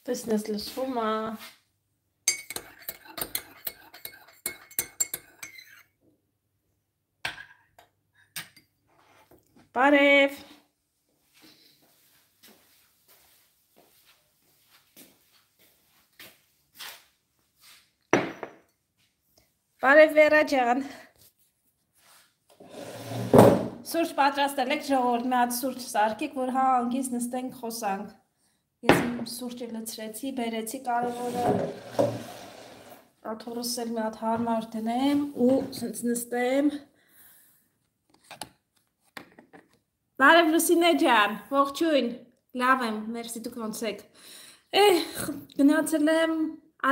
Տեսնես լսվում է։ Բարև։ Բարև Վերա ջան։ Սուրճ պատրաստել եք ժողովուրդ, մի հատ սուրճ սարքեք, որ հա անգից նստենք խոսանք։ Ես սուրճը լցրեցի, բերեցի կարևորը աթոռս էլ մի հատ հարմար դնեմ ու սենց նստեմ։ Բարև Լուսինե ջան, ողջույն, լավ եմ, մերսի դուք ոնց եք։ Գնացել եմ,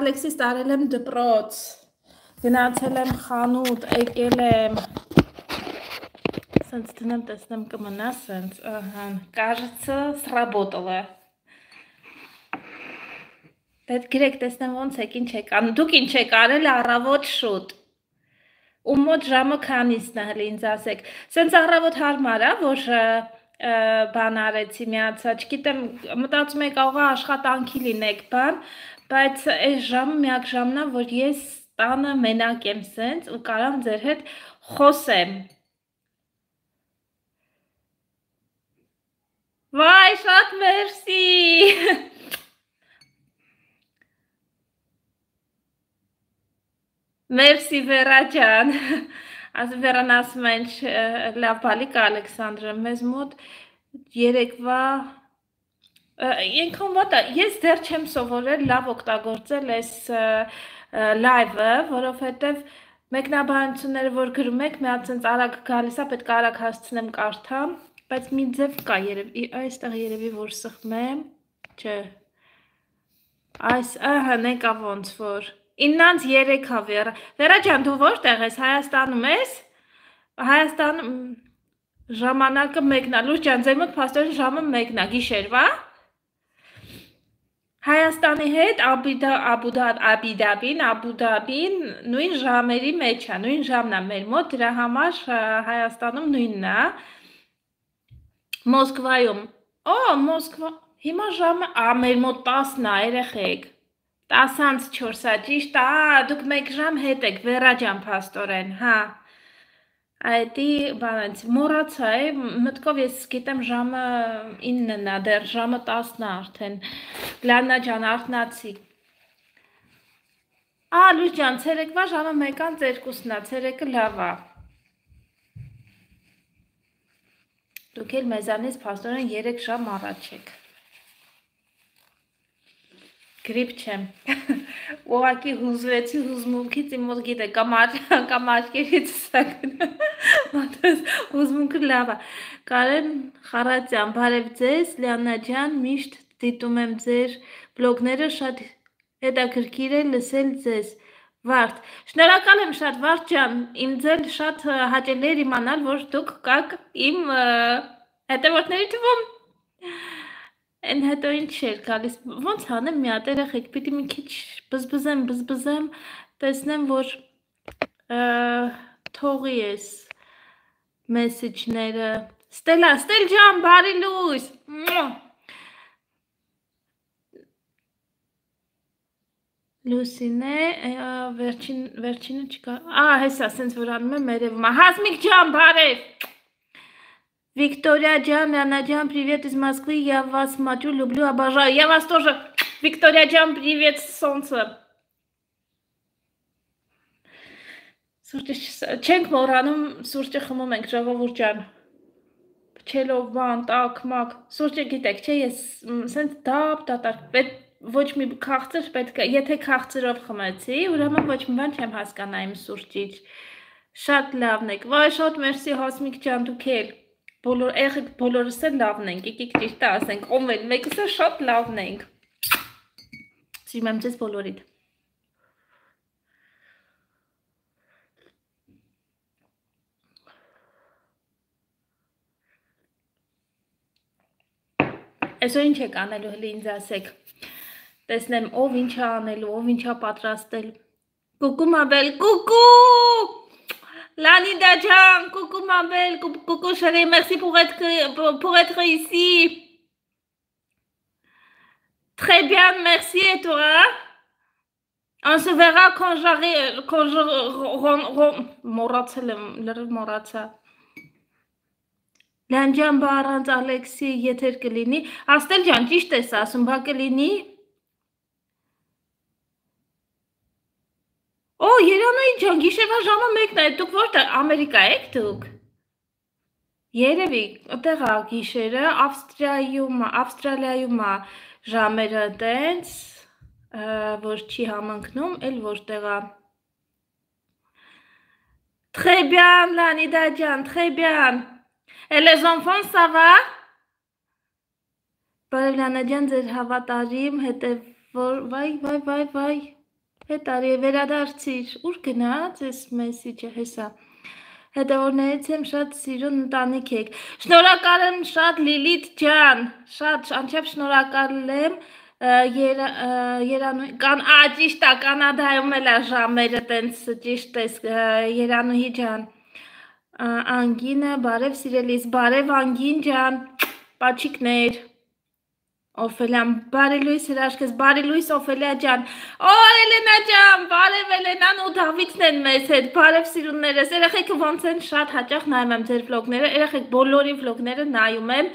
Ալեքսիս տարել եմ դպրոց, գնացել եմ խանութ, եկել եմ, սենց դնեմ, տեսնեմ կմնա սենց, кажется, сработало։ Պետք գրեք տեսնեմ ոնց եք, ինչ եք անում, դուք ինչ եք արել առավոտ շուտ։ Ու մոտ ժամը քանիսն է հլի ինձ ասեք, սենց առավոտ հարմար է, որ բան արեցի միացա, չգիտեմ, մտածում եք աղա աշխատանքի լինեք բան, բայց այս ժամը միակ ժամն է, որ ես տանը մենակ եմ սենց ու կարամ ձեր հետ խոսեմ։ Վայ, շատ մերսի։ Մերսի Վերա ջան, Վերան ասում է ինչ լավ բալիկ Ալեքսանդրը, մեզ մոտ երեկվա, ենքան վատ է, ես դեռ չեմ սովորել լավ օգտագործել այս լայվը, որովհետև մեկնաբանությունները, որ գրում եք, մի հատ սենց արագ գալիս է, պետք է արագ հասցնեմ կարդամ, բայց մի ձև կա երևի, այստեղ երևի որ սխմեմ, չէ, այս, նեկա ոնց որ, 9-3 հա Վերա ջան, դու որտեղ ես, Հայաստանում ես, Հայաստանում ժամանակը մեկնա, Լուր ջան, ձեր մոտ փաստորեն ժամը մեկնա, գիշերվա, Հայաստանի հետ Աբուդաբին նույն ժամերի մեջ է, նույն ժամն է մեր մոտ, դրա համար Հայաստանում նույնն է, Մոսկվայում, Մոսկվա, հիմա ժամը, մեր մոտ 10-ն է, երեխեք, 10:04 է, ճիշտ է, դուք մեկ ժամ հետ եք, Վերա ջան փաստորեն, հա, այդի բանից, մոռացա է, մտքով ես գիտեմ ժամը 9-ն է, դեռ ժամը 10-ն է արդեն, Լաննա ջան, արթնացի, Լույս ջան, ցերեկվա ժամը 1:02-ն է, ցերեկը լավ է, դուք էլ մեզանից փաստորեն 3 ժամ առաջ եք, գրիպ չեմ, ուղղակի հուզվեցի հուզմունքից, իմ մոտ գիտեք, կամ աչքերից հուզմունքը լավ է, Կարեն Խարատյան, բարև ձեզ, Լիաննա ջան, միշտ դիտում եմ ձեր բլոգները, շատ հետաքրքիր է լսել ձեզ, Վարդ, շնորհակալ եմ շատ Վարդ ջան, իմ ձեր շատ հաճելի էր իմանալ, որ դուք կաք իմ հետևորդների թվում, Են հետո ինչ էր գալիս, ոնց հանեմ մի հատ երեխեք, պիտի մի քիչ բզբզեմ, տեսնեմ, որ թողի ես մեսիջները, Ստել ջան, բարի լույս, Լուսինե, վերջինը չկա, հեսա, սենց որ անում եմ երևում, Հասմիկ ջան, բարև, Виктория Джан, Лиана Джан, привет из Москвы, я вас смотрю, люблю, обожаю. Я вас тоже, Виктория Джан, привет, солнце. Չենք մոռանում սուրճը խմում ենք, ժողովուրդ ջան, փչելով բան, տակ, մակ, սուրճը գիտեք, չէ, ես սենց դատարկ, ոչ մի քաղցր պետք է, եթե քաղցրով խմեցի, ուրեմն ոչ մի բան չեմ հասկանա իմ սուրճից, շատ լավն եք, վայ, շատ մերսի Հասմիկ ջան, դուք էլ, բոլորս էլ լավն ենք, եկեք ճիշտ ասենք, ով էլ մեկս է շատ լավն ենք, սիրում եմ ձեզ բոլորիդ, Այսօր ինչ եք անելու հենց ինձ ասեք։ Տեսնեմ ով ինչ է անելու, ով ինչ է պատրաստել։ Coucou ma belle, coucou! Lanida Jan, coucou ma belle, coucou chérie, merci pour être ici. Très bien, merci et toi? On se verra quand j'arrive, quand je moratsa. Լանջան բառանց Ալեքսի եթեր կլինի, Աստել ջան, ճիշտ ես ասում, բա կլինի։ Օ, Երանայի ջան, գիշերվա ժամը 1-ն է, դուք որտեղ Ամերիկա եք դուք։ Երևի, այդտեղ է գիշերը, Ավստրալիայում է ժամերը տենց, որ չի համընկնում, էլ որտեղ է։ Très bien, Lanida ջան, très bien. Et les enfants, ça va? Բարև Լանաջան, ձեր հավատարիմ վայ, հետարի վերադարձիր, ուր գնաց ես մեսիջը հեսա, հետևորներից եմ շատ սիրուն ընտանիք եք, շնորհակալ եմ շատ Լիլիթ ջան, շատ անչափ շնորհակալ եմ, ճիշտ է, Կանադայում էլ է ժամերը տենց ճիշտ ես Երանուհի ջան, Անգինը, բարև սիրելիս, բարև Անգին ջան, պաչիկներ, Օֆելյան, բարի լույս հրաշքես, բարի լույս Օֆելյա ջան, օ Էլենա ջան, բարև Էլենան ու Դավիթն են մեզ հետ, բարև սիրուններս, երեխեքը ոնց են շատ հաճախ նայում եմ ձեր վլոգները, երեխեք բոլորի վլոգները նայում եմ,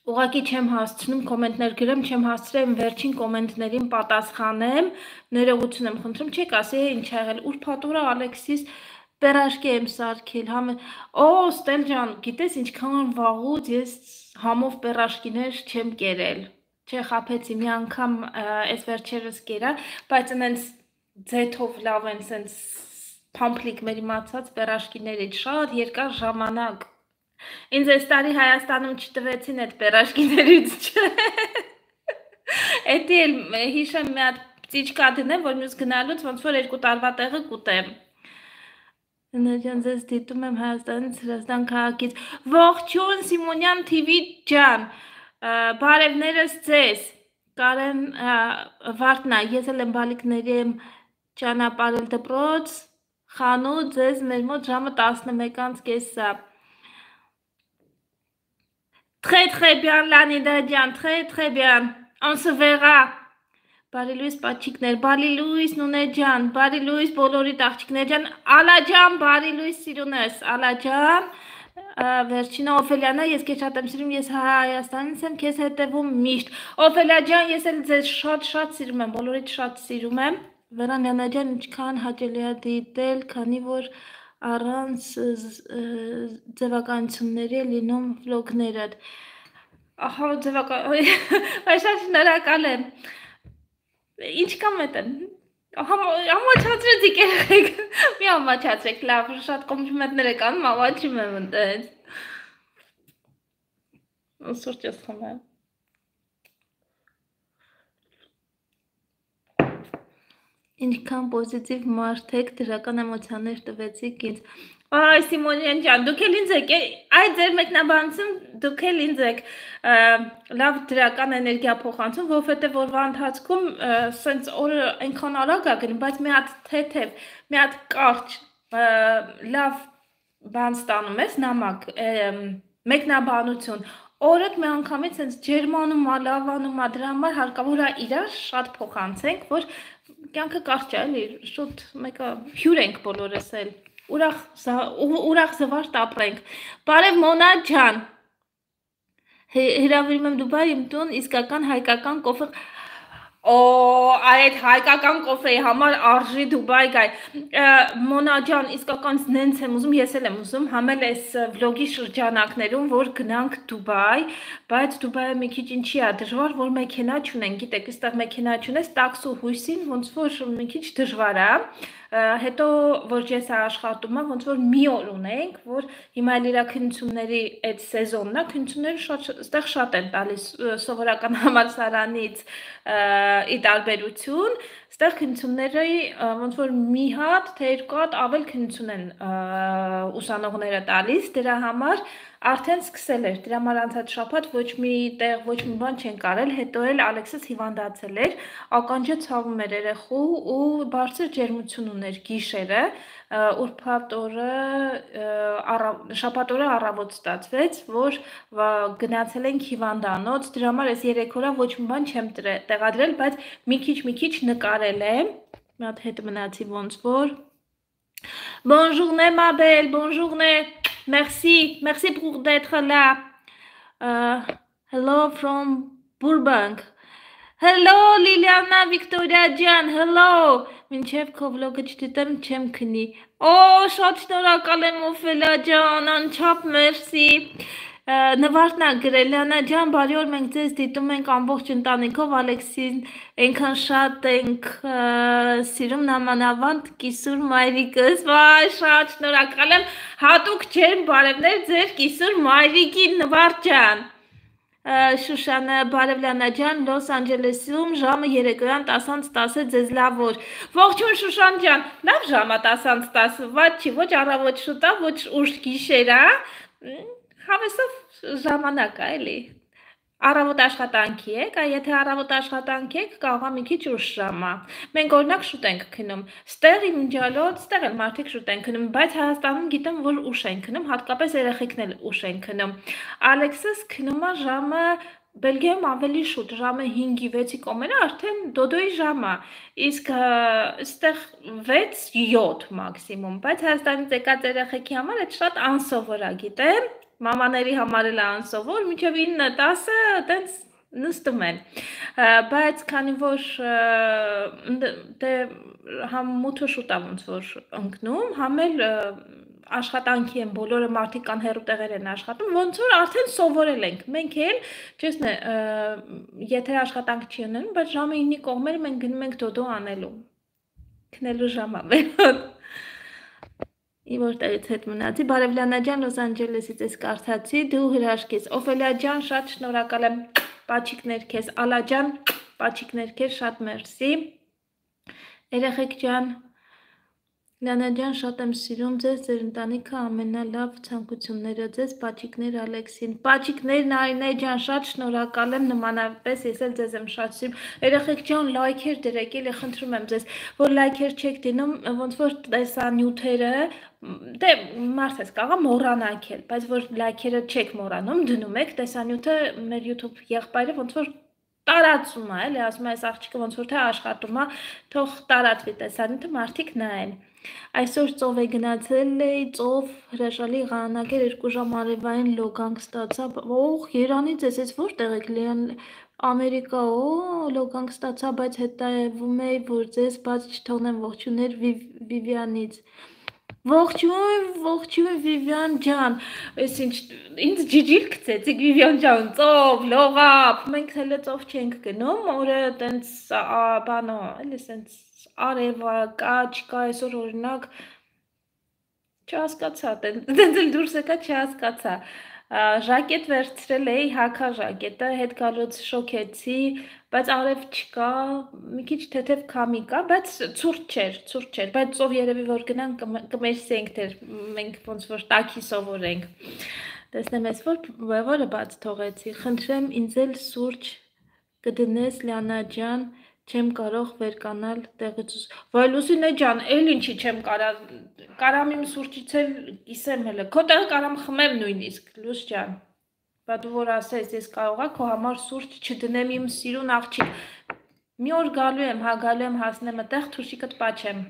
ուղղակի չեմ հասցնում կոմենտներ գրեմ, չեմ հասցրել վերջին կոմենտներին պատասխանեմ, ներողություն եմ խնդրում, չեք ասի ինչ ա եղել, ուր փաթորա Ալեքսիս Պերաշկի եմ սարքել, օ Ստել ջան, գիտես ինչքան վաղուց ես համով պերաշկիներ չեմ կերել, չէ խապեցի մի անգամ այս վերջերս կերա, բայց ընենց ձեթով լավ են սենց պամպլիկ մեր իմացած պերաշկիներից շատ երկար ժամանակ, ինձ այս տարի Հայաստանում չտվեցին այդ պերաշկիներից չէ, էդի էլ հիշեմ մի հատ ծիճկա դնեմ, որ մյուս գնալուց ոնց որ 2 տարվա տեղը կուտեմ, Նաջան ձեզ դիտում եմ Հայաստանից Հրազդան քաղաքից, ողջույն Սիմոնյան TV ջան, բարևներս ձեզ, Կարեն Վարդնա, ես էլ եմ բալիկների եմ ճանապարհել դպրոց, խանութ, ձեզ մեր մոտ ժամը 11:30 Très bien Lanida ջան, très bien, on se verra Բարի լույս պաչիկներ, բարի լույս նունե ջան, բարի լույս բոլորի աղջիկներ ջան, Ալա ջան, բարի լույս սիրունես, Ալա ջան, վերջինը Օֆելյանա, ես քեզ շատ եմ սիրում, ես Հայաստանից եմ, քեզ հետևում միշտ, Օֆելյա ջան, ես էլ ձեզ շատ սիրում եմ, բոլորիդ շատ սիրում եմ, Վերանյանը ջան, ինչքան հաճելի է դիտել, քանի որ առանց ձևականությունների լինում վլոգներդ, ահա ձևական, շնորհակալ եմ Ինչ կամ էտեն, համաչացրեցիք երեխեք, մի համաչացրեք, լավ, շատ կոմպլիմենտներ եք անում, ամաչում եմ ընտենց, սուրճ ես խմեմ, ինչքան պոզիտիվ մարդ եք, դրական էմոցիաներ տվեցիք ինձ, Այ Սիմոնյան ջան, դուք էլ ինձ եք, այդ ձեր մեկնաբանություն դուք էլ ինձ եք լավ դրական էներգիա փոխանցում, որովհետև օրվա ընթացքում սենց օրը այնքան արագ է գնում, բայց մի հատ թեթև, մի հատ կարճ լավ բան ստանում ես, նամակ, մեկնաբանություն, օրդ մի անգամից սենց ջերմանում է, լավանում է, դրա համար հարկավոր է իրար շատ փոխանցենք, որ կյանքը կարճ է, էլի, շուտ մեկը հյուր ենք բոլորս էլ ուրախ զվարթ ապրենք, բարև Մոնա ջան, հրավիրում եմ Դուբայ իմ տուն, իսկական հայկական կոֆե, այդ հայկական կոֆեի համար արժի Դուբայ գայ, Մոնա ջան, իսկական նենց եմ ուզում, ես էլ եմ ուզում, համել այս վլոգի շրջանակներում, որ գնանք Դուբայ, բայց Դուբայը մի քիչ ինչի է դժվար, որ մեքենա չունեն, գիտեք, այստեղ մեքենա չունես, տաքսու հույսին, ոնց որ մի քիչ դժվար է, հետո որ ես աշխատում եմ, ոնց որ մի օր ունենք, որ հիմա էլ իրա քննությունների այդ սեզոնն է, քննությունները այստեղ շատ են տալիս սովորական համալսարանից ի տարբերություն, այստեղ քննությունները ոնց որ մի հատ, թե երկու հատ ավել քննություն են ուսանողները տալիս, դրա համար արդեն սկսել էր, դրա համար անցած շաբաթ ոչ մի տեղ, ոչ մի բան չեն կարել, հետո էլ Ալեքսս հիվանդացել էր, ականջը ցավում էր երեխու ու բարձր ջերմություն ուներ գիշերը, ուրբաթ օրը շաբաթ օրը առավոտ ստացվեց, որ գնացել ենք հիվանդանոց, դրա համար այս 3 օրա ոչ մի բան չեմ տեղադրել, բայց մի քիչ նկարել եմ, մի հատ հետ մնացի ոնց որ Bonne journée, ma belle. Bonne journée. Merci. Merci pour d'être là. Hello from Burbank. Hello, Liliana Victoria Jan. Hello. Մինչև քո վլոգը չդիտեմ, չեմ քնի։ Շատ շնորհակալ եմ Օֆելիա ջան, անչափ մերսի։ Նվարդն է գրել, Լիանա ջան, բարի օր, մենք ձեզ դիտում ենք ամբողջ ընտանիքով, Ալեքսին այնքան շատ ենք սիրում, նամանավանդ կիսուր մայրիկս, վայ, շատ շնորհակալ եմ, հատուկ ջերմ բարևներ ձեր կիսուր մայրիկին Նվարդ ջան։ Շուշանը, բարև Լիանա ջան, Լոս Անջելեսում ժամը երեկոյան 10:10 ձեզ լավ օր։ Ողջույն Շուշան ջան, լավ ժամը 10:10, ված չի, ոչ առավոտ շուտ է, ոչ ուշ գիշեր է, հավեսով ժամանակ է, էլի։ Առավոտ աշխատանքի եք, եթե առավոտ աշխատանքի եք, կարող է մի քիչ ուշ ժամը։ Մենք օրինակ շուտ ենք քնում։ Ստեղ իմջալոց, ստեղ էլ մարդիկ շուտ են քնում, բայց Հայաստանում գիտեմ, որ ուշ են քնում, հատկապես երեխեքն էլ ուշ են քնում։ Ալեքսս քնում է ժամը Բելգիայում ավելի շուտ, ժամը 5-ի 6-ի կողմերը արդեն դոդոյի ժամը, իսկ այստեղ 6-7 մաքսիմում, բայց Հայաստանից եկած երեխեքի համար այդ շատ անսովոր է, գիտեմ, մամաների համար էլ անսովոր, մինչև 9-10 տենց նստում են, բայց քանի որ համ մութը շուտ է ոնց որ ընկնում, համ էլ աշխատանքի են, բոլորը մարդիկ կան հեռու տեղեր են աշխատում, ոնց որ արդեն սովորել ենք, մենք էլ, չեսն է, եթե աշխատանք չի ունենում, բայց ժամը 9-ի կողմերը մենք գնում ենք դոդո անելու, քնելու ժամը մեր Որտեղից հետ մնացի, բարև Լիանա ջան, Լոս Անջելեսից ես կարդացի, դու հրաշք ես, Օֆելիա ջան, շատ շնորհակալ եմ, պաչիկներ քեզ, Ալա ջան, պաչիկներ քեզ, շատ մերսի, երեխեք ջան, Լիանա ջան, շատ եմ սիրում ձեզ, ձեր ընտանիքը ամենալավ ցանկությունները ձեզ, պաչիկներ Ալեքսին, պաչիկներ Նարինե ջան, շատ շնորհակալ եմ, նմանապես ես էլ ձեզ եմ շատ սիրում, երեխեք ջան, լայքեր դրեք, էլի խնդրում եմ ձեզ, որ լայքեր չեք դնում, ոնց որ տեսանյութերը, դե մարդ ես կարող մոռանաք էլ, բայց որ լայքերը չեք մոռանում, դնում եք, տեսանյութը մեր YouTube եղբայրը ոնց որ տարածում է, էլի ասում է, այս աղջիկը ոնց որ թե աշխատում է, թող տարածվի տեսանյութը, մարդիկ նայեն։ Այսօր ծով է գնացել էի, ծով հրաշալի ղանագեր 2 ժամ արևային լոգանք ստացա, երանից ես, ես որտեղ եք Լիան Ամերիկա, լոգանք ստացա, բայց հետևում էի, որ ձեզ բաց չթողնեմ ողջուներ Վիվյանից։ Ողջույն Վիվյան ջան, ինձ ջիջիլ գցեցիք Վիվյան ջան, ծով, լողապ, մենք հələ ծով չենք գնում, օրը տենց բանո, էլի սենց արևա, չկա, այսօր օրինակ չհասկացա, տենց էլ դուրս եկա չհասկացա, ժակետ վերցրել էի, հակա ժակետը, հետ գալուց շոքեցի, բայց արև չկա, մի քիչ թեթև քամի կա, բայց ցուրտ չէր, բայց ծով երևի որ գնանք կմերսենք դեր, մենք ոնց որ տաքի սովորենք, տեսնեմ ես որը բաց թողեցի, խնդրեմ ինձ էլ սուրճ կդնես Լիանա ջան, չեմ կարող վերկանալ տեղից, վայ Լուսինե ջան, էլ ինչի չեմ կարամ իմ սուրճից էլ կիսեմ հələ, քո տեղը կարամ խմեմ նույնիսկ, Լուս ջան, բա դու որ ասես, ես կարողա քո համար սուրճ չդնեմ իմ սիրուն աղջիկ, մի օր գալու եմ հասնեմ այդտեղ, թուշիկդ պաչեմ,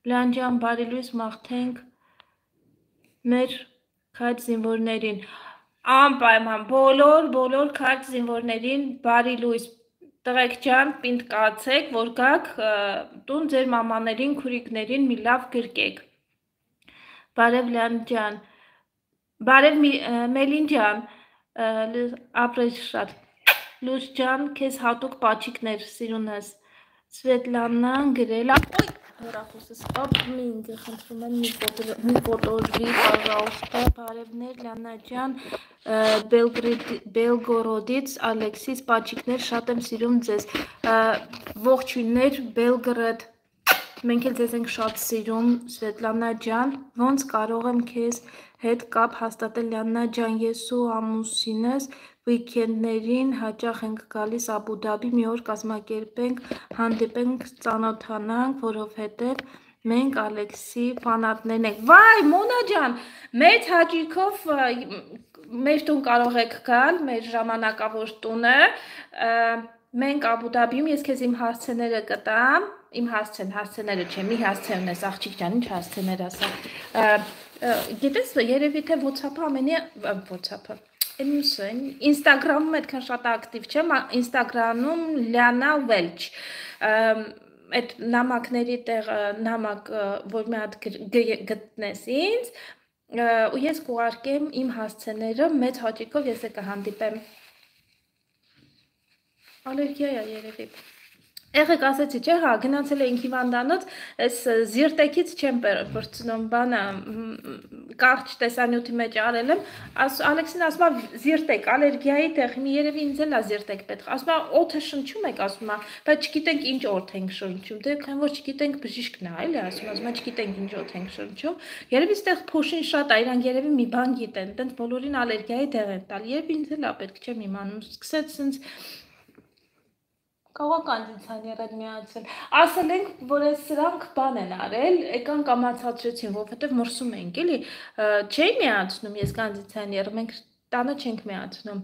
Լիան ջան, բարի լույս մաղթենք մեր քայլ զինվորներին, անպայման, բոլոր քայլ զինվորներին բարի լույս, տղեկ ջան, պինդ կացեք, որ գաք տուն ձեր մամաներին, քուրիկներին մի լավ գրկեք, բարև Լիան ջան, բարև Մելին ջան, ապրես շատ, Լուս ջան, քեզ հատուկ պաչիկներ սիրունս, Սվետլանան գրել, հեռախոսս ապմինգ, խնդրում եմ մի ֆոտորվի, պաժալստա, բարևներ Լիանա ջան, Բելգորոդից, Ալեքսիս, պաչիկներ, շատ եմ սիրում ձեզ, ողջույններ, Բելգրադ, մենք էլ ձեզ ենք շատ սիրում, Սվետլանա ջան, ոնց կարող եմ քեզ հետ կապ հաստատել Լիաննա ջան, ես ու ամուսինս վիկենդներին հաճախ ենք գալիս Աբու Դաբի, մի օր կազմակերպենք, հանդիպենք, ծանոթանանք, որովհետև մենք Ալեքսի ֆանատներն ենք։ Վայ, Մոնա ջան, մեծ հաճույքով մեր տուն կարող եք գալ, մեր ժամանակավոր տունը, մենք Աբու Դաբիում, ես քեզ իմ հասցեները կտամ, իմ հասցեները չեմ, մի հասցեն ես, աղջիկ ջան, ինչ հասցեներ ասա, գիտես, երևի թե WhatsApp-ը ամենի, WhatsApp-ը, Instagram-ում այդքան շատ ակտիվ չեմ, Instagram-ում Լիաննա Welch, այդ նամակների տեղ նամակ, որ մի հատ գտնես ինձ, ու ես կուղարկեմ իմ հասցեները, մեծ հաճույքով ես կհանդիպեմ, ալերգիա է երևի, Եղեք ասեցի, չէ, հա, գնացել էինք հիվանդանոց, այս զիրտեքից չեմ պրծնում, բանը, կարճ տեսանյութի մեջ արել եմ, Ալեքսին ասում է զիրտեք, ալերգիայի տեղ, երևի ինձ էլ է զիրտեք պետք, ասում է օդը շնչում եք, ասում է, բայց չգիտենք ինչ օդ ենք շնչում, դե քան որ չգիտենք բժիշկն է, այլ է ասում է, չգիտենք ինչ օդ ենք շնչում, երևի ստեղ փոշին շատ է, իրանք երևի մի բան գիտեն, տենց բոլորին ալերգիայի տեղ են տալ, երևի ինձ էլ է պետք չեմ իմանում, սկսեց սենց Կարող կոնդիցիոներ են միացել։ Ասել ենք, որ այս սրանք բան են արել, եկան կամացածրեցին, որովհետև մրսում ենք, էլի, չէի միացնում ես կոնդիցիոները, մենք տանը չենք միացնում,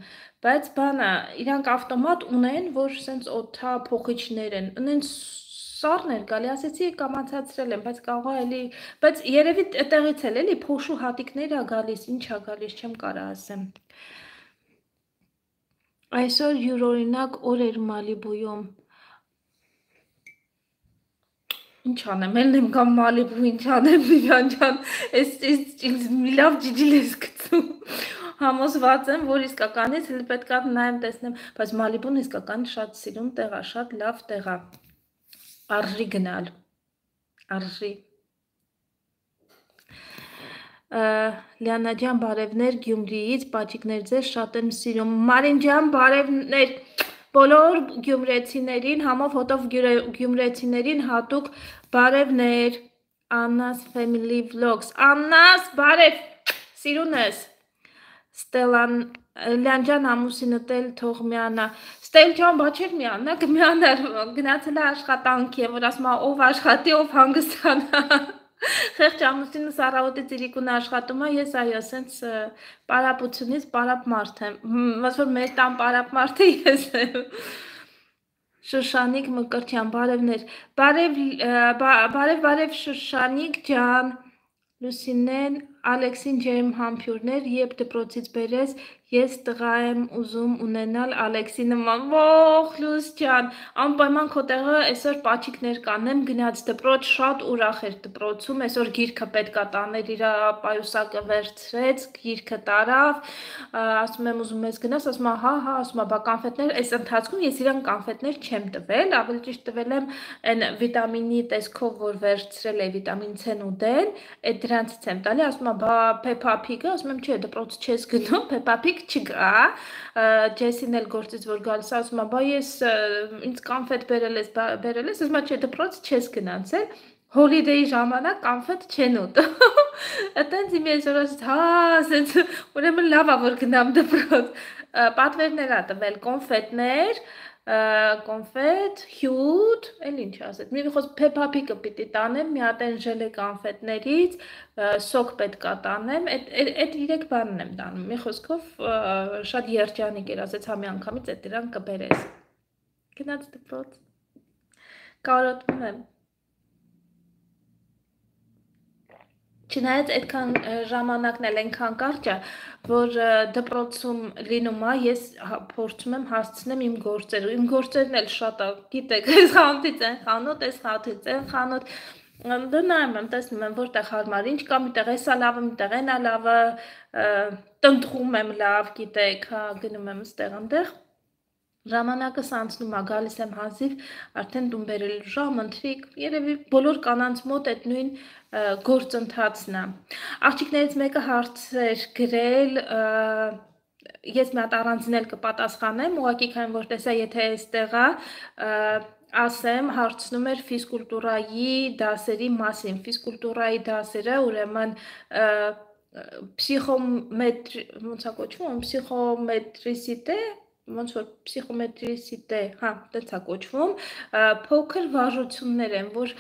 բայց բանը, իրանք ավտոմատ ունեն, որ սենց օդա փոխիչներ են, ունեն սառներ գալի, ասեցի կամացածրել են, բայց կարող է էլի, բայց երևի տեղից էլ էլի փոշու հատիկներ է գալիս, ինչ է գալիս, չեմ կարա ասեմ։ Այսօր յուրօրինակ օր էր Մալիբույում, ինչ անեմ, ելն եմ կամ Մալիբու, ինչ անեմ, Վիվյան ջան, ես մի լավ ջիջիլ ես գցում, համոզված եմ, որ իսկականից հենց պետք է նայեմ տեսնեմ, բայց Մալիբուն իսկական շատ սիրուն տեղ է, շատ լավ տեղ է, արժի գնալ, արժի։ Լիաննա ջան, բարևներ Գյումրիից, պաճիկներ ձեզ շատ եմ սիրում, Մարին ջան, բարևներ, բոլոր գյումրեցիներին, համով հոտով գյումրեցիներին հատուկ բարևներ, Աննա's Family Vlogs, Աննա's, բարև, սիրունս, Ստելան, Լիան ջան, ամուսինդ էլ թող միանա, Ստել ջան, բա չէր միանա, կմիանար, գնացել է աշխատանքի, որ ասում է, ով աշխատի, ով հանգստանա, Խեղճ ամուսինս առավոտից իրիկուն աշխատում է, ես այո, սենց պարապությունից պարապ մարդ եմ, ոնց որ մեր տան պարապ մարդը ես եմ, Շուշանիկ Մկրտյան, բարևներ, բարև Շուշանիկ ջան, Լուսինեն, Ալեքսին ջերմ համբյուրներ, երբ դպրոցից բերես, ես տղա եմ ուզում ունենալ Ալեքսի նման, ոխ Լուս ջան, անպայման քո տեղը այսօր պաչիկներ կանեմ, գնաց դպրոց, շատ ուրախ էր դպրոցում, այսօր գիրքը պետք է տաներ, իր պայուսակը վերցրեց, գիրքը տարավ, ասում եմ ուզում ես գնաս, ասում է հա, ասում է բա կանֆետներ, այս ընթացքում ես իրան կանֆետներ չեմ տվել, ավելի ճիշտ տվել եմ այն վիտամինի տեսքով, որ վերցրել է վիտամին C-ն ու D-ն, այդ դրանցից եմ տալի, ասում է բա Peppa Pig-ը, ասում եմ չէ, դպրոց չես գնում, Peppa Pig չկա, Ջեսին էլ գործից որ գալիս, ասում է բա ես ինձ կանֆետ բերել ես, ասում է չէ, դպրոց չես գնացել, հոլիդեի ժամանակ կանֆետ չեն ուտում, այտենց իմ ես որ ասեց, հա, ասենց, ուրեմն լավ է, որ գնամ դպրոց, պատվերներ ա տվել, կոնֆետ, հյութ, էլ ինչ ասեց, մի խոս Peppa Pig-ը պիտի տանեմ, մի հատ են ժելե կանֆետներից, սոկ պետք է տանեմ, այդ 3 բանն եմ տանում, մի խոսքով շատ երջանիկ էր, ասեց համի անգամից այդ դրան կբերես, գնաց դպրոց, կարոտում եմ, Չնայած այդքան ժամանակն էլ այնքան կարճ է, որ դպրոցում լինում է, ես փորձում եմ հասցնեմ իմ գործերը, իմ գործերն էլ շատ է, գիտեք, այս խանութից են խանութ, այս խանութից են խանութ, դու նայում եմ, տեսնում եմ, որտեղ հարմար, ինչ կա, միտեղ էսա լավը, միտեղ էնա լավը, տնտղում եմ լավ, գիտեք, գնում եմ ստեղ ընդեղ, Ժամանակս անցնում է, գալիս եմ հազիվ, արդեն տուն բերելու ժամ, ընթրիկ, երևի բոլոր կանանց մոտ այդ նույն գործընթացն է։ Աղջիկներից մեկը հարց էր գրել, ես մի հատ առանձին էլ կպատասխանեմ, ուղղակի քանի որ տեսա, եթե այստեղ է, ասեմ, հարցնում էր ֆիզկուլտուրայի դասերի մասին, ֆիզկուլտուրայի դասերը, ուրեմն Պսիխոմետրի, ոնց է կոչվում, պսիխոմետրիսիտե, ոնց որ պսիխոմետրիսիտե, հա, տենց է կոչվում, փոքր վարժություններ են, որ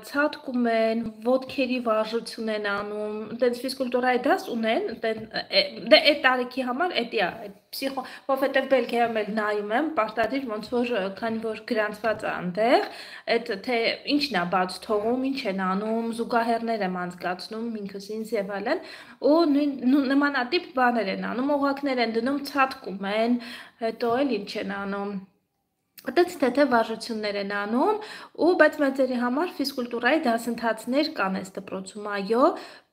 ցատկում են, ոտքերի վարժություն են անում, տենց ֆիզկուլտուրայի դաս ունեն, դե այդ տարիքի համար էդի է, պսիխո, որովհետև Բելգիայում էլ նայում եմ, պարտադիր ոնց որ քանի որ գրանցված է այնտեղ, այդ թե ինչն է բաց թողում, ինչ են անում, զուգահեռներ եմ անցկացնում ինքս ինձ եւ այլն, ու նմանատիպ բաներ են անում, օղակներ են դնում, ցատկում են, հետո էլ ինչ են անում։ Այդպես թե վարժություններ են անում, ու բայց մեծերի համար ֆիզկուլտուրայի դասընթացներ կան այս դպրոցում, այո,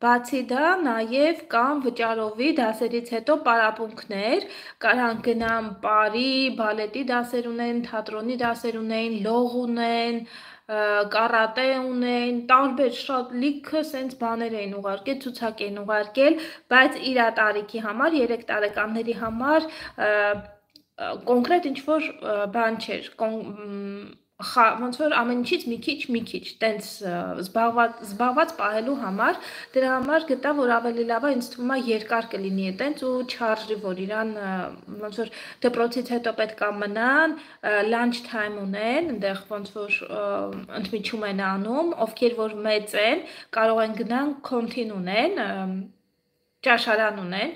բացի դա նաև կան վճարովի դասերից հետո պարապմունքներ, կարան գնան պարի, բալետի դասեր ունեն, թատրոնի դասեր ունեն, լող ունեն, կարատե ունեն, տարբեր շատ լիքը սենց բաներ էին ուղարկել, ցուցակ էին ուղարկել, բայց իր տարիքի համար, 3 տարեկանների համար կոնկրետ ինչ-որ բան չէր, ոնց որ ամեն ինչից մի քիչ, տենց զբաղված պահելու համար, դրա համար գտա, որ ավելի լավ է, ինձ թվում է երկար կլինի տենց ու չարժի, որ իրան ոնց որ դպրոցից հետո պետք է մնան, lunch time ունեն, այնտեղ ոնց որ ընդմիջում են անում, ովքեր որ մեծ են, կարող են գնան կոնտին ունեն, ճաշարան ունեն,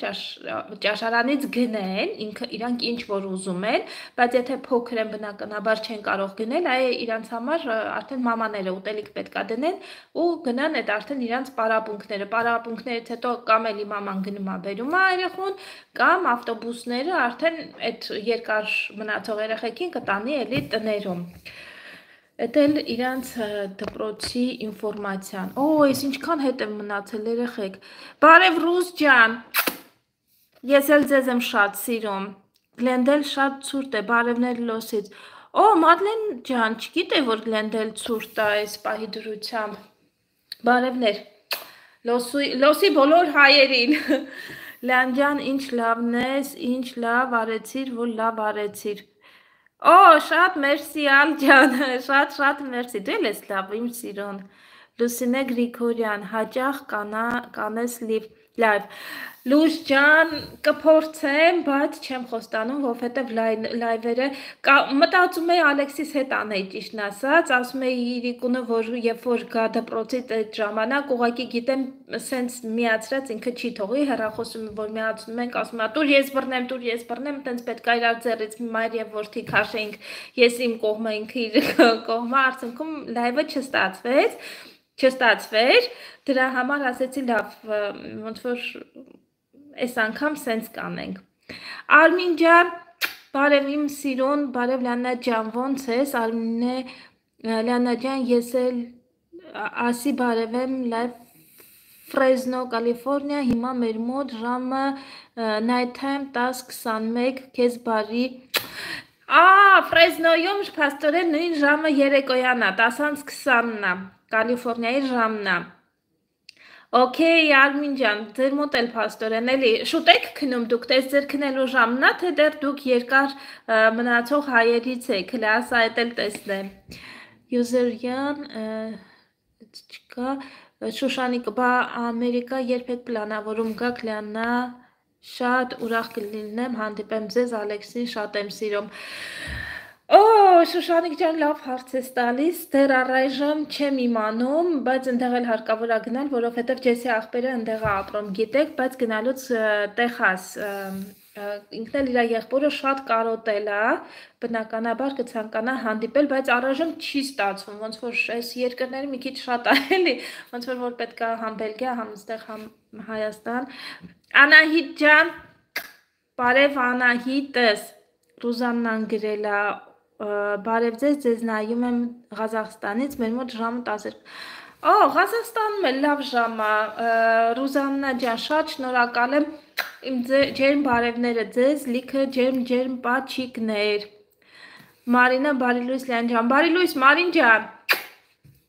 ճաշարանից գնեն, իրանք ինչ որ ուզում են, բայց եթե փոքր են բնականաբար չեն կարող գնել, այ իրանց համար արդեն մամաները ուտելիք պետք է դնեն ու գնան այդ արդեն իրանց պարապմունքներից հետո կամ էլի մաման գնում է բերում է երեխուն, կամ ավտոբուսները արդեն այդ երկար մնացող երեխեքին կտանի էլի տներում։ Էդ էլ իրանց դպրոցի ինֆորմացիան։ Օ, ես ինչքան հետ եմ մնացել երեխեք։ Բարև Ռուս ջան։ Ես էլ ձեզ եմ շատ սիրում։ Գլենդել շատ ցուրտ է, բարևներ Լոսից։ Օ, Մադլեն ջան, չգիտեի որ Գլենդել ցուրտ է այս պահի դրությամբ։ Բարևներ։ Լոսի բոլոր հայերին։ Լյան ջան, ինչ լավն ես, ինչ լավ արեցիր, որ լավ արեցիր։ Օ, շատ մերսի ալջան, շատ մերսի, դու էլ ես լավ, իմ սիրուն, Լուսինե Գրիգորյան, հաճախ կանես լիվ, լուշ ջան, կփորձեմ, բայց չեմ խոստանում, որովհետև լայվերը, մտածում էի Ալեքսիս հետ անեի ճիշտն ասած, ասում էի Իրիկունը, որ երբ որ գա դպրոցից այդ ժամանակ, ուղղակի գիտեմ, սենց միացրած ինքը չի թողի, հեռախոսում որ միացնում ենք, ասում է, տուր ես բռնեմ, տենց պետք է իրար ձեռից մայր եւ որդի քաշեինք, ես իմ կողմը, ինքը իր կողմը, արդյունքում լայվը չստացվեր, դրա համար ասեցի լավ, ոնց որ այս անգամ սենց կանենք։ Արմին ջան, բարև իմ սիրուն, բարև Լիանա ջան, ոնց ես, Արմինե, Լիանա ջան, ես էլ ասի բարև եմ լայվ Ֆրեզնո, Կալիֆորնիա, հիմա մեր մոտ ժամը night time 10:21, քեզ բարի։ Ֆրեզնոյում փաստորեն նույն ժամը երեկոյան է, 10:20-ն է, Կալիֆորնիայի ժամն է։ Okay, Արմին ջան, ձեր մոտ էլ փաստորեն էլի շուտ եք քնում դուք, տես ձեր քնելու ժամն է, թե դեռ դուք երկար մնացող հայերից եք, լասա այդ էլ տեսնեմ։ Յուզերյան, չկա, Շուշանիկ, բա Ամերիկա երբ եք պլանավորում գաք Լիանա, շատ ուրախ կլինեմ, հանդիպեմ ձեզ, Ալեքսին շատ եմ սիրում։ Օ, Շուշանիկ ջան, լավ հարց ես տալիս, դեռ առայժմ չեմ իմանում, բայց ընդեղ էլ հարկավոր է գնալ, որովհետև Ջեսի աղբերը ընդեղ է ապրում, գիտեք, բայց գնալուց Տեխաս, ինքն էլ իր եղբորը շատ կարոտել է, բնականաբար կցանկանա հանդիպել, բայց առայժմ չի ստացվում, ոնց որ այս երկրները մի քիչ շատ է էլի, ոնց որ պետք է համ Բելգիա, համ այստեղ համ Հայաստան։ Անահիտ ջան, բարև Անահիտս, Ռուզաննան գրել է, բարև ձեզ նայում եմ Ղազախստանից, մեր մոտ ժամը 10 Օ, Ղազախստանում էլ լավ ժամ է, Ռուզաննա ջան, շատ շնորհակալ եմ, իմ ջերմ բարևները ձեզ, լիքը ջերմ պաչիկներ։ Մարինա, բարի լույս Լիան ջան, բարի լույս Մարին ջան։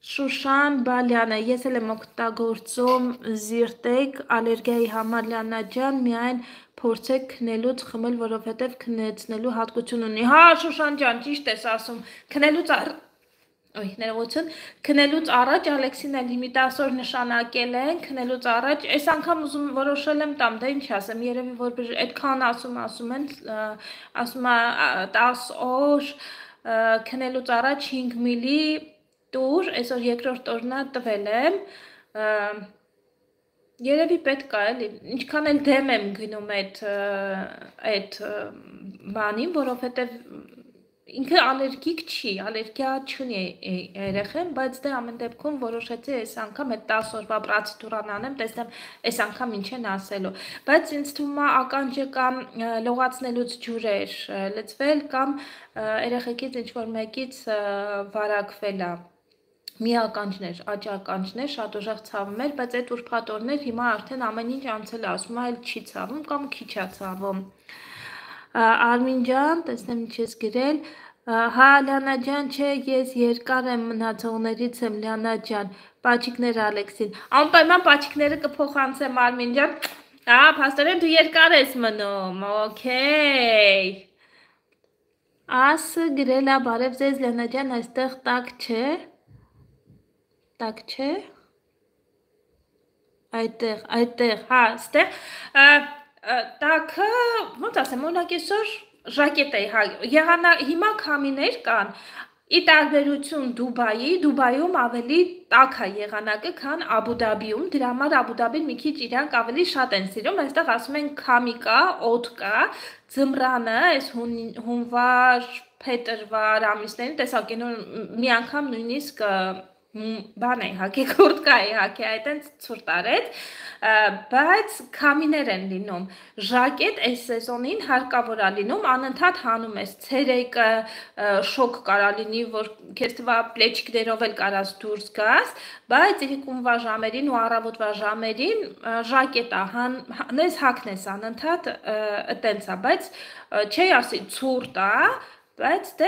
Շուշան Բալյանը, ես էլ եմ օգտագործում զիրտեկ ալերգիայի համար Լիանա ջան, միայն փորձեք քնելուց խմել, որովհետև քնեցնելու հատկություն ունի։ Հա, Շուշան ջան, ճիշտ ես ասում, քնելուց ներողություն, քնելուց առաջ Ալեքսին էլ հիմի 10 օր նշանակել են, քնելուց առաջ, այս անգամ ուզում որոշել եմ տամ, դե ինչ ասեմ, երևի որ այդքան ասում են, ասում է 10 օր քնելուց առաջ 5 միլի տուր, այսօր երկրորդ օրնա տվել եմ, երևի պետք է էլի, ինչքան էլ դեմ եմ գնում այդ բանին, որովհետև ինքը ալերգիկ չի, ալերգիա չունի երեխեն, բայց դե ամեն դեպքում որոշեցի այս անգամ այդ 10 օրվա պրոցեդուրան անեմ, տեսնեմ այս անգամ ինչ են ասելու, բայց ինձ թվում է ականջը կամ լողացնելուց ջուրեր լցվել կամ երեխեքից ինչ-որ մեկից վարակվել է։ Մի ականջներ, աջ ականջներ, շատ ուժեղ ցավում էր, բայց այդ ուրբաթ օրներ հիմա արդեն ամեն ինչ անցել է, ասում է, այլ չի ցավում կամ քիչ է ցավում։ Արմին ջան, տեսնեմ ինչ ես գրել, հա Լիանա ջան, չէ, ես երկար եմ մնացողներից եմ, Լիանա ջան, պաչիկներ Ալեքսին, անպայման պաչիկները կփոխանցեմ Արմին ջան, փաստորեն դու երկար ես մնում, օքեյ, ասը գրել է, բարև ձեզ Լիանա ջան, այստեղ տակ չէ, տակ չէ, այդտեղ, հա, ստեղ, տակը, ոնց ասեմ, օրինակ այսօր ժակետ էի, հիմա քամիներ կան, ի տարբերություն Դուբայում ավելի տաք է եղանակը, քան Աբու Դաբիում, դրա համար Աբու Դաբին մի քիչ իրանք ավելի շատ են սիրում, այստեղ ասում են քամի կա, օդ կա, ձմռանը, այս հունվար, փետրվար ամիսներին, տեսակ մի անգամ նույնիսկ բան է հակե, կուրտկա է հակե, այդենց ցուրտ արեց, բայց քամիներ են լինում, ժակետ այս սեզոնին հարկավոր է լինում, անընդհատ հանում ես, ցերեկը շոկ կարա լինի, որ քեզ թվա պլեչիկներով էլ կարաս դուրս գաս, բայց իրիկունվա ժամերին ու առավոտվա ժամերին ժակետ է, հանես հագնես անընդհատ այտենց է, բայց չի ասի ցուրտ է, բայց դե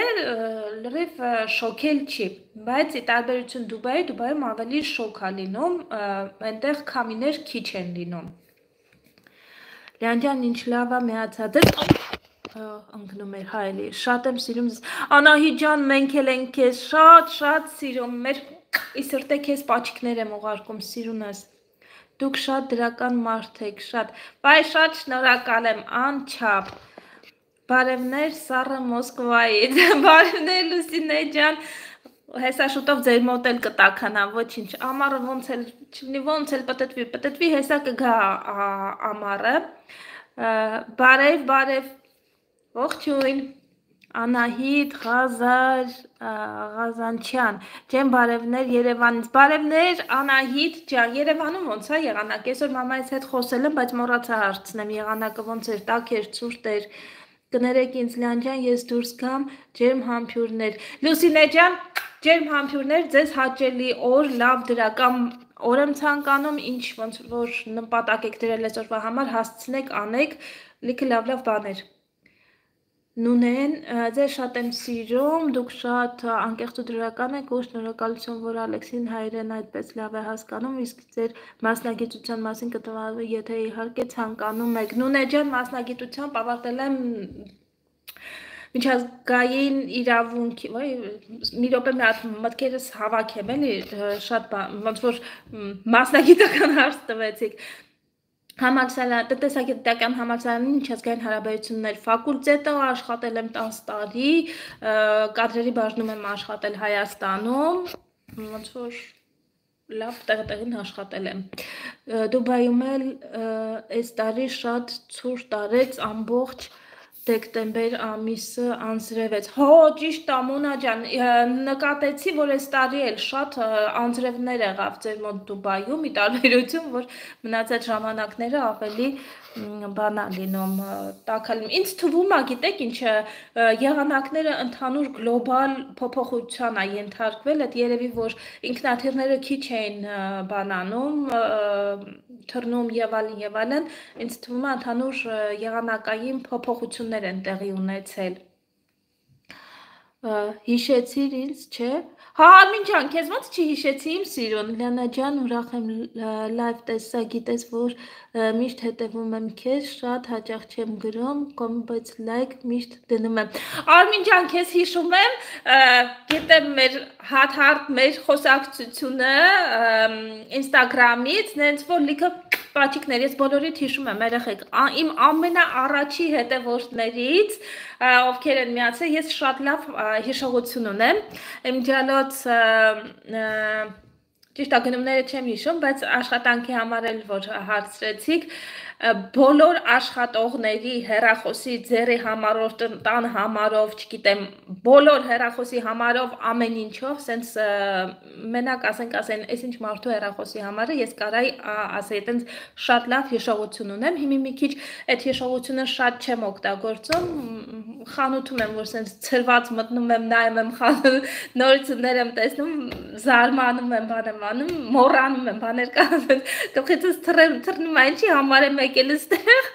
լրիվ շոքել չի, բայց ի տարբերություն Դուբայում ավելի շոք է լինում, այնտեղ քամիներ քիչ են լինում։ Լիան ջան, ինչ լավ է միացած ես, ընկնում էր հայելի, շատ եմ սիրում ձեզ, Անահիտ ջան, մենք էլ ենք քեզ շատ սիրում, մեր ի սրտե քեզ պաչիկներ եմ ուղարկում, սիրուն ես, դուք շատ դրական մարդ եք, բայ շատ շնորհակալ եմ, անչափ, բարևներ Սառը Մոսկվայից, բարևներ Լուսինե ջան, հեսա շուտով ձեր մոտ էլ կտաքանա, ոչինչ, ամառը ոնց էլ պտտվի, հեսա կգա ամառը, բարև, ողջույն, Անահիտ, Ղազանչյան, ջեմ բարևներ Երևանից, բարևներ Անահիտ ջան, Երևանում ոնց է եղանակ, այսօր մամայից հետ խոսել եմ, բայց մոռացա հարցնեմ, եղանակը ոնց էր, տաք էր, ցուրտ էր, կներեք ինձ Լիան ջան, ես դուրս գամ, ջերմ համբույրներ, Լուսինե ջան, ջերմ համբույրներ, ձեզ հաճելի օր, լավ դրական օր եմ ցանկանում, ինչ ոնց որ նպատակ եք դրել այսօրվա համար, հասցնեք, անեք, լիքը լավ բաներ։ Նունեն, ձեզ շատ եմ սիրում, դուք շատ անկեղծ ու դրական եք ու շնորհակալություն, որ Ալեքսին հայրեն այդպես լավ է հասկանում, իսկ ձեր մասնագիտության մասին կտվալու, եթե իհարկե ցանկանում եք։ Նունե ջան, մասնագիտությամբ ավարտել եմ միջազգային իրավունքի, մի րոպե մի հատ մտքերս հավաքեմ, էլի շատ ոնց որ մասնագիտական հարց տվեցիք։ Տնտեսագիտական համալսարանի միջազգային հարաբերություններ ֆակուլտետը աշխատել եմ 10 տարի, կադրերի բաժնում եմ աշխատել Հայաստանում, ոնց որ լավ տեղին աշխատել եմ։ Դուբայում էլ այս տարի շատ ցուրտ արեց, ամբողջ դեկտեմբեր ամիսը անձրևեց, հո ճիշտ է Մոնա ջան, նկատեցի, որ այս տարի էլ շատ անձրևներ եղավ ձեր մոտ Դուբայում, ի տարբերություն, որ մնացած ժամանակները ավելի բանա լինում, տաքալին, ինձ թվում է, գիտեք ինչը, եղանակները ընդհանուր գլոբալ փոփոխության է ենթարկվել, այդ երևի, որ ինքնաթիռները քիչ էին բանանում, թռնում եւ այլն, ինձ թվում է ընդհանուր եղանակային փոփոխություններ են տեղի ունեցել։ Հիշեցիր ինձ, չէ։ Հա, Արմին ջան, քեզ ոնց չհիշեցի իմ սիրուն։ Լիանա ջան, ուրախ եմ լայվ տեսա, գիտես, որ միշտ հետևում եմ քեզ, շատ հաճախ չեմ գրում, բայց լայք միշտ դնում եմ։ Արմին ջան, քեզ հիշում եմ, գիտեմ մեր հատ մեր խոսակցությունը Instagram-ից, նենց որ լիքը պաչիկներ, ես բոլորիդ հիշում եմ, երեխեք, իմ ամենաառաջի հետևորդներից, ովքեր են միացել, ես շատ լավ հիշողություն ունեմ, իմ ջալոց ճիշտ գնումները չեմ հիշում, բայց աշխատանքի համար էլ որ հարցրեցիք, բոլոր աշխատողների հեռախոսի ձեռի համարով, տան համարով, չգիտեմ, բոլոր հեռախոսի համարով, ամեն ինչով, սենց մենակ ասենք, այս ինչ մարդու հեռախոսի համարը, ես կարայի ասեի, այտենց շատ լավ հիշողություն ունեմ, հիմի մի քիչ այդ հիշողությունը շատ չեմ օգտագործում, խանութում եմ, որ սենց ծրված մտնում եմ, նայում եմ նորություններ եմ տեսնում, զարմանում եմ, բան եմ անում, մոռանում եմ, բաներ կան, գլխիցս թռնում այն չի համար եմ եկել ստեղ,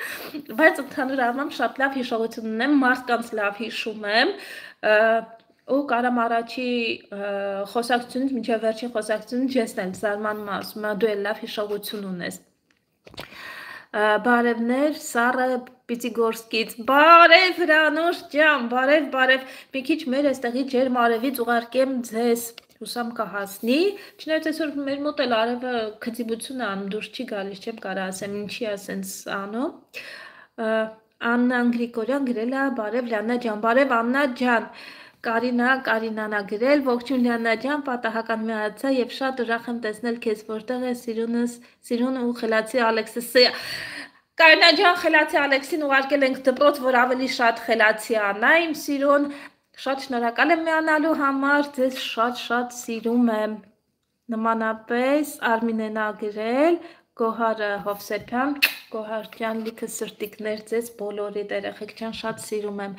բայց ընդհանուր առմամբ շատ լավ հիշողություն ունեմ, մարդկանց լավ հիշում եմ, ու կարամ առաջի խոսակցությունից, մինչև վերջին խոսակցությունից ջեսն էլ զարմանում ասում, դու էլ լավ հիշողություն ունես։ Բարևներ, Սառը Պիտիգորսկից, բարև Հրանուշ ջան, բարև, մի քիչ մեր այստեղի ջերմ արևից ուղարկեմ ձեզ, հուսամ կհասնի, չնայած այսօր մեր մոտ էլ արևը քծիբություն է անում, դուրս չի գալիս, չեմ կարա ասեմ, ինչի է սենց անում, Աննան Գրիգորյան գրել է, բարև Լիանա ջան, բարև Աննա ջան, Կարինանա գրել, ողջույն Լիանա ջան, պատահական միացա եւ շատ ուրախ եմ տեսնել քեզ, որտեղ է սիրուն ու խելացի Ալեքսը։ Կարինա ջան, խելացի Ալեքսին ուղարկել ենք դպրոց, որ ավելի շատ խելացի անա, իմ սիրուն, շատ շնորհակալ եմ միանալու համար, ձեզ շատ սիրում եմ։ Նմանապես Արմինեն ա գրել, Գոհարը Հովսեփյան, Գոհար ջան, լիքը սրտիկներ ձեզ բոլորիդ երեխեք ջան, շատ սիրում եմ։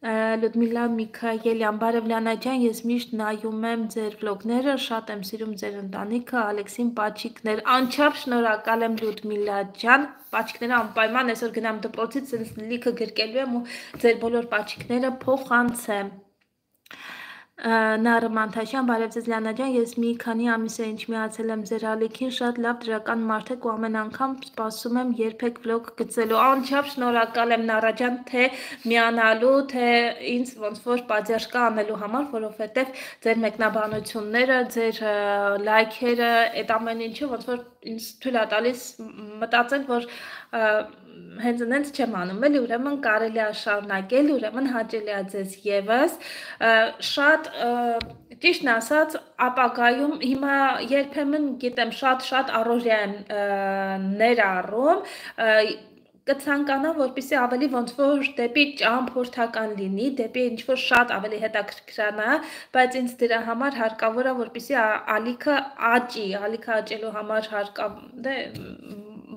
Լյուդմիլա Միքայելյան, բարև Լիանա ջան, ես միշտ նայում եմ ձեր վլոգները, շատ եմ սիրում ձեր ընտանիքը, Ալեքսին պաչիկներ, անչափ շնորհակալ եմ Լյուդմիլա ջան, պաչիկները անպայման այսօր գնամ դպրոցից, ինձ լիքը գրկելու եմ ու ձեր բոլոր պաչիկները փոխանցեմ։ Նարը Մանթաշյան, բարև ձեզ Լիանա ջան, ես մի քանի ամիս է ինչ միացել եմ ձեր ալիքին, շատ լավ դրական մարդ եք ու ամեն անգամ սպասում եմ երբեք վլոգ գցելու, անչափ շնորհակալ եմ Նարա ջան, թե միանալու, թե ինձ ոնց որ պատժկա անելու համար, որովհետև ձեր մեկնաբանությունները, ձեր լայքերը, այդ ամեն ինչը ոնց որ ինձ թույլ է տալիս մտածել, որ հենց նենց չեմ անում, էլի ուրեմն կարելի է շարունակել, ուրեմն հաճելի է ձեզ եւս, շատ ճիշտն ասած, ապագայում հիմա երբեմն գիտեմ շատ առօրյա եմ ներառում, կցանկանամ, որպեսզի ավելի ոնց որ դեպի ճամփորդական լինի, դեպի ինչ որ շատ ավելի հետաքրքրանա, բայց ինձ դրա համար հարկավոր է, որպեսզի ալիքը աճելու համար հարկավոր է,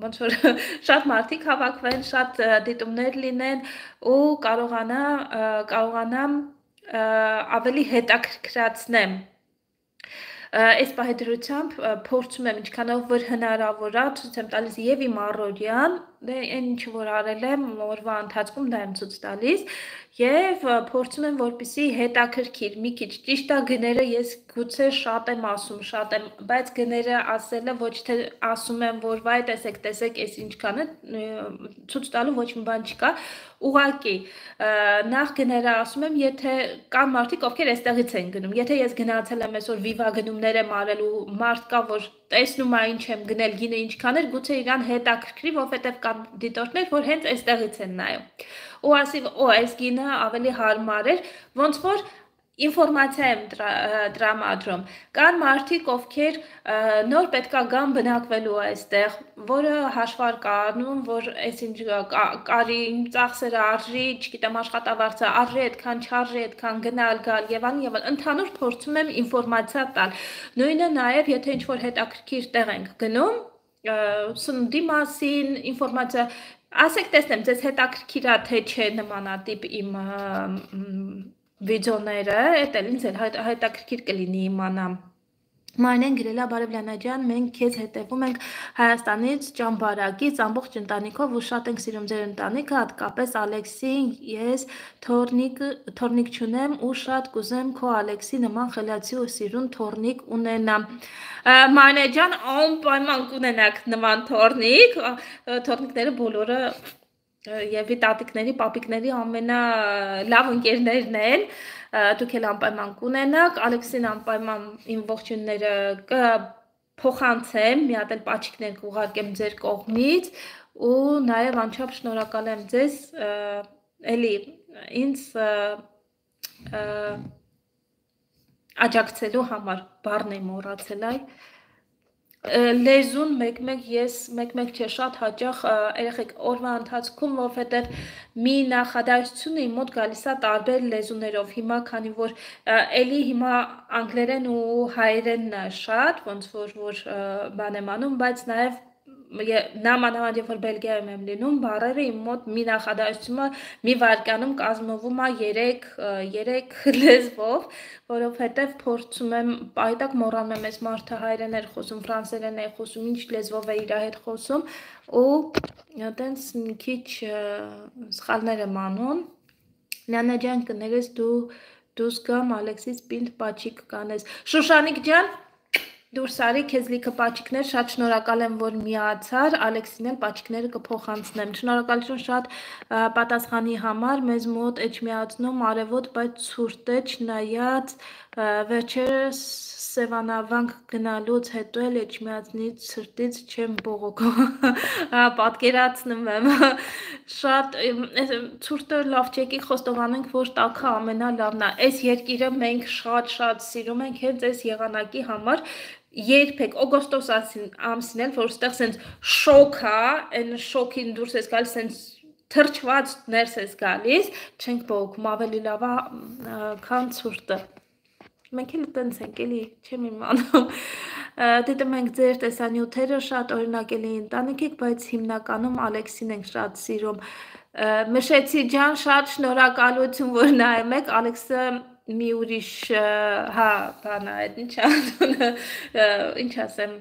ոնց որ շատ մարդիկ հավաքվեն, շատ դիտումներ լինեն ու կարողանամ ավելի հետաքրքրացնեմ այս պահեդրությամբ փորձում եմ ինչքանով որ հնարավոր է, ցույց եմ տալիս եւ իմ առօրյան, այն ինչ որ արել եմ օրվա ընթացքում դա եմ ցույց տալիս եւ փորձում եմ որպեսզի հետաքրքիր մի քիչ ճիշտ է գները ես գուցե շատ եմ ասում, բայց գները ասելը ոչ թե ասում եմ որ վայ տեսեք այս ինչքան է ցույց տալու ոչ մի բան չկա ուղղակի նախ գները ասում եմ եթե կան մարդիկ ովքեր այստեղից են գնում եթե ես գնացել եմ այսօր վիվա գնումներ եմ արել ու մարդ կա որ տեսնում է ինչ եմ գնել գինը ինչքան էր գուցե իրան հետաքրքրի որովհետև կան դիտորդներ որ հենց այստեղից են նայում ու ասի այս գինը ավելի հարմար էր ոնց որ ինֆորմացիա եմ տրամադրում կան մարդիկ ովքեր նոր պետքա գան բնակվելու այստեղ որը հաշվար կանում որ այսինչ կարի ծախսերը արժի չգիտեմ աշխատավարձը արժի այդքան չարժի այդքան գնալ գալ եւ այլն ընդհանուր փորձում եմ ինֆորմացիա տալ նույնը նաեւ եթե ինչ որ հետաքրքիր տեղ ենք գնում սննդի մասին ինֆորմացիա ասեք տեսնեմ ձեզ հետաքրքիր է թե չէ նմանատիպ իմ վիդեոները, էդ էլ ինձ էլ հետաքրքիր կլինի իմանամ Մանեն գրելա Բարևլյանա ջան, մենք քեզ հետևում ենք Հայաստանից, Ճամբարակից, ամբողջ ընտանիքով ու շատ ենք սիրում ձեր ընտանիքը, հատկապես Ալեքսին, ես թորնիկ չունեմ ու շատ կուզեմ քո Ալեքսի նման խելացի ու սիրուն թորնիկ ունենամ։ Մանե ջան, անպայման կունենաք նման թորնիկ, թորնիկները բոլորը Եվի տատիկների, պապիկների ամենալավ ընկերներն են, դուք էլ անպայման կունենաք, Ալեքսին անպայման իմ ողջույնները կփոխանցեմ, մի հատ էլ պաչիկներ կուղարկեմ ձեր կողմից ու նաև անչափ շնորհակալ եմ ձեզ, էլի ինձ աջակցելու համար, բառն եմ մոռացել այ Լեզուն մեկ-մեկ ես մեկ-մեկ չէ շատ հաճախ երեխեք օրվա ընթացքում, որովհետև մի նախադասություն իմ մոտ գալիս է տարբեր լեզուներով։ Հիմա քանի որ էլի հիմա անգլերեն ու հայերենն է շատ, ոնց որ բան եմ անում, բայց նաև նամանավանդ երբ որ Բելգիայում եմ լինում, բառերը իմ մոտ մի նախադասությունը մի վայրկյանում կազմվում է 3 լեզվով, որովհետև փորձում եմ պայտակ մոռանում եմ այս մարդը հայերեն էր խոսում, ֆրանսերեն է խոսում, ինչ լեզվով է իր հետ խոսում ու այտենց մի քիչ սխալներ եմ անում։ Նանա ջան, կներես դուս գամ Ալեքսիս պինդ պաչիկ կանես։ Շուշանիկ ջան Դուրս արի, քեզ լիքը պաչիկներ, շատ շնորհակալ եմ, որ միացար, Ալեքսին էլ պաչիկները կփոխանցնեմ։ Շնորհակալություն շատ պատասխանի համար, մեզ մոտ էջմիածնում արևոտ, բայց ցուրտ է, չնայած վերջերս Սևանավանք գնալուց հետո էլ էջմիածնից ցրտից չեմ բողոքում, պատկերացնում եմ, շատ ցուրտը լավ չեկի խոստովանենք, որ տաքը ամենալավն է, այս երկիրը մենք շատ սիրում ենք հենց այս եղանակի համար, երբեք օգոստոս ամսին էլ, որ ստեղ սենց շոք է, այն շոքին դուրս ես գալիս, սենց թրջված ներս ես գալիս, չենք բողոքում, ավելի լավ է, քան ցուրտը։ Մենք էլ տենց ենք, էլի, չեմ իմանում, դիտում ենք ձեր տեսանյութերը, շատ օրինակելի ընտանիք եք, բայց հիմնականում Ալեքսին ենք շատ սիրում։ Մշեցի ջան, շատ շնորհակալություն, որ նայում եք, Ալեքսը մի ուրիշ, հա, բան է, ինչ ասեմ,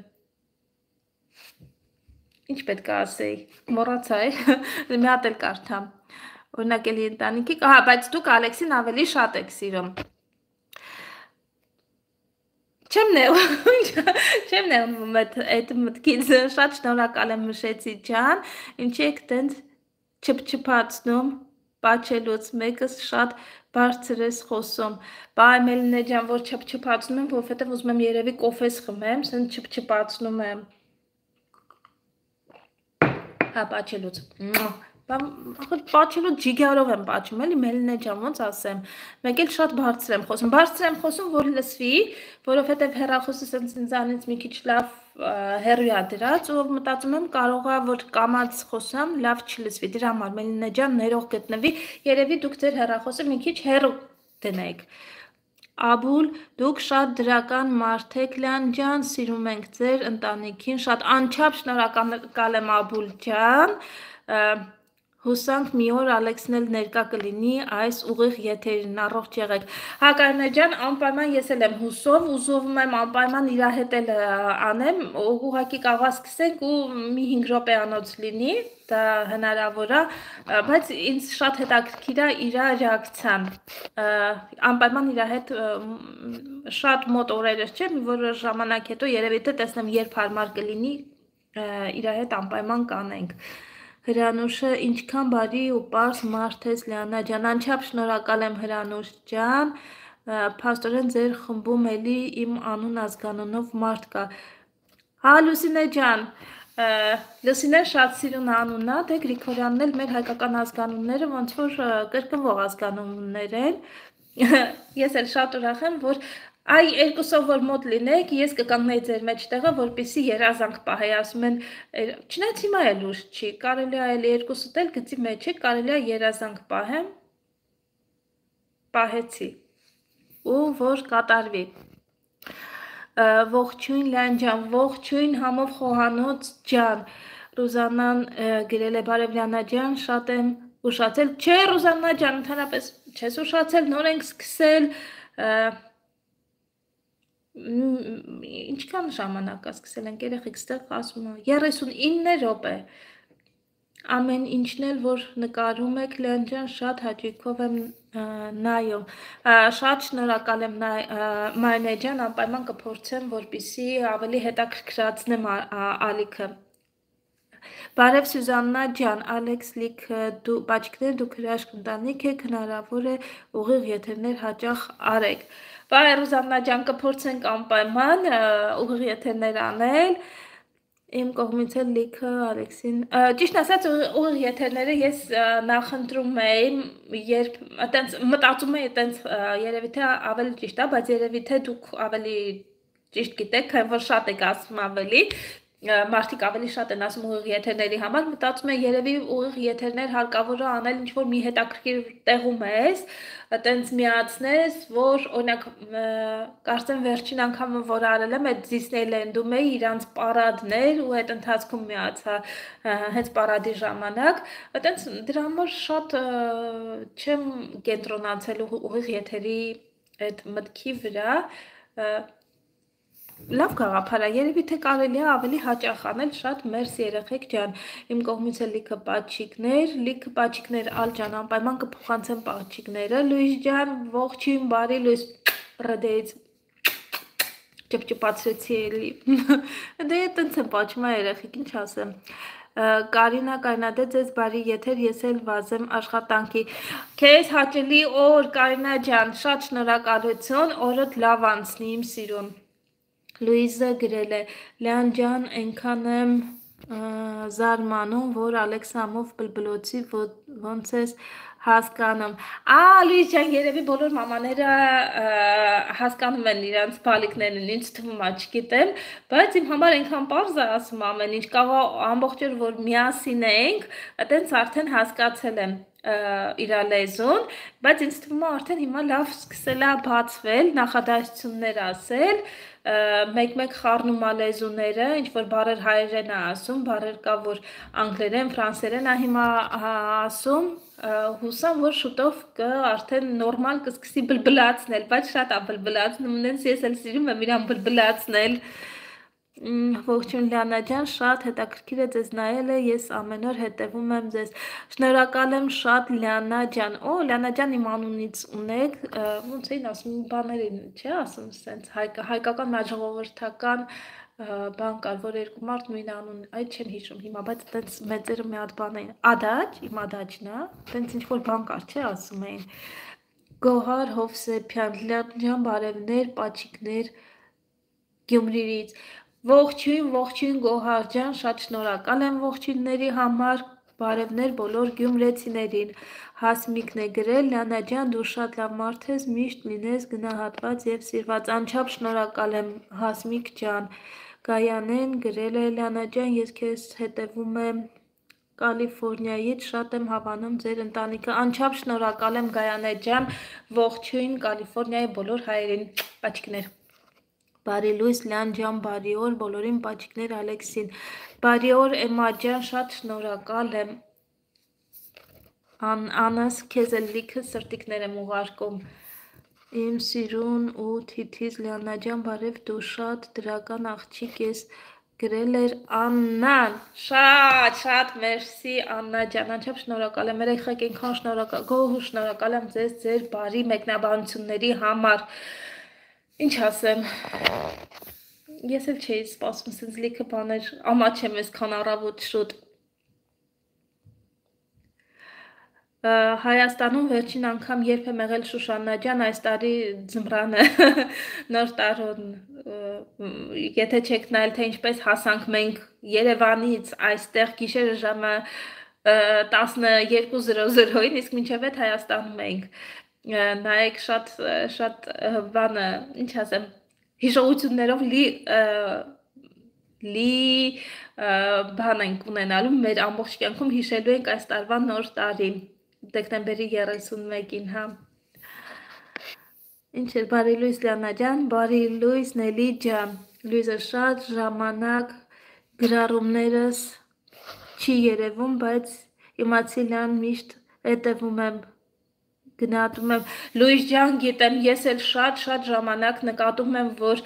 ինչ պետք է ասեի, մոռացա մի հատ էլ կարդամ, օրինակելի ընտանիքի, հա, բայց դուք Ալեքսին ավելի շատ եք սիրում։ Չեմ նեղվում այդ մտքից, շատ շնորհակալ եմ Մշեցի ջան, ինչի եք տենց չփչփացնում, պաչելուց մեկս շատ բարձր ես խոսում, բա Մելինե ջան, որ չփչփացնում եմ, որովհետև ուզում եմ երևի կոֆես խմեմ, սենց չփչփացնում եմ, հա, պաչելուց, պաչելուց ջիգարով եմ պաչում, էլի Մելինե ջան, ոնց ասեմ, մեկ էլ շատ բարձր եմ խոսում, որ լսվի, որովհետև հեռախոսը սենց ինձանից մի քիչ լավ հեռու է դրած ու մտածում եմ կարող է որ կամած խոսամ, լավ չլսվի, դրա համար Մելինե ջան ներող գտնվի, երևի դուք ձեր հեռախոսը մի քիչ հեռու դնեք։ Աբուլ, դուք շատ դրական մարդ եք, Լյան ջան, սիրում ենք ձեր ընտանիքին, շատ անչափ շնորհակալ եմ Աբուլ ջան, հուսանք մի օր Ալեքսն էլ ներկա կլինի այս ուղիղ եթերին, առողջ եղեք։ Հակարնե ջան, անպայման ես էլ եմ հուսով, ուզում եմ անպայման իր հետ էլ անեմ, ուղղակի կարող սկսենք ու մի 5 րոպեանոց լինի, դա հնարավոր է, բայց ինձ շատ հետաքրքիր է իր ռեակցիան։ Անպայման իր հետ շատ մոտ օրերս չէ, մի որ ժամանակ հետո երևի թե տեսնեմ երբ հարմար կլինի, իր հետ անպայման կանենք։ Հրանուշը ինչքան բարի ու պարզ մարդ ես Լիանա ջան, անչափ շնորհակալ եմ Հրանուշ ջան, փաստորեն ձեր խմբում էլի իմ անուն ազգանունով մարդ կա։ Հա Լուսինե ջան, Լուսինեն շատ սիրուն անունն է, դե Գրիգորյանն էլ մեր հայկական ազգանունները ոնց որ կրկնվող ազգանուններ են։ Ես էլ շատ ուրախ եմ, որ Այ երկուսով որ մոտ լինեք, ես կկանգնեի ձեր մեջտեղը, որպեսզի երազանք պահեի, ասում են, չնայած հիմա էլ ուշ չի, կարելի է այլ երկուսդ էլ գծի մեջ է, կարելի է երազանք պահեմ, պահեցի, ու որ կատարվի։ Ողջույն Լյան ջան, ողջույն համով խոհանոց ջան, Ռուզանան գրել է Բարևլյանա ջան, շատ եմ ուշացել, չէ Ռուզաննա ջան, ընդհանրապես չես ուշացել, նոր ենք սկսել, Ինչքան ժամանակ է սկսել ենք երեխեք ստեղ ասում 39 րոպե ամեն ինչն էլ որ նկարում եք Լեան ջան շատ հաճույքով եմ նայում շատ շնորհակալ եմ Մարինե ջան անպայման կփորձեմ որպեսզի ավելի հետաքրքրացնեմ ալիքը Բարև Սյուզաննա ջան, Ալեքս լիք բաճիկներ դուք հրաշք ընտանիք եք, հնարավոր է ուղիղ եթերներ հաճախ արեք։ Բարև Ռուզաննա ջան, կփորձենք անպայման ուղիղ եթերներ անել։ Իմ կողմից էլ լիքը Ալեքսին, ճիշտ ասած ուղիղ եթերները ես նախընտրում էի, երբ այտենց մտածում էի, այտենց երևի թե ավելի ճիշտ է, բայց երևի թե դուք ավելի ճիշտ գիտեք, քան որ շատ եք ասում ավելի մարդիկ ավելի շատ են ասում ուղիղ եթերների համար, մտածում եմ երևի ուղիղ եթերներ հարկավոր է անել ինչ-որ մի հետաքրքիր տեղում ես, այտենց միացնես, որ օրինակ կարծեմ վերջին անգամը որ արել եմ, այդ Disneyland-ում էի իրանց պարադներ ու այդ ընթացքում միացա հենց պարադի ժամանակ, այտենց դրա համար շատ չեմ կենտրոնացել ուղիղ եթերի այդ մտքի վրա, Լավ գաղափար է, երևի թե կարելի է ավելի հաճախ անել, շատ մերսի երեխեք ջան, իմ կողմից է լիքը պաչիկներ ալ ջան, անպայման կփոխանցեմ պաչիկները, Լուիս ջան, ողջույն, բարի Լուիս, ռդեից ճպճպացրեցի էլի, դե տենց եմ պաչում է երեխեք, ինչ ասեմ, Կարինա կայնադե ձեզ բարի եթեր, ես էլ վազեմ աշխատանքի, քեզ հաճելի օր Կարինա ջան, շատ շնորհակալություն, օրդ լավ անցնի իմ սիրուն Լուիզը գրել է Լեան ջան այնքան եմ զարմանում, որ Ալեքսամով բլբլոցի ոնց ես հասկանում Լուիս ջան, երևի բոլոր մամաները հասկանում են իրանց բալիկներն, ինձ թվում է, չգիտեմ, բայց իմ համար այնքան պարզ է ասում ամեն ինչ, կարող ամբողջ օր որ միասին ենք, այտենց արդեն հասկացել եմ իր լեզուն, բայց ինձ թվում է արդեն հիմա լավ սկսել է բացվել, նախադասություններ ասել, մեկ-մեկ խառնում է լեզուները, ինչ որ բառեր հայերեն է ասում, բառեր կա որ անգլերեն, ֆրանսերեն է հիմա ասում, հուսամ որ շուտով արդեն նորմալ կսկսի բլբլացնել, բայց շատ է բլբլացնում, նենց ես էլ սիրում եմ իրան բլբլացնել Ողջույն Լիանա ջան, շատ հետաքրքիր է ձեզ նայելը, ես ամեն օր հետևում եմ ձեզ։ Շնորհակալ եմ շատ Լիանա ջան։ Լիանա ջան իմ անունից ունեք, ոնց էին ասում, բաներին, չէ՞ ասում, սենց հայկական մաժողովրդական բան կար, որ երկու մարդ նույն անուն, այդ չեմ հիշում հիմա, բայց այտենց մեծերը մի հատ բան էին։ Ադաչ, իմ ադաչն է, այտենց ինչ որ բան կար, չէ՞ ասում էին։ Գոհար Հովսեփյան, Լիանա ջան, բարևներ, պաչիկներ Գյումրիից Ողջույն Գոհար ջան, շատ շնորհակալ եմ ողջույնների համար, բարևներ բոլոր գյումրեցիներին, Հասմիկն է գրել, Լիանա ջան, դու շատ լավ մարդ ես, միշտ լինես գնահատված և սիրված, անչափ շնորհակալ եմ Հասմիկ ջան, Գայանեն գրել է, Լիանա ջան, ես քեզ հետևում եմ Կալիֆորնիայից, շատ եմ հավանում ձեր ընտանիքը, անչափ շնորհակալ եմ Գայանե ջան, ողջույն Կալիֆորնիայի բոլոր հայերին, պաչիկներ Բարի Լուիս Լիան ջան, բարի օր, բոլորին պաչիկներ Ալեքսին, բարի օր Էմա ջան, շատ շնորհակալ եմ, Անաս քեզ էլ լիքը սրտիկներ եմ ուղարկում, իմ սիրուն ու թիթիզ Լիանա ջան, բարև դու շատ դրական աղջիկ ես, գրել էր Աննան, շատ մերսի Աննա ջան, անչափ շնորհակալ եմ, երեխեք այնքան շնորհակալ եմ ձեզ ձեր բարի մեկնաբանությունների համար, Ինչ ասեմ, ես էլ չէի սպասում, սենց լիքը բաներ, ամաչեմ այսքան առավոտ շուտ։ Հայաստանում վերջին անգամ երբ եմ եղել Շուշաննա ջան, այս տարի ձմռանը նոր տարուն, եթե չեք նայել, թե ինչպես հասանք մենք Երևանից այստեղ գիշերը ժամը 12:00-ին, իսկ մինչև այդ Հայաստանում ենք, նայեք շատ բանը, ինչ ասեմ, հիշողություններով լի բան ենք ունենալու, մեր ամբողջ կյանքում հիշելու ենք այս տարվա նոր տարին, դեկտեմբերի 31-ին, հա։ Ինչ էր, բարի Լույս Լիանա ջան, բարի Լույս Նելի ջան, Լույսը շատ ժամանակ գրառումներս չի երևում, բայց իմացի Լիան միշտ հետևում եմ Գնահատում եմ Լուիս ջան, գիտեմ, ես էլ շատ ժամանակ նկատում եմ, որ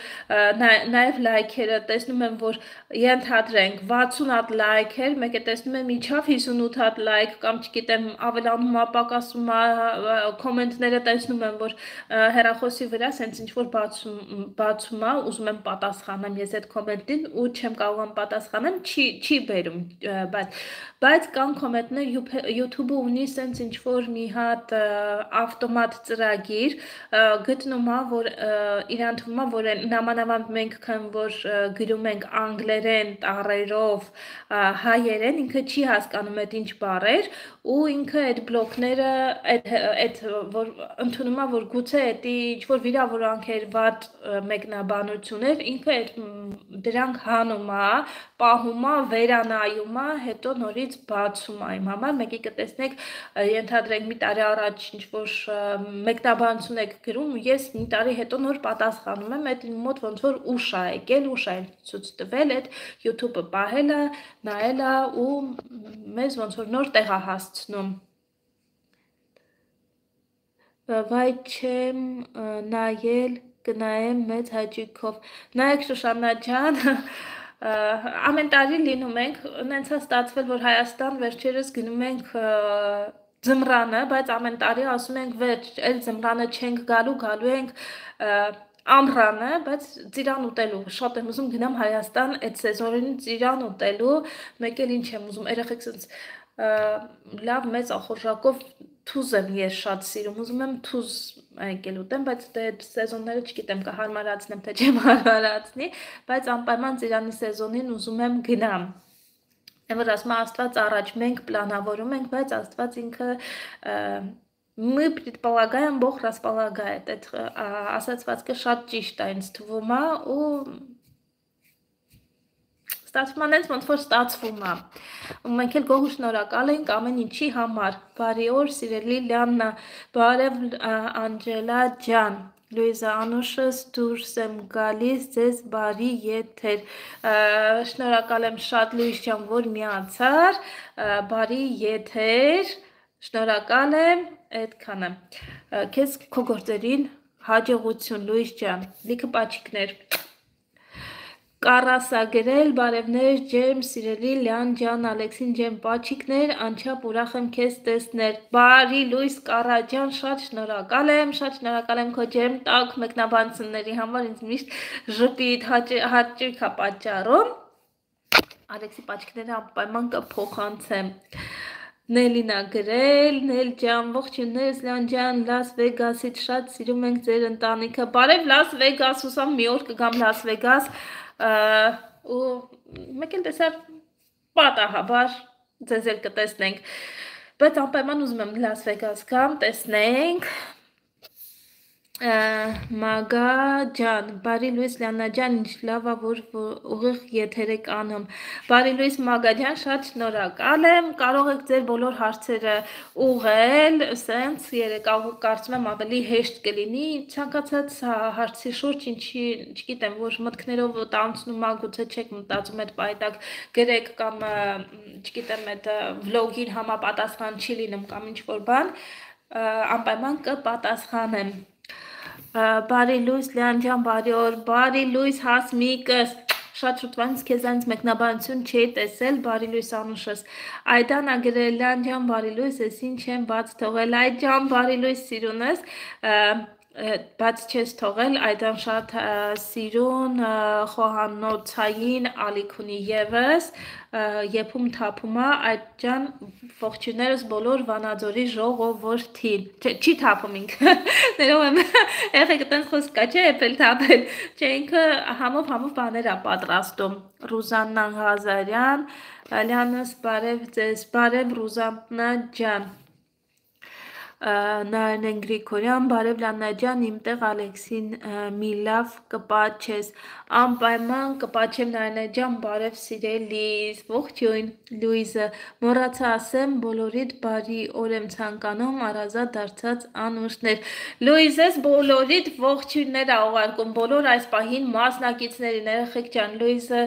նաև լայքերը տեսնում եմ, որ ենթադրենք 60 հատ լայքեր, մեկ է տեսնում եմ իջավ 58 հատ լայք կամ չգիտեմ, ավելանում է, պակասում է, կոմենտները տեսնում եմ, որ հեռախոսի վրա սենց ինչ որ բացում է, ուզում եմ պատասխանեմ ես այդ կոմենտին ու չեմ կարողam պատասխանեմ, չի բերում, բայց կան կոմենտներ YouTube-ը ունի սենց ինչ որ մի հատ ավտոմատ ծրագիր գտնում է, որ իրան թվում է, որ նամանավանդ մենք քան որ գրում ենք անգլերեն տառերով հայերեն, ինքը չի հասկանում այդ ինչ բառեր ու ինքը այդ բլոկները այդ որ ընդունում է, որ գուցե դա ինչ որ վիրավորանքեր, վատ մեկնաբանություններ, ինքը այդ դրանք հանում է, պահում է, վերանայում է, հետո նորից բացում է իմ համար, մեկի կտեսնեք, ենթադրենք մի տարի առաջ ինչ որ մեկնաբանություն եք գրում ու ես մի տարի հետո նոր պատասխանում եմ, այդ իմ մոտ ոնց որ ուշ է եկել, ուշ է ցույց տվել, այդ YouTube-ը պահել է, նայել է ու մեզ ոնց որ նոր տեղ է հասցնում։ Վայ չեմ նայել, կնայեմ մեծ հաճույքով։ Նայեք Շուշաննա ջան, ամեն տարի լինում ենք, նենց է ստացվել, որ Հայաստան վերջերս գնում ենք ձմռանը, բայց ամեն տարի ասում ենք վերջ, այլ ձմռանը չենք գալու ենք ամռանը, բայց ծիրան ուտելու, շատ եմ ուզում գնամ Հայաստան այդ սեզոնին ծիրան ուտելու, մեկ էլ ինչ եմ ուզում, երեխեք սենց լավ մեծ ախորժակով թուզ եմ ես շատ սիրում, ուզում եմ թուզ եկել ուտեմ, բայց այդ սեզոնները չգիտեմ կհարմարացնեմ, թե չեմ հարմարացնի, բայց անպայման ծիրանի սեզոնին ուզում եմ գնամ։ Որ ասում Աստված առաջ մենք պլանավորում ենք, բայց Աստված ինքը мы предполагаем, Бог располагает, այդ ասացվածքը շատ ճիշտ է ինձ թվում է ու ստացվում է նենց ոնց որ ստացվում է։ Ու մենք էլ գոհ շնորհակալ ենք ամեն ինչի համար։ Բարի օր, սիրելի Լիաննա, բարև Անջելա ջան։ Լուիզա Անուշս դուրս եմ գալիս, ձեզ բարի եթեր։ Շնորհակալ եմ շատ Լուիս ջան, որ միացար, բարի եթեր, շնորհակալ եմ, այդքանը։ Քեզ քո գործերին հաջողություն Լուիս ջան, լիքը պաչիկներ։ Կարասագրել, բարևներ ջեմ, սիրելի Լյան ջան, Ալեքսին ջեմ, պաչիկներ, անչափ ուրախ եմ քեզ տեսնել։ Բարի Լույս Կարաջան, շատ շնորհակալ եմ քո ջեմ տակ մեկնաբանությունների համար, ինձ միշտ ժպիտ հաճույք է պատճառում։ Ալեքսի պաչիկները անպայման կփոխանցեմ։ Նելինա գրել, Նել ջան, ողջույններս Լյան ջան, Լաս Վեգասից շատ սիրում ենք ձեր ընտանիքը։ Բարև Լաս Վեգաս, հուսամ մի օր կգամ Լաս Վեգաս ու մեկ էլ տեսար պատահաբար ձեզ էլ կտեսնենք, բայց անպայման ուզում եմ Լաս Վեգաս գամ, տեսնենք։ Մագա ջան, բարի Լուիս Լիաննա ջան, ինչ լավ է, որ ուղիղ եթեր եք անում։ Բարի Լուիս Մագա ջան, շատ շնորհակալ եմ, կարող եք ձեր բոլոր հարցերը ուղղել, սենց կարծում եմ ավելի հեշտ կլինի, ցանկացած հարցի շուրջ, ինչի չգիտեմ, որ մտքներով տանցնում ա, գուցե չեք մտածում այդ պայտակ գրեք կամ չգիտեմ, այդ վլոգին համապատասխան չի լինում կամ ինչ որ բան, անպայման կպատասխանեմ։ Բարի Լույս Լիան ջան, բարի օր, բարի Լույս Հասմիկս, շատ շուտվանից քեզանից մեկնաբանություն չի տեսել, բարի Լույս Անուշս, Այդան ագրել Լիան ջան, բարի Լույս, ես ինչ եմ բաց թողել, այդ ջան, բարի Լույս սիրունս, բաց չես թողել, Այդան շատ սիրուն, խոհանոցային ալիք ունի ևս, եփում թափում է, այդ ջան, ողջույններս բոլոր Վանաձորի ժողովրդին, չի թափում ինքը, ներով եմ, եղեք տենց խոսք կա, չէ եփել թափել, չէ ինքը համով բաներ է պատրաստում, Ռուզաննա Ղազարյան, Լյանս բարև ձեզ, բարև Ռուզաննա ջան, Նարնեն Գրիգորյան, բարև Լիաննա ջան, իմ տեղ Ալեքսին մի լավ կպաչես, անպայման կպաչեմ Նարնե ջան, բարև սիրելիս, ողջույն Լուիզը, մոռացա ասեմ, բոլորիդ բարի օր եմ ցանկանում, առազատ դարձած անուշներ, Լուիզես բոլորիդ ողջույններ ա ուղարկում, բոլոր այս պահին մասնակիցներին, երեխեք ջան, Լուիզը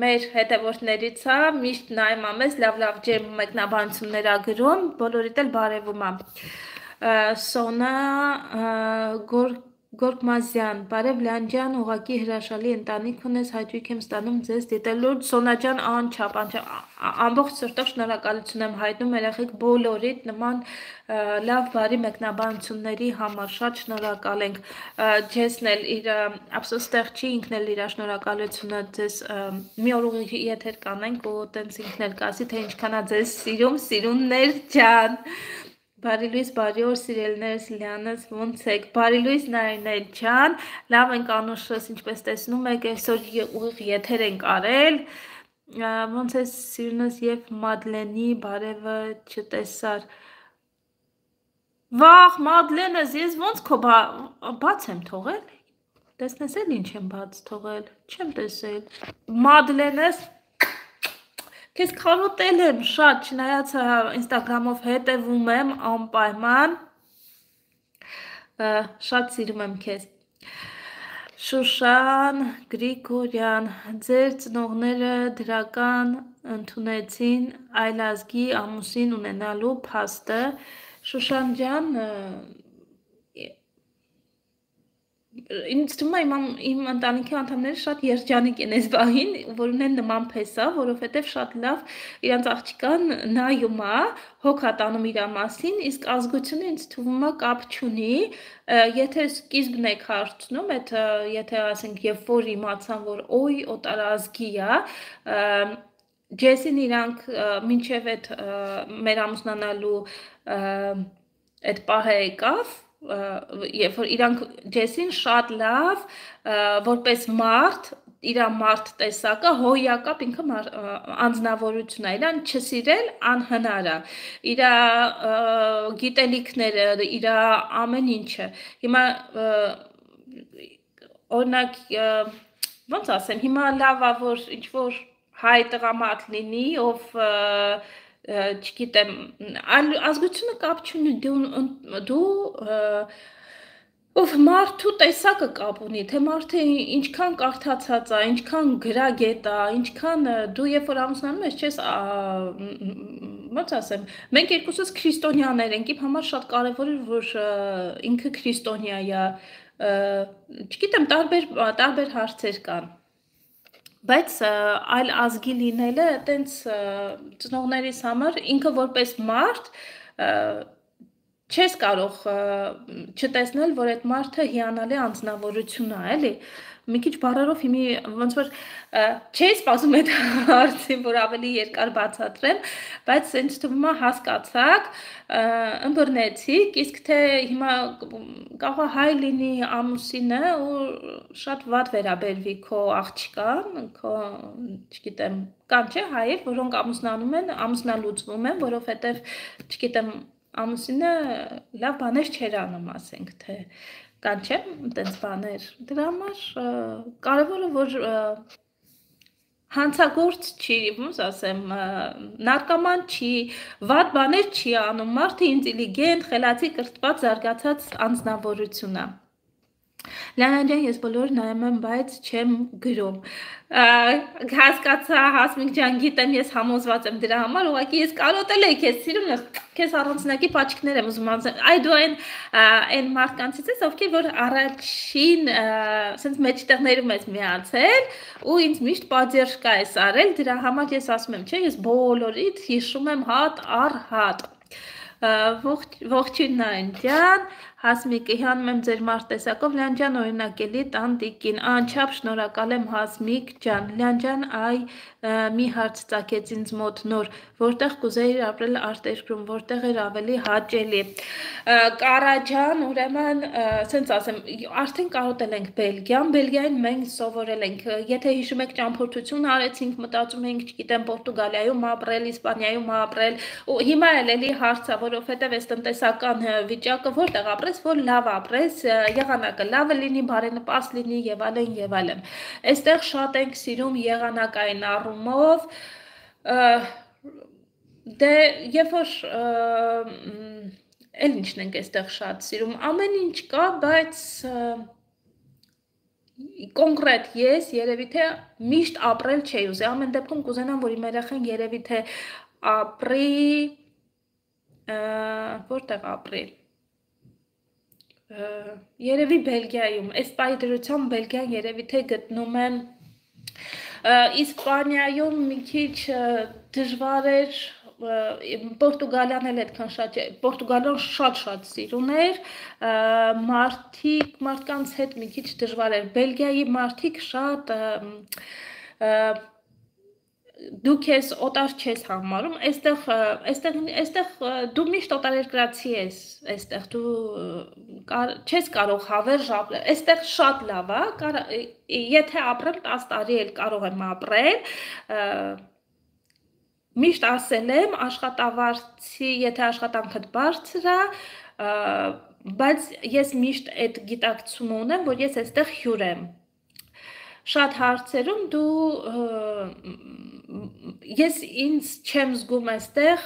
մեր հետևորդներից ա, միշտ նայում ա մեզ, լավ ջեմ մեկնաբանություններ ա գրում, բոլորիդ էլ բարևում ա։ Սոնա Գորգմազյան, բարև Լանջան, ուղակի հրաշալի ընտանիք ունես, հաճույք եմ ստանում ձեզ դիտելու։ Սոնա ջան, անչափ, ամբողջ սրտով շնորհակալություն եմ հայտնում երեխեք բոլորիդ նման լավ բարի մեկնաբանությունների համար, շատ շնորհակալ ենք։ Ջեսն էլ իր ափսոստեղ չի, ինքն էլ իր շնորհակալությունը ձեզ մի օր ուղիղ եթեր կանենք ու տենց ինքն էլ կասի, թե ինչքան է ձեզ սիրում, սիրուններ ջան։ Բարի լույս, բարի օր սիրելիներս, Լիանաս, ոնց եք։ Բարի լույս Նարինե ջան, լավ ենք Անուշս, ինչպես տեսնում եք, այսօր ուղիղ եթեր ենք արել։ Ոնց է սիրունս եւ Մադլենի բարևը չտեսար։ Վախ, Մադլենս, ես ոնց քո բաց եմ թողել։ Տեսնես էլ ինչ եմ բաց թողել, չեմ տեսել։ Մադլենս Քեզ քարոտել եմ շատ, չնայած ինստագրամով հետևում եմ անպայման, շատ սիրում եմ քեզ։ Շուշան Գրիգորյան, ձեր ծնողները դրական ընդունեցին այլազգի ամուսին ունենալու փաստը։ Շուշան ջան, ինձ թվում է իմ ընտանիքի անդամները շատ երջանիկ են այս բանին, որ ունեն նման փեսա, որովհետև շատ լավ իրանց աղջիկան նայում է, հոգ է տանում իր մասին, իսկ ազգությունը ինձ թվում է կապ չունի, եթե սկիզբն եք հարցնում, եթե ասենք երբ որ իմացան, որ օй օտարազգի է, Ջեսին իրանք մինչև այդ մեր ամուսնանալու այդ պահը եկավ, երբ որ իրանք Ջեսին շատ լավ որպես մարդ իր մարդ տեսակը հոյակապ ինքը անձնավորություն է, իրան չսիրել անհնար է, իր գիտելիքները, իր ամեն ինչը։ Հիմա օրինակ ոնց ասեմ, հիմա լավ է որ ինչ որ հայ տղամարդ լինի, ով չգիտեմ, ազգությունը կապ չունի, դու ով մարդու տեսակը կապ ունի, թե մարդը ինչքան կարդացած է, ինչքան գրագետ է, ինչքան դու երբ որ ամուսնանում ես, չես ոնց ասեմ, մենք երկուսս քրիստոնյաներ ենք, իմ համար շատ կարևոր է, որ ինքը քրիստոնյա է, չգիտեմ, տարբեր հարցեր կան։ Բայց այլ ազգի լինելը այտենց ծնողներիս համար ինքը որպես մարդ չես կարող չտեսնել, որ այդ մարդը հիանալի անձնավորություն է, էլի։ Մի քիչ բառերով հիմի ոնց որ չէի սպասում այդ հարցին, որ ավելի երկար բացատրեմ, բայց ինձ թվում է հասկացաք, ըմբռնեցիք, իսկ թե հիմա կարող է հայ լինի ամուսինը ու շատ վատ վերաբերվի քո աղջկան, քո, չգիտեմ, կան չէ հայեր, որոնք ամուսնանում են, ամուսնալուծվում են, որովհետև, չգիտեմ, ամուսինը լավ բաներ չեր անում, ասենք, թե կան չէ, տենց բաներ, դրա համար կարևորը, որ հանցագործ չի, ոնց ասեմ, նարկոման չի, վատ բաներ չի անում, մարդը ինտելիգենտ, խելացի, կրթված, զարգացած անձնավորություն է։ Լիանա ջան, ես բոլոր նայում եմ, բայց չեմ գրում։ Հասկացա, Հասմիկ ջան, գիտեմ, ես համոզված եմ դրա համար, ուղղակի ես կարոտել եի քեզ, սիրում ես, քեզ առանձնակի պաչիկներ եմ ուզում անցնել։ Այ դու այն մարդկանցից ես, ովքեր որ առաջին սենց մեջտեղներում ես միացել ու ինձ միշտ պատժկա ես արել, դրա համար ես ասում եմ, չէ, ես բոլորից հիշում եմ հատ առ հատ։ Ողջույն Նարին ջան, Հասմիկը հանում եմ ձեր մարդ տեսակով, Լիան ջան օրինակելի տան տիկին, անչափ շնորհակալ եմ Հասմիկ ջան, Լիան ջան, այ մի հարց ծագեց ինձ մոտ նոր, որտեղ կուզեիր ապրել արտերկրում, որտեղ էր ավելի հաճելի։ Կարա ջան, ուրեմն, սենց ասեմ, արդեն կարոտել ենք Բելգիան, Բելգիային մենք սովորել ենք, եթե հիշում եք ճամփորդություն արեցինք, մտածում ենք, չգիտեմ, Պորտուգալիայում ապրել, Իսպանիայում ապրել, ու հիմա էլի հարցը, որովհետև այս տնտեսական վիճակը որտեղ ապրես, որ լավ ապրես, եղանակը լավը լինի, բարենպաստ լինի եւ այլն եւ այլն։ Այստեղ շատ ենք սիրում եղանակային առումով, դե երբ որ էլ ինչն ենք այստեղ շատ սիրում, ամեն ինչ կա, բայց կոնկրետ ես երևի թե միշտ ապրել չէի ուզի, ամեն դեպքում կուզենամ, որ իմ երեխան երևի թե ապրի, որտեղ ապրի, երևի Բելգիայում, այս պահի դրությամբ Բելգիան երևի թե գտնում եմ Իսպանիայում մի քիչ դժվար էր Պորտուգալիան էլ այդքան շատ չէ, Պորտուգալիան շատ սիրուն էր, մարդկանց հետ մի քիչ դժվար էր, Բելգիայի մարդիկ շատ դու քեզ օտար չես համարում, այստեղ դու միշտ օտարերկրացի ես, այստեղ դու չես կարող հավերժ ապրել, այստեղ շատ լավ է, եթե ապրեմ 10 տարի էլ կարող եմ ապրել, միշտ ասել եմ, աշխատավարձի, եթե աշխատանքդ բարձր է, բայց ես միշտ այդ գիտակցումը ունեմ, որ ես այստեղ հյուր եմ, շատ հարցերում դու ես ինձ չեմ զգում այստեղ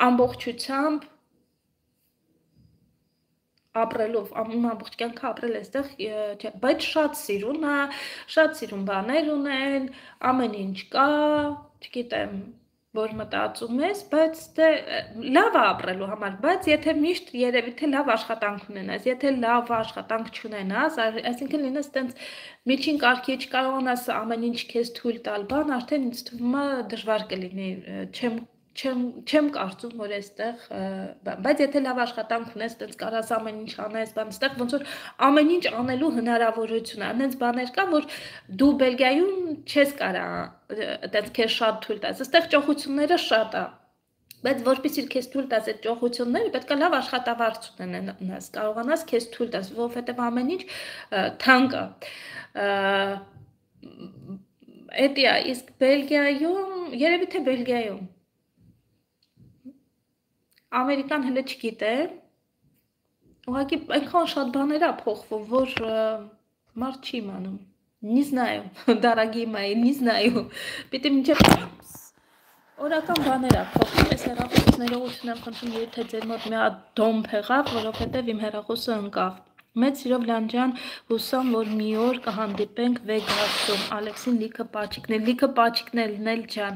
ամբողջությամբ ապրելով, ամբողջ կյանքը ապրել այստեղ, բայց շատ սիրուն բաներ ունեն, ամեն ինչ կա, չգիտեմ, որ մտածում ես, բայց լավ է ապրելու համար, բայց եթե միշտ երևի թե լավ աշխատանք ունենաս, եթե լավ աշխատանք չունենաս, այսինքն լինես տենց միջին կարգի չկարողանաս ամեն ինչ քեզ թույլ տալ բան, արդեն ինձ թվում է դժվար կլինի, չեմ կարծում, որ այստեղ, բայց եթե լավ աշխատանք ունես, տենց կարաս ամեն ինչ անես, բան, այստեղ ոնց որ ամեն ինչ անելու հնարավորություն է, այնց բաներ կա, որ դու Բելգիայում չես կարա, տենց քեզ շատ թույլ տաս, այստեղ ճոխությունները շատ է, բայց որպեսզի քեզ թույլ տաս այդ ճոխությունները, պետք է լավ աշխատավարձ ունենաս, կարողանաս քեզ թույլ տաս, որովհետև ամեն ինչ թանկ է, էդի է, իսկ Բելգիայում, երևի թե Բելգիայում, Ամերիկան հենց չգիտեմ, ուղղակի այնքան շատ բաներ է փոխվում, որ մարդ չի իմանում, не знаю, дорогие мои, не знаю, պիտի մինչև օրական բաներ է փոխվում, այս հեռախոսներողություն եմ խնդրում, եթե ձեր մոտ մի հատ դոմբ եղավ, որովհետև իմ հեռախոսը ընկավ, մեծ սիրով Լանջան, հուսամ, որ մի օր կհանդիպենք Վեգասում, Ալեքսին լիքը պաչիկներն էլ ջան,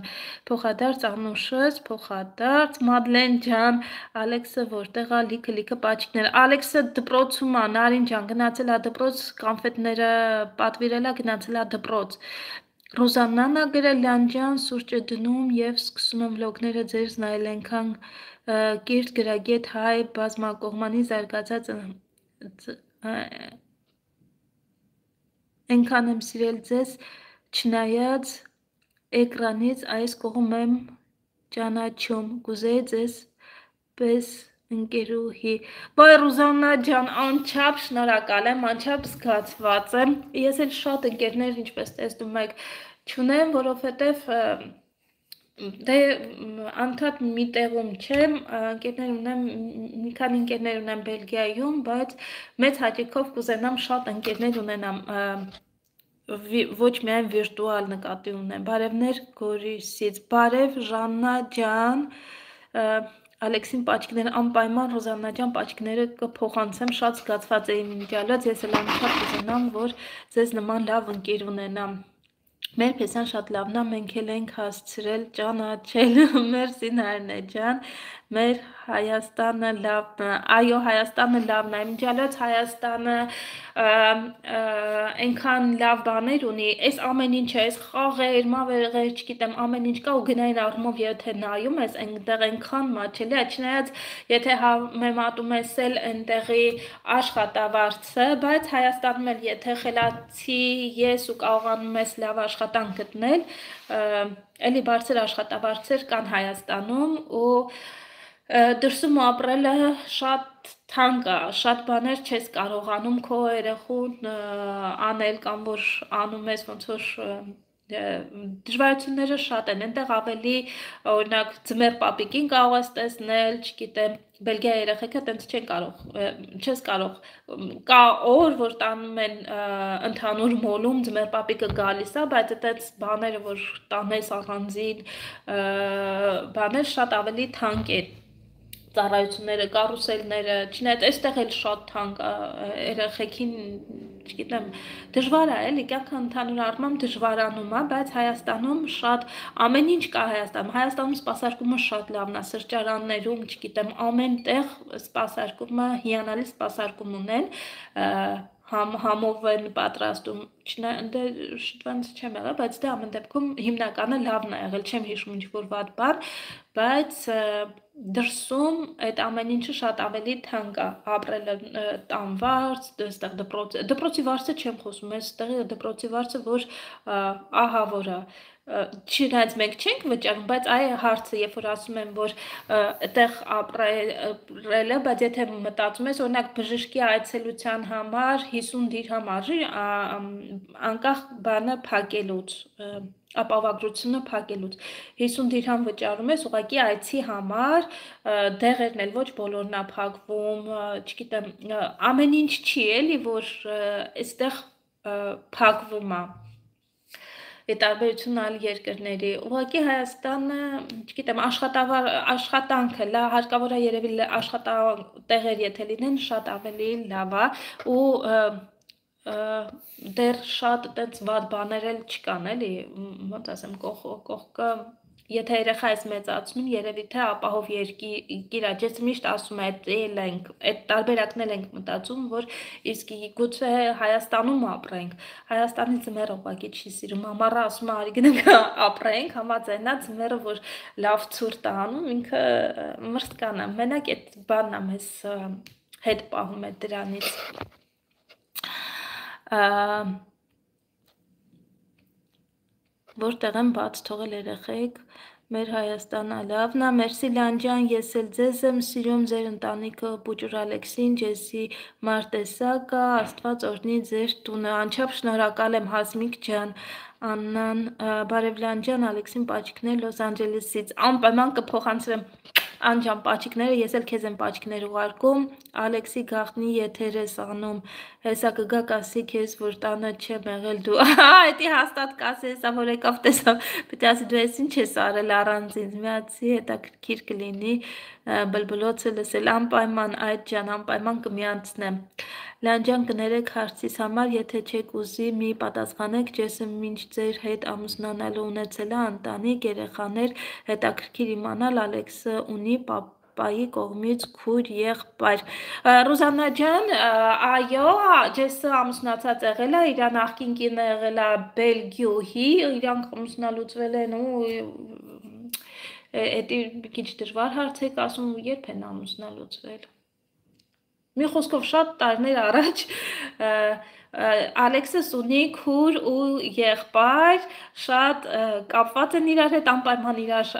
փոխադարձ Անուշս, փոխադարձ Մադլեն ջան, Ալեքսը որտեղ է լիքը պաչիկներ, Ալեքսը դպրոցում է, Նարին ջան, գնացել է դպրոց, կոնֆետները պատվիրել է, գնացել է դպրոց, Ռոզաննան է գրել Լանջան, սուրճը դնում և սկսում եմ վլոգները ձեզ նայել այնքան կիրթ գրագետ հայ բազմակողմանի զարգացած Այնքան եմ սիրել ձեզ, չնայած էկրանից այս կողմ եմ ճանաչում, կուզեի ձեզ պես ընկերուհի, բայ Ռուզաննա ջան, անչափ շնորհակալ եմ, անչափ զգացված եմ, ես էլ շատ ընկերներ, ինչպես տեսնում եք, չունեմ, որովհետև դե անդադ մի տեղում չեմ, ընկերներ ունեմ, մի քանի ընկերներ ունեմ Բելգիայում, բայց մեծ հաճույքով կուզենամ շատ ընկերներ ունենամ, ոչ միայն վիրտուալ նկատի ունեմ, բարևներ Գորիսից, բարև Ժաննա ջան, Ալեքսին պաչիկները անպայման Ռոզաննա ջան պաչիկները կփոխանցեմ, շատ զգացված էի մինչալած, ես էլ անչափ կուզենամ, որ ձեզ նման լավ ընկեր ունենամ, մեր փեսան շատ լավն է, մենք էլ ենք հասցրել ճանաչել, մերսի Նարինե ջան, մեր Հայաստանը լավն է, այո Հայաստանը լավն է, մինչալած Հայաստանը այնքան լավ բաներ ունի, այս ամեն ինչը, այս խաղեր, մավերեղեր, չգիտեմ, ամեն ինչ կա ու գնային առումով եթե նայում ես, այնտեղ այնքան մաչելի է, չնայած եթե համեմատում ես էլ այնտեղի աշխատավարձը, բայց Հայաստանում էլ եթե խելացի ես ու կարողանում ես լավ աշխատանք գտնել, էլի բարձր աշխատավարձեր կան Հայաստանում ու դրսում ապրելը շատ թանկ է, շատ բաներ չես կարողանում քո երեխուն անել կամ որ անում ես ոնց որ դժվարությունները շատ են, այնտեղ ավելի օրինակ ձմեռ պապիկին կարող ես տեսնել, չգիտեմ, Բելգիա երեխեքը տենց չես կարող, կա օր, որ տանում են ընդհանուր մոլում, ձմեռ պապիկը գալիս է, բայց այդպես բաները, որ տանես առանձին բաներ շատ ավելի թանկ են, ծառայությունները, կարուսելները, չնայած այստեղ էլ շատ թանկ երեխեքին չգիտեմ, դժվար է, էլի կյանքը ընդհանուր առմամբ դժվարանում է, բայց Հայաստանում շատ ամեն ինչ կա Հայաստանում։ Հայաստանում սպասարկումը շատ լավն է, սրճարաններում, չգիտեմ, ամեն տեղ սպասարկումը հիանալի սպասարկում ունեն, համով են պատրաստում, դե շուտվանց չեմ եղել, բայց դե ամեն դեպքում հիմնականը լավն է եղել, չեմ հիշում ինչ-որ վատ բան, բայց դրսում այդ ամեն ինչը շատ ավելի թանկ է, ապրելը տան վարձ, այստեղ դպրոցի վարձը չեմ խոսում, այստեղ դպրոցի վարձը, որ ահա որ է, չնայած մենք չենք վճարում, բայց այ հարցը, երբ որ ասում եմ, որ այդտեղ ապրելը, բայց եթե մտածում ես, օրինակ բժշկի այցելության համար 50 դիրհամ արժի, անկախ բանը փակելուց, ապահովագրությունը փակելուց 50 դիրհամ վճարում ես ուղղակի այցի համար, դեղերն էլ ոչ բոլորն է փակվում, չգիտեմ, ամեն ինչ չի էլի, որ այստեղ փակվում է։ Տարբերություն այլ երկրների, ուղղակի Հայաստանը, չգիտեմ, աշխատանքը, հարկավոր է երևի աշխատատեղեր եթե լինեն, շատ ավելի լավ է ու դեռ շատ այդպես վատ բաներ էլ չկան, էլի, ոնց ասեմ, կողքը, եթե երեխա ես մեծացնում, երևի թե ապահով երկիր է, ես միշտ ասում եմ, այդ տարբերակներ ենք մտածում, որ իսկ գուցե Հայաստանում ապրենք, Հայաստանի ձմեռը ուղղակի չի սիրում, ամառը ասում է արի գնանք ապրենք, համաձայնա ձմեռը, որ լավ ցուրտ է անում, ինքը մրցկան է, մենակ այդ բանն է մեզ հետ պահում է դրանից։ Որտեղ եմ բաց թողել երեխեք, մեր Հայաստանը լավն է, մերսի Լանջան, ես էլ ձեզ եմ սիրում, ձեր ընտանիքը Պուճուր Ալեքսին, Ջեսի Մարտեսակը, Աստված օրհնի ձեր տունը, անչափ շնորհակալ եմ Հասմիկ ջան, Աննան, Բարև Լանջան, Ալեքսին պաչիկներ Լոս Անջելեսից, անպայման կփոխանցեմ անջան պաչիկները, ես էլ քեզ եմ պաչիկներ ուղարկում, Ալեքսի գաղտնի եթեր ես անում, հեսա կգա կասի քեզ, որ տանը չեմ եղել դու, այդի հաստատ կասի, հեսա որ եկավ տեսավ, պետք ասի դու ես ինչ ես արել առանց ինձ, միացի հետաքրքիր կլինի, բլբլոցը լսել, անպայման այդ ջան, անպայման կմիացնեմ, Լանջան կներեք հարցիս համար, եթե չեք ուզի մի պատասխանեք, ջեսը մինչ ձեր հետ ամուսնանալու ունեցել է ընտանիք, երեխաներ, հետաքրքիր իմանալ Ալեքսը ունի պապայի կողմից քույր եղբայր։ Ռուզաննա ջան, այո, ջեսը ամուսնացած եղել է, իր նախկին կինը եղել է Բելգիոհի, իրանք ամուսնալուծվել են ու էդի քիչ դժվար հարց եք ասում, երբ են ամուսնալուծվել։ Մի խոսքով շատ տարիներ առաջ Ալեքսս ունի քուր ու եղբայր, շատ կապված են իրար հետ, անպայման իրար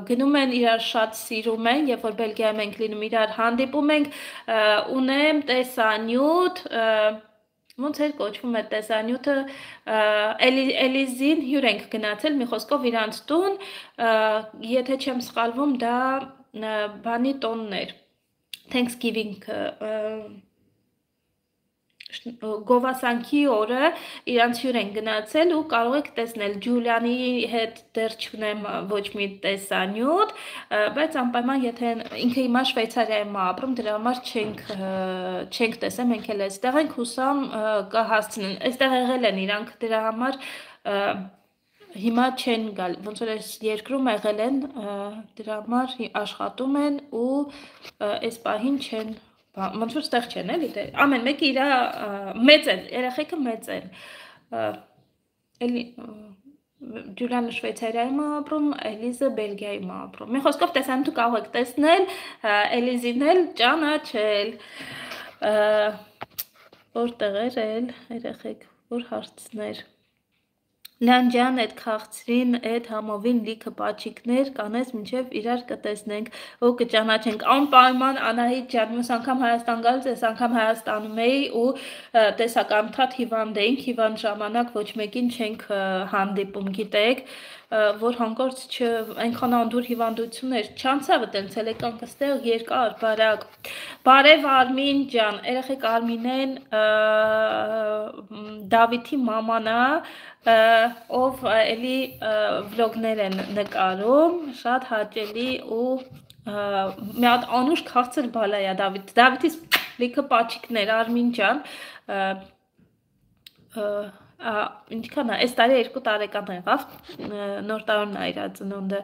գնում են, իրար շատ սիրում են, երբ որ Բելգիայում ենք լինում, իրար հանդիպում ենք, ունեմ տեսանյութ, ոնց էր կոչվում այդ տեսանյութը, Էլիզին հյուր ենք գնացել, մի խոսքով իրանց տուն, եթե չեմ սխալվում, դա բանի տոնն էր, Thanksgiving գովասանքի օրը իրանց հյուր են գնացել ու կարող եք տեսնել Ջուլիանի հետ դեռ չունեմ ոչ մի տեսանյութ, բայց անպայման եթե ինքը հիմա Շվեյցարիայում է ապրում, դրա համար չենք տեսել, մենք էլ այստեղ ենք, հուսամ կհասցնեն, այստեղ եղել են իրանք դրա համար հիմա չեն գալ, ոնց որ այս երկրում եղել են, դրա համար աշխատում են ու այս պահին չեն, ոնց որ ստեղ չեն էլի, ամեն մեկը իր մեծ են, երեխեքը մեծ են, Ջուլիանը Շվեյցարիայում է ապրում, Էլիզը Բելգիայում է ապրում, մի խոսքով տեսանյութը կարող եք տեսնել, Էլիզին էլ ճանաչել, որտեղ էր էլ երեխեք, որ հարցներ Լանջան այդ քաղցրին, այդ համովին լիքը պաչիկներ կանես մինչև իրար կտեսնենք ու կճանաչենք անպայման Անահիտ ջան, մյուս անգամ Հայաստան գալուց, այս անգամ Հայաստանում էի ու տեսակ անդադ հիվանդ էինք, հիվանդ ժամանակ ոչ մեկին չենք հանդիպում, գիտեք, որ հանկարծ այնքան անդուր հիվանդություն էր, չանցավ տենց էլ եկանք ստեղ երկար, բարակ, բարև Արմին ջան, երեխեք Արմինեն Դավիթի մաման է, ով էլի վլոգներ են նկարում, շատ հաճելի ու մի հատ անուշ քաղցր բալա է Դավիթիս լիքը պաչիկներ, Արմին ջան, ինչքան է, այս տարի 2 տարեկան եղավ, նոր տարին ա իրա ծնունդը։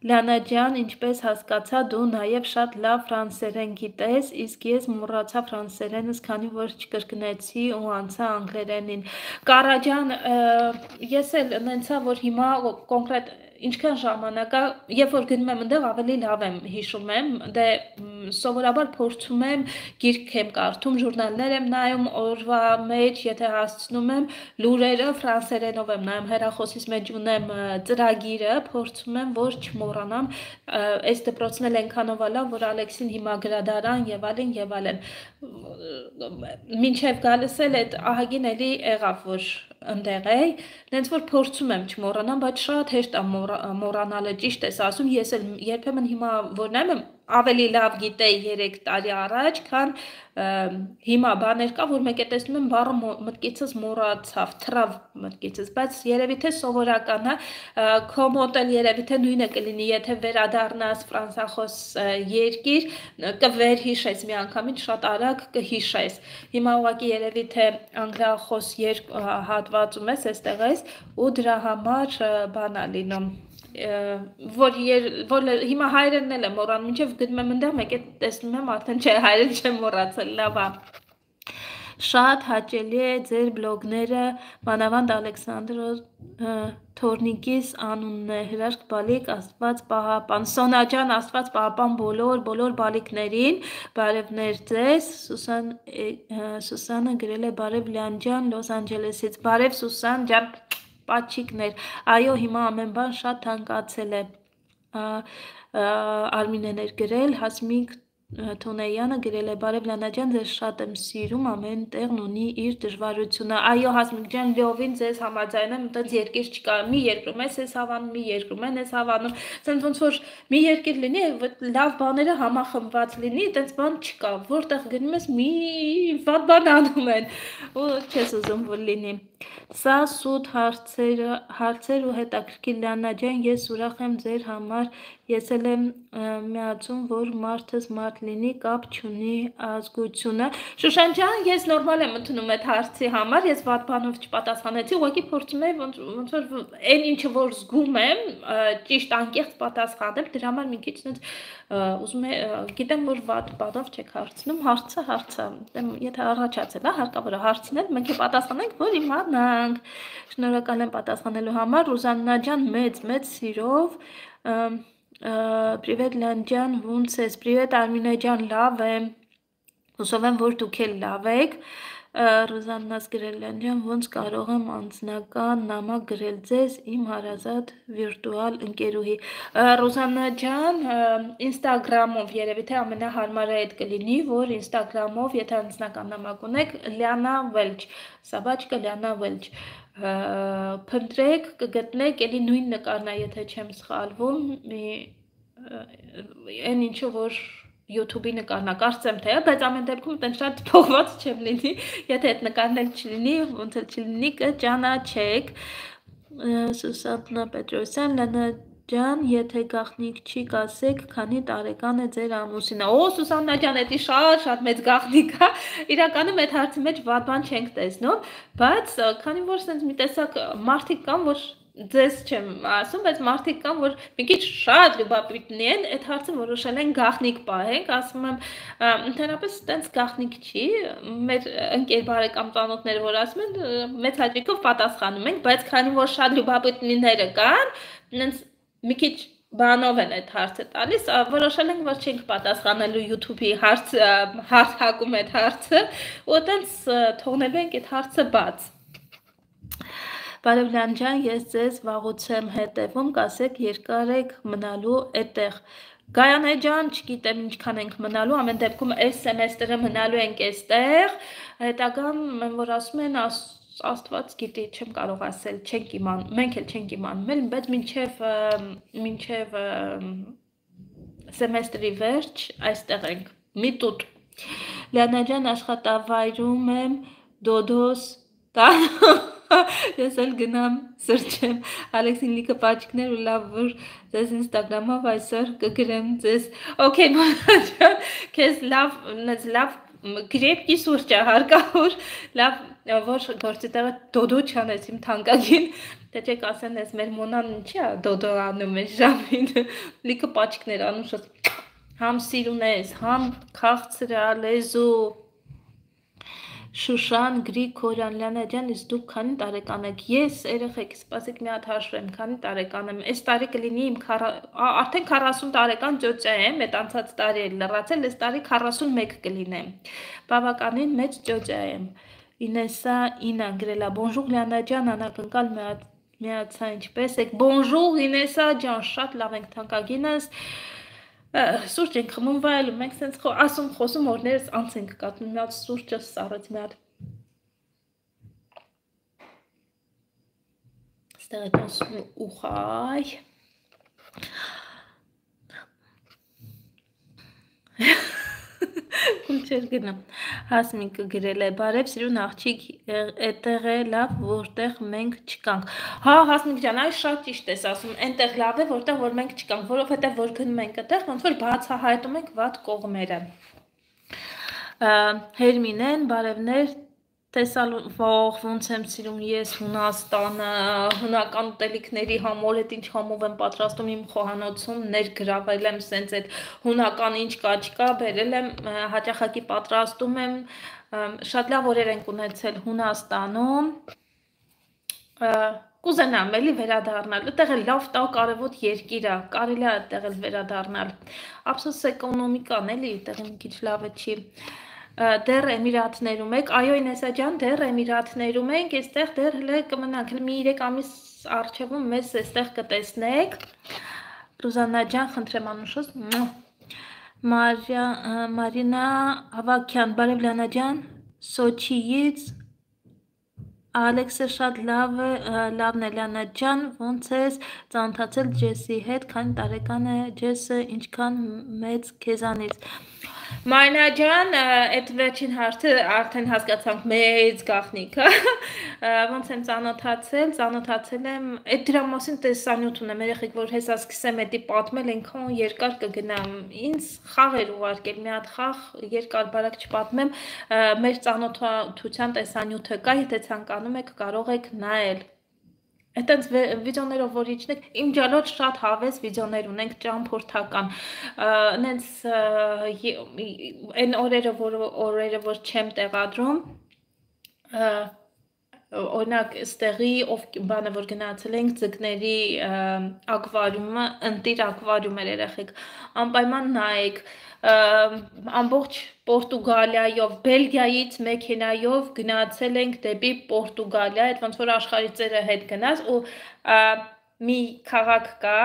Լիանա ջան, ինչպես հասկացա, դու նաև շատ լավ ֆրանսերեն գիտես, իսկ ես մոռացա ֆրանսերենս, քանի որ չկրկնեցի ու անցա անգլերենին։ Կարա ջան, ես էլ նենցա, որ հիմա կոնկրետ ինչքան ժամանակ է, երբ որ գնում եմ ընդեղ ավելի լավ եմ հիշում եմ, դե սովորաբար փորձում եմ գիրք եմ կարդում, ժուրնալներ եմ նայում, օրվա մեջ, եթե հասցնում եմ, լուրերը ֆրանսերենով եմ նայում, հեռախոսիս մեջ ունեմ ծրագիրը, փորձում եմ, որ չմոռանամ, այս դպրոցն էլ այնքանով լավ, որ Ալեքսին հիմա գրադարան եւ այլն, մինչև գալիս էլ այդ ահագին էլի եղավ, որ ընդեղ էի, նենց որ փորձում եմ չմոռանամ, բայց շատ հեշտ է մոռանալը, ճիշտ ես ասում, ես էլ երբեմն հիմա որ նայում եմ ավելի լավ գիտեի 3 տարի առաջ, քան հիմա բաներ կա, որ մեկ է տեսնում եմ բառը մտքիցս մոռացավ, թռավ մտքիցս, բայց երևի թե սովորական է, քո մոտ էլ երևի թե նույնը կլինի, եթե վերադառնաս ֆրանսախոս երկիր, կվերհիշես միանգամից շատ արագ կհիշես։ Հիմա ուղղակի երևի թե անգլիախոս հատվածում ես, այստեղ ես, ու դրա համար բան է լինում։ Որ հիմա հայրենն էլ եմ մոռանում, մինչև գնում եմ ընդեղ, մեկ է տեսնում եմ, արդեն չէ, հայրեն չեմ մոռացել, լավ է։ Շատ հաճելի է ձեր բլոգները, մանավանդ Ալեքսանդր Թորնիկիս անունն է, հրաշք բալիկ, Աստված պահապան, Սոնա ջան, Աստված պահապան բոլոր բալիկներին, բարևներ ձեզ, Սուսանը գրել է բարև Լիան ջան, Լոս Անջելեսից, բարև Սուսան ջան, պաչիկներ, այո, հիմա ամեն բան շատ թանկացել է, Արմինեն էր գրել, Հասմիկ Թոնեյանը գրել է բարև Լիանա ջան, ձեզ շատ եմ սիրում, ամեն տեղն ունի իր դժվարությունը, այո Հասմիկ ջան, լիովին ձեզ համաձայն եմ, այդպես երկիր չկա, մի երկրում ես հավանում, մի երկրում են ես հավանում, ցենց ոնց որ մի երկիր լինի, լավ բաները համախմբված լինի, այդպես բան չկա, որտեղ գնում ես մի վատ բան անում են, ու չես ուզում որ լինի։ Սա սուտ հարցեր ու հետաքրքիր Լիանա ջան, ես ուրախ եմ ձեր համար, ես էլ եմ միացում, որ մարդս մարդ լինի, կապ չունի ազգությունը։ Շուշան ջան, ես նորմալ եմ ընդունում այդ հարցի համար, ես վատ բանով չպատասխանեցի, ուղղակի փորձում եմ ոնց որ այն ինչը որ զգում եմ, ճիշտ անկեղծ պատասխանել, դրա համար մի քիչ ուզում եմ, գիտեմ որ վատ բանով չեք հարցնում, հարցը, եթե առաջացել է, հարկավոր է հարցնել, մենք է պատասխանենք, որ իմանանք։ Շնորհակալ եմ պատասխանելու համար, Ռուզաննա ջան, մեծ սիրով, Պրիվետ Լիան ջան, ոնց ես, պրիվետ Արմինե ջան, լավ եմ, հուսով եմ, որ դուք էլ լավ եք, Ռուզաննաս գրել Լիան ջան, ոնց կարող եմ անձնական նամակ գրել ձեզ, իմ հարազատ վիրտուալ ընկերուհի, Ռուզաննա ջան, ինստագրամով երևի թե ամենահարմարը այդ կլինի, որ ինստագրամով, եթե անձնական նամակ ունեք, Լիանա Welch, Սաբաչկա Լիանա Welch, փնտրեք, կգտնեք, էլի նույն նկարն է, եթե չեմ սխալվում, այն ինչը որ YouTube-ի նկարն է, կարծեմ թե, բայց ամեն դեպքում այդպես շատ փոխված չեմ լինի, եթե այդ նկարն էլ չլինի, ոնց էլ չլինի, կճանաչեք, Սուսաննա Պետրոսյան, Լիանա ջան, եթե գաղտնիք չի կասեք, քանի տարեկան է ձեր ամուսինը, Սուսաննա ջան, դա շատ մեծ գաղտնիք է, իրականում այդ հարցի մեջ վատ բան չենք տեսնում, բայց քանի որ sense մի տեսակ մարդիկ կան, որ ձեզ չեմ ասում, բայց մարդիկ կան, որ մի քիչ շատ լուբապիտնի են, այդ հարցը որոշել են գաղտնիք պահենք, ասում եմ, ընդհանրապես այդպես գաղտնիք չի, մեր ընկեր բարեկամ ծանոթները, որ ասում են, մեծ հաճույքով պատասխանում ենք, բայց քանի որ շատ լուբապիտնիները կան, նենց մի քիչ բանով են այդ հարցը տալիս, որոշել ենք, որ չենք պատասխանելու YouTube-ի հարցակում այդ հարցը, ու այդպես թողնելու ենք այդ հարցը բաց։ Բարև Լիան ջան, ես ձեզ վաղուց եմ հետևում, կասեք երկար եք մնալու այդտեղ։ Գայանե ջան, չգիտեմ ինչքան ենք մնալու, ամեն դեպքում այս սեմեստրը մնալու ենք այստեղ, հետագան որ ասում են Աստված գիտի, չեմ կարող ասել, չենք իմանում, մենք էլ չենք իմանում, բայց մինչև սեմեստրի վերջ այստեղ ենք, մի տուտ։ Լիանա ջան, աշխատավայրում եմ, Դոդոս տան ես էլ գնամ սրճեմ, Ալեքսին լիքը պաչիկներ ու լավ որ ձեզ ինստագրամով այսօր կգրեմ ձեզ, օքեյ մանա ջան, քեզ լավ գրեպկի սուրճ է հարկավոր, լավ, որ գործի տեղը դոդո չանես իմ թանկագին, թե չեք ասեն ես մեր մոնան ինչի է դոդո անում ես ժամին, լիքը պաչիկներ անում շոտ, համ սիրուն ես, համ քաղցրա, լեզու, Շուշան Գրիգորյան Լիանա ջան, իսկ դուք քանի տարեկան եք։ Ես երեխեք, սպասեք մի հատ հաշվեմ, քանի տարեկան եմ։ Այս տարի կլինի իմ արդեն 40 տարեկան ծոցա եմ, այդ անցած տարի էլ լրացել, այս տարի 41 կլինեմ։ Բավականին մեծ ծոցա եմ։ Ինեսա Ինա գրելա, Bonjour Լիանա ջան, անակնկալ միացա ինչպես եք։ Bonjour Ինեսա ջան, շատ լավ ենք թանկագինս։ Սուրճ ենք խմում վայելում, մենք սենց ասում խոսում օրներս անց ենք կատնում, մի հատ սուրճը սառեց մի հատ ստեղ եք ասում ուխայ Կուլչեր գնամ, հասմիկը գրել է, բարև սիրուն աղջիկ էտեղ է լավ, որտեղ մենք չկանք, հա հասմիկ ջան, այս շատ ճիշտ ես ասում, այնտեղ լավ է, որտեղ որ մենք չկանք, որովհետև որ գնում ենք այդտեղ, ոնց որ բացահայտում ենք վատ կողմերը, Հերմինեն, բարևներ, Տեսալոնիկ ոնց եմ սիրում ես Հունաստանը, հունական ուտելիքների համոր, ինչ համով եմ պատրաստում իմ խոհանոցում, ներգրավել եմ սենց այդ հունական ինչ կա չկա, բերել եմ, հաճախակի պատրաստում եմ, շատ լավ օրեր ենք ունեցել Հունաստանում, կուզենամ էլի վերադառնալ, այդտեղ էլ լավ տակ արևոտ երկիր է, կարելի է այդտեղ էլ վերադառնալ, ափսոս էկոնոմիկան էլի, այդտեղ մի քիչ լավը չի Դեռ Էմիրատներում եք, այո Ինեսա ջան, դեռ Էմիրատներում ենք, այստեղ դեռ հլը կմնանք, մի 3 ամիս առջևում մեզ այստեղ կտեսնեք, Ռուզաննա ջան, խնդրեմ անուշոս, Մարինա Ավակյան, բարև Լիանա ջան, Սոչիից, Ալեքսը շատ լավն է Լիանա ջան, ոնց ես ծանոթացել Ջեսի հետ, քանի տարեկան է Ջեսը, ինչքան մեծ քեզանից Մարինա ջան, այդ վերջին հարցը արդեն հասկացանք մեծ գաղտնիքը, ոնց եմ ծանոթացել եմ, այդ դրա մասին տեսանյութ ունեմ, երեխեք, որ հեսա սկսեմ էդի պատմել, այնքան երկար կգնամ, ինձ խաղ էր ուղարկել, մի հատ խաղ, երկար բարակ չպատմեմ, մեր ծանոթության տեսանյութը կա, եթե ցանկանում եք, կարող եք նայել Այդտենց վիդեոներով որ իջնեք, իմ ջալոտ շատ հավես վիդեոներ ունենք ճամփորդական, նենց այն օրերը, որ չեմ տեղադրում, օրինակ ստեղի բանը որ գնացել ենք ձկների ակվարիումը, ընտիր ակվարիում էր երեխեք, անպայման նայեք, ամբողջ Պորտուգալիայով, Բելգիայից մեքենայով գնացել ենք դեպի Պորտուգալիա, այդ ոնց որ աշխարհի ծերը հետ գնաց ու մի քաղաք կա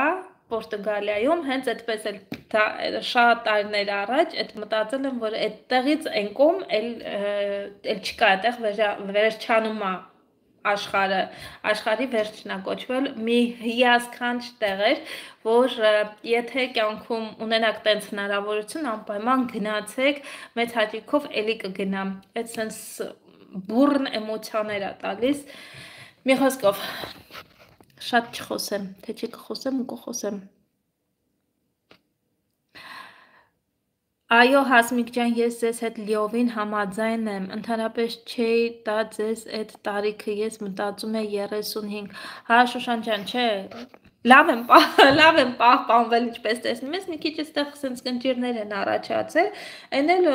Պորտուգալիայում, հենց այդպես էլ շատ տարիներ առաջ այդ մտածել եմ, որ այդտեղից այն կողմ էլ չկա, այդտեղ վերջանում է աշխարհի վերջնա կոչվել մի հիասքանչ տեղ էր, որ եթե կյանքում ունենաք տենց հնարավորություն, անպայման գնացեք, մեծ հաճույքով էլի կգնամ, այդ սենց բուրն էմոցիաներ է տալիս, մի խոսքով, շատ չխոսեմ, թե չի կխոսեմ ու կխոսեմ Այո, Հասմիկ ջան, ես ձեզ հետ լիովին համաձայն եմ, ընդհանրապես չէի տա ձեզ այդ տարիքը, ես մտածում եմ 35, հա Շուշան ջան, չէ, լավ եմ պահպանվել, ինչպես տեսնում ես, մի քիչ այստեղ սենց կնճիրներ են առաջացել, այն էլ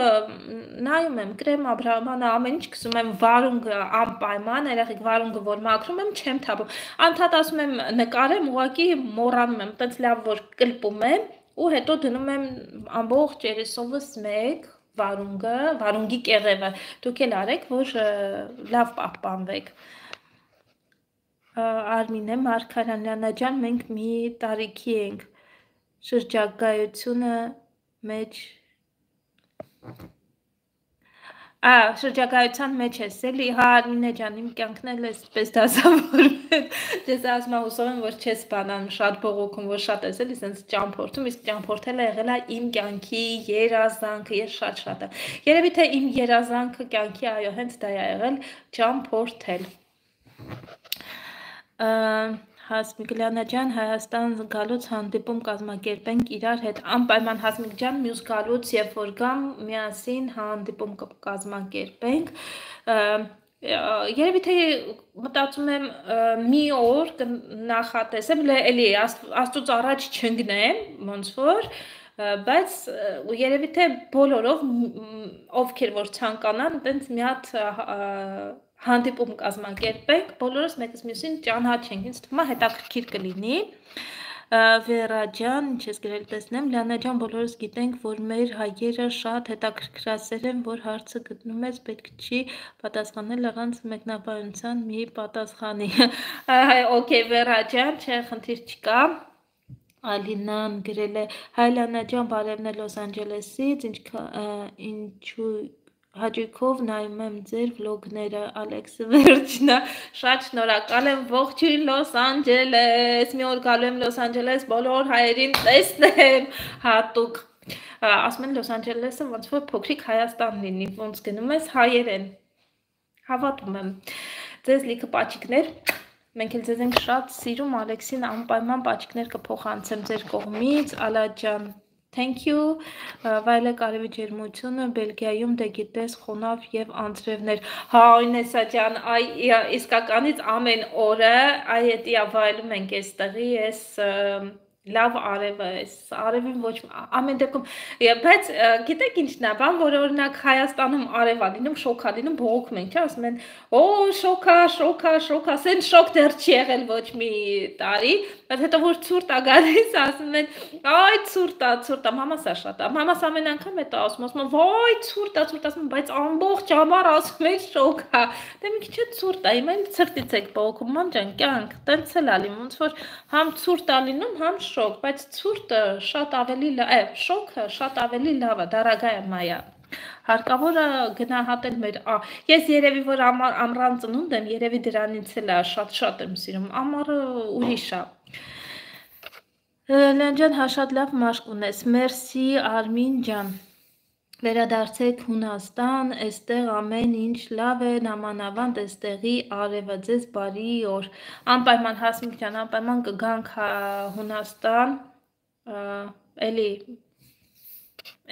նայում եմ, կրեմ Աբրահամանը, ամեն ինչ կսում եմ վարունգը անպայման, երեխեք վարունգը որ մաքրում եմ, չեմ թափում, անդադ ասում եմ նկարեմ, ուղղակի մոռանում եմ, տենց լավ որ կլպում եմ, ու հետո դնում եմ ամբողջ երեսովս մեկ վարունգի կեղևը, դուք էլ արեք, որ լավ պահպանվեք Արմինե Մարգարյան Լիանա ջան, մենք մի տարիքի ենք շրջագայությունը մեջ շրջագայության մեջ ես էլի, հա Արմինե ջան, իմ կյանքն էլ էսպես դասավորում եմ, ես ասում եմ հուսով եմ, որ չես բանան շատ բողոքում, որ շատ ես էլի, սենց ճամփորդում, իսկ ճամփորդելը եղել է իմ կյանքի երազանքը, ես շատ եմ, երևի թե իմ երազանքը կյանքի, այո, հենց դա է եղել ճամփորդել Հասմիկ Լիանա ջան, Հայաստան գալուց հանդիպում կազմակերպենք իրար հետ, անպայման Հասմիկ ջան, մյուս գալուց երբ որ գամ, միասին հանդիպում կազմակերպենք, երևի թե մտածում եմ մի օր կնախատեսեմ, էլի Աստծուց առաջ չընկնեմ, ոնց որ, բայց երևի թե բոլորով ովքեր որ ցանկանան, տենց մի հատ հանդիպում կազմակերպենք, բոլորս մեկս մյուսին ճանաչենք, ինձ թվում է հետաքրքիր կլինի։ Վերա ջան, ինչ ես գրել տեսնեմ, Լիանա ջան, բոլորս գիտենք, որ մեր հայերը շատ հետաքրքրասեր են, որ հարցը գտնում ես, պետք չի պատասխանել առանց մեկնաբանության մի պատասխանի։ Okay, Վերա ջան, չէ, խնդիր չկա։ Ալինան գրել է, հայ Լիանա ջան, բարևներ Լոս Անջելեսից, ինչու հաճույքով նայում եմ ձեր վլոգները, Ալեքսը վերջնա, շատ շնորհակալ եմ, ողջույն Լոս Անջելես, մի օր գալու եմ Լոս Անջելես, բոլոր հայերին տեսնեմ, հատուկ, ասում են Լոս Անջելեսը ոնց որ փոքրիկ Հայաստան լինի, ոնց գնում ես հայերեն, հավատում եմ, ձեզ լիքը պաչիկներ, մենք էլ ձեզ ենք շատ սիրում, Ալեքսին անպայման պաչիկներ կփոխանցեմ ձեր կողմից, Ալա ջան, Thank you, վայելե կարևի ջերմությունը, Բելգիայում դե գիտես խոնավ և անձրևներ, հա Ինեսա ջան, իսկականից ամեն օրը, այ հետիա վայելում ենք ես տեղի, ես լավ արևը, արևին ոչ ամեն դեպքում, բայց գիտեք ինչն է, բան, որ օրինակ Հայաստանում արևա լինում, շոքա լինում, բողոքում ենք, չէ, ասում են, շոքա, սեն շոք դեռ չի եղել ոչ մի տարի, բայց հետո որ ցուրտ է գալիս, ասում են, այ ցուրտ է, մամաս է շատ է, մամաս ամեն անգամ հետո ասում, վայ ցուրտ է, ասում, բայց ամբողջ ամառ ասում են շոքա, դե մի քիչ ցուրտ է, հիմա ցրտից եք բողոքում, ման ջան, կյանք, տենց էլ է լինում, ոնց որ համ ցուրտ է լինում, համ շոք, բայց ցուրտը շատ ավելի լավ է, շոքը շատ ավելի լավ է, դարագայ մայա։ Հարկավոր է գնահատել մեր, ես երևի որ ամռան ծնունդ եմ, երևի դրանից էլ է շատ եմ սիրում, ամառը ուրիշ է։ Լիան ջան, հա շատ լավ մաշկ ունես, մերսի Արմին ջան, վերադարձեք Հունաստան, էստեղ ամեն ինչ լավ է, նամանավանդ էստեղի արևը ձեզ բարի օր, անպայման Հասմիկ ջան, անպայման կգանք Հունաստան, էլի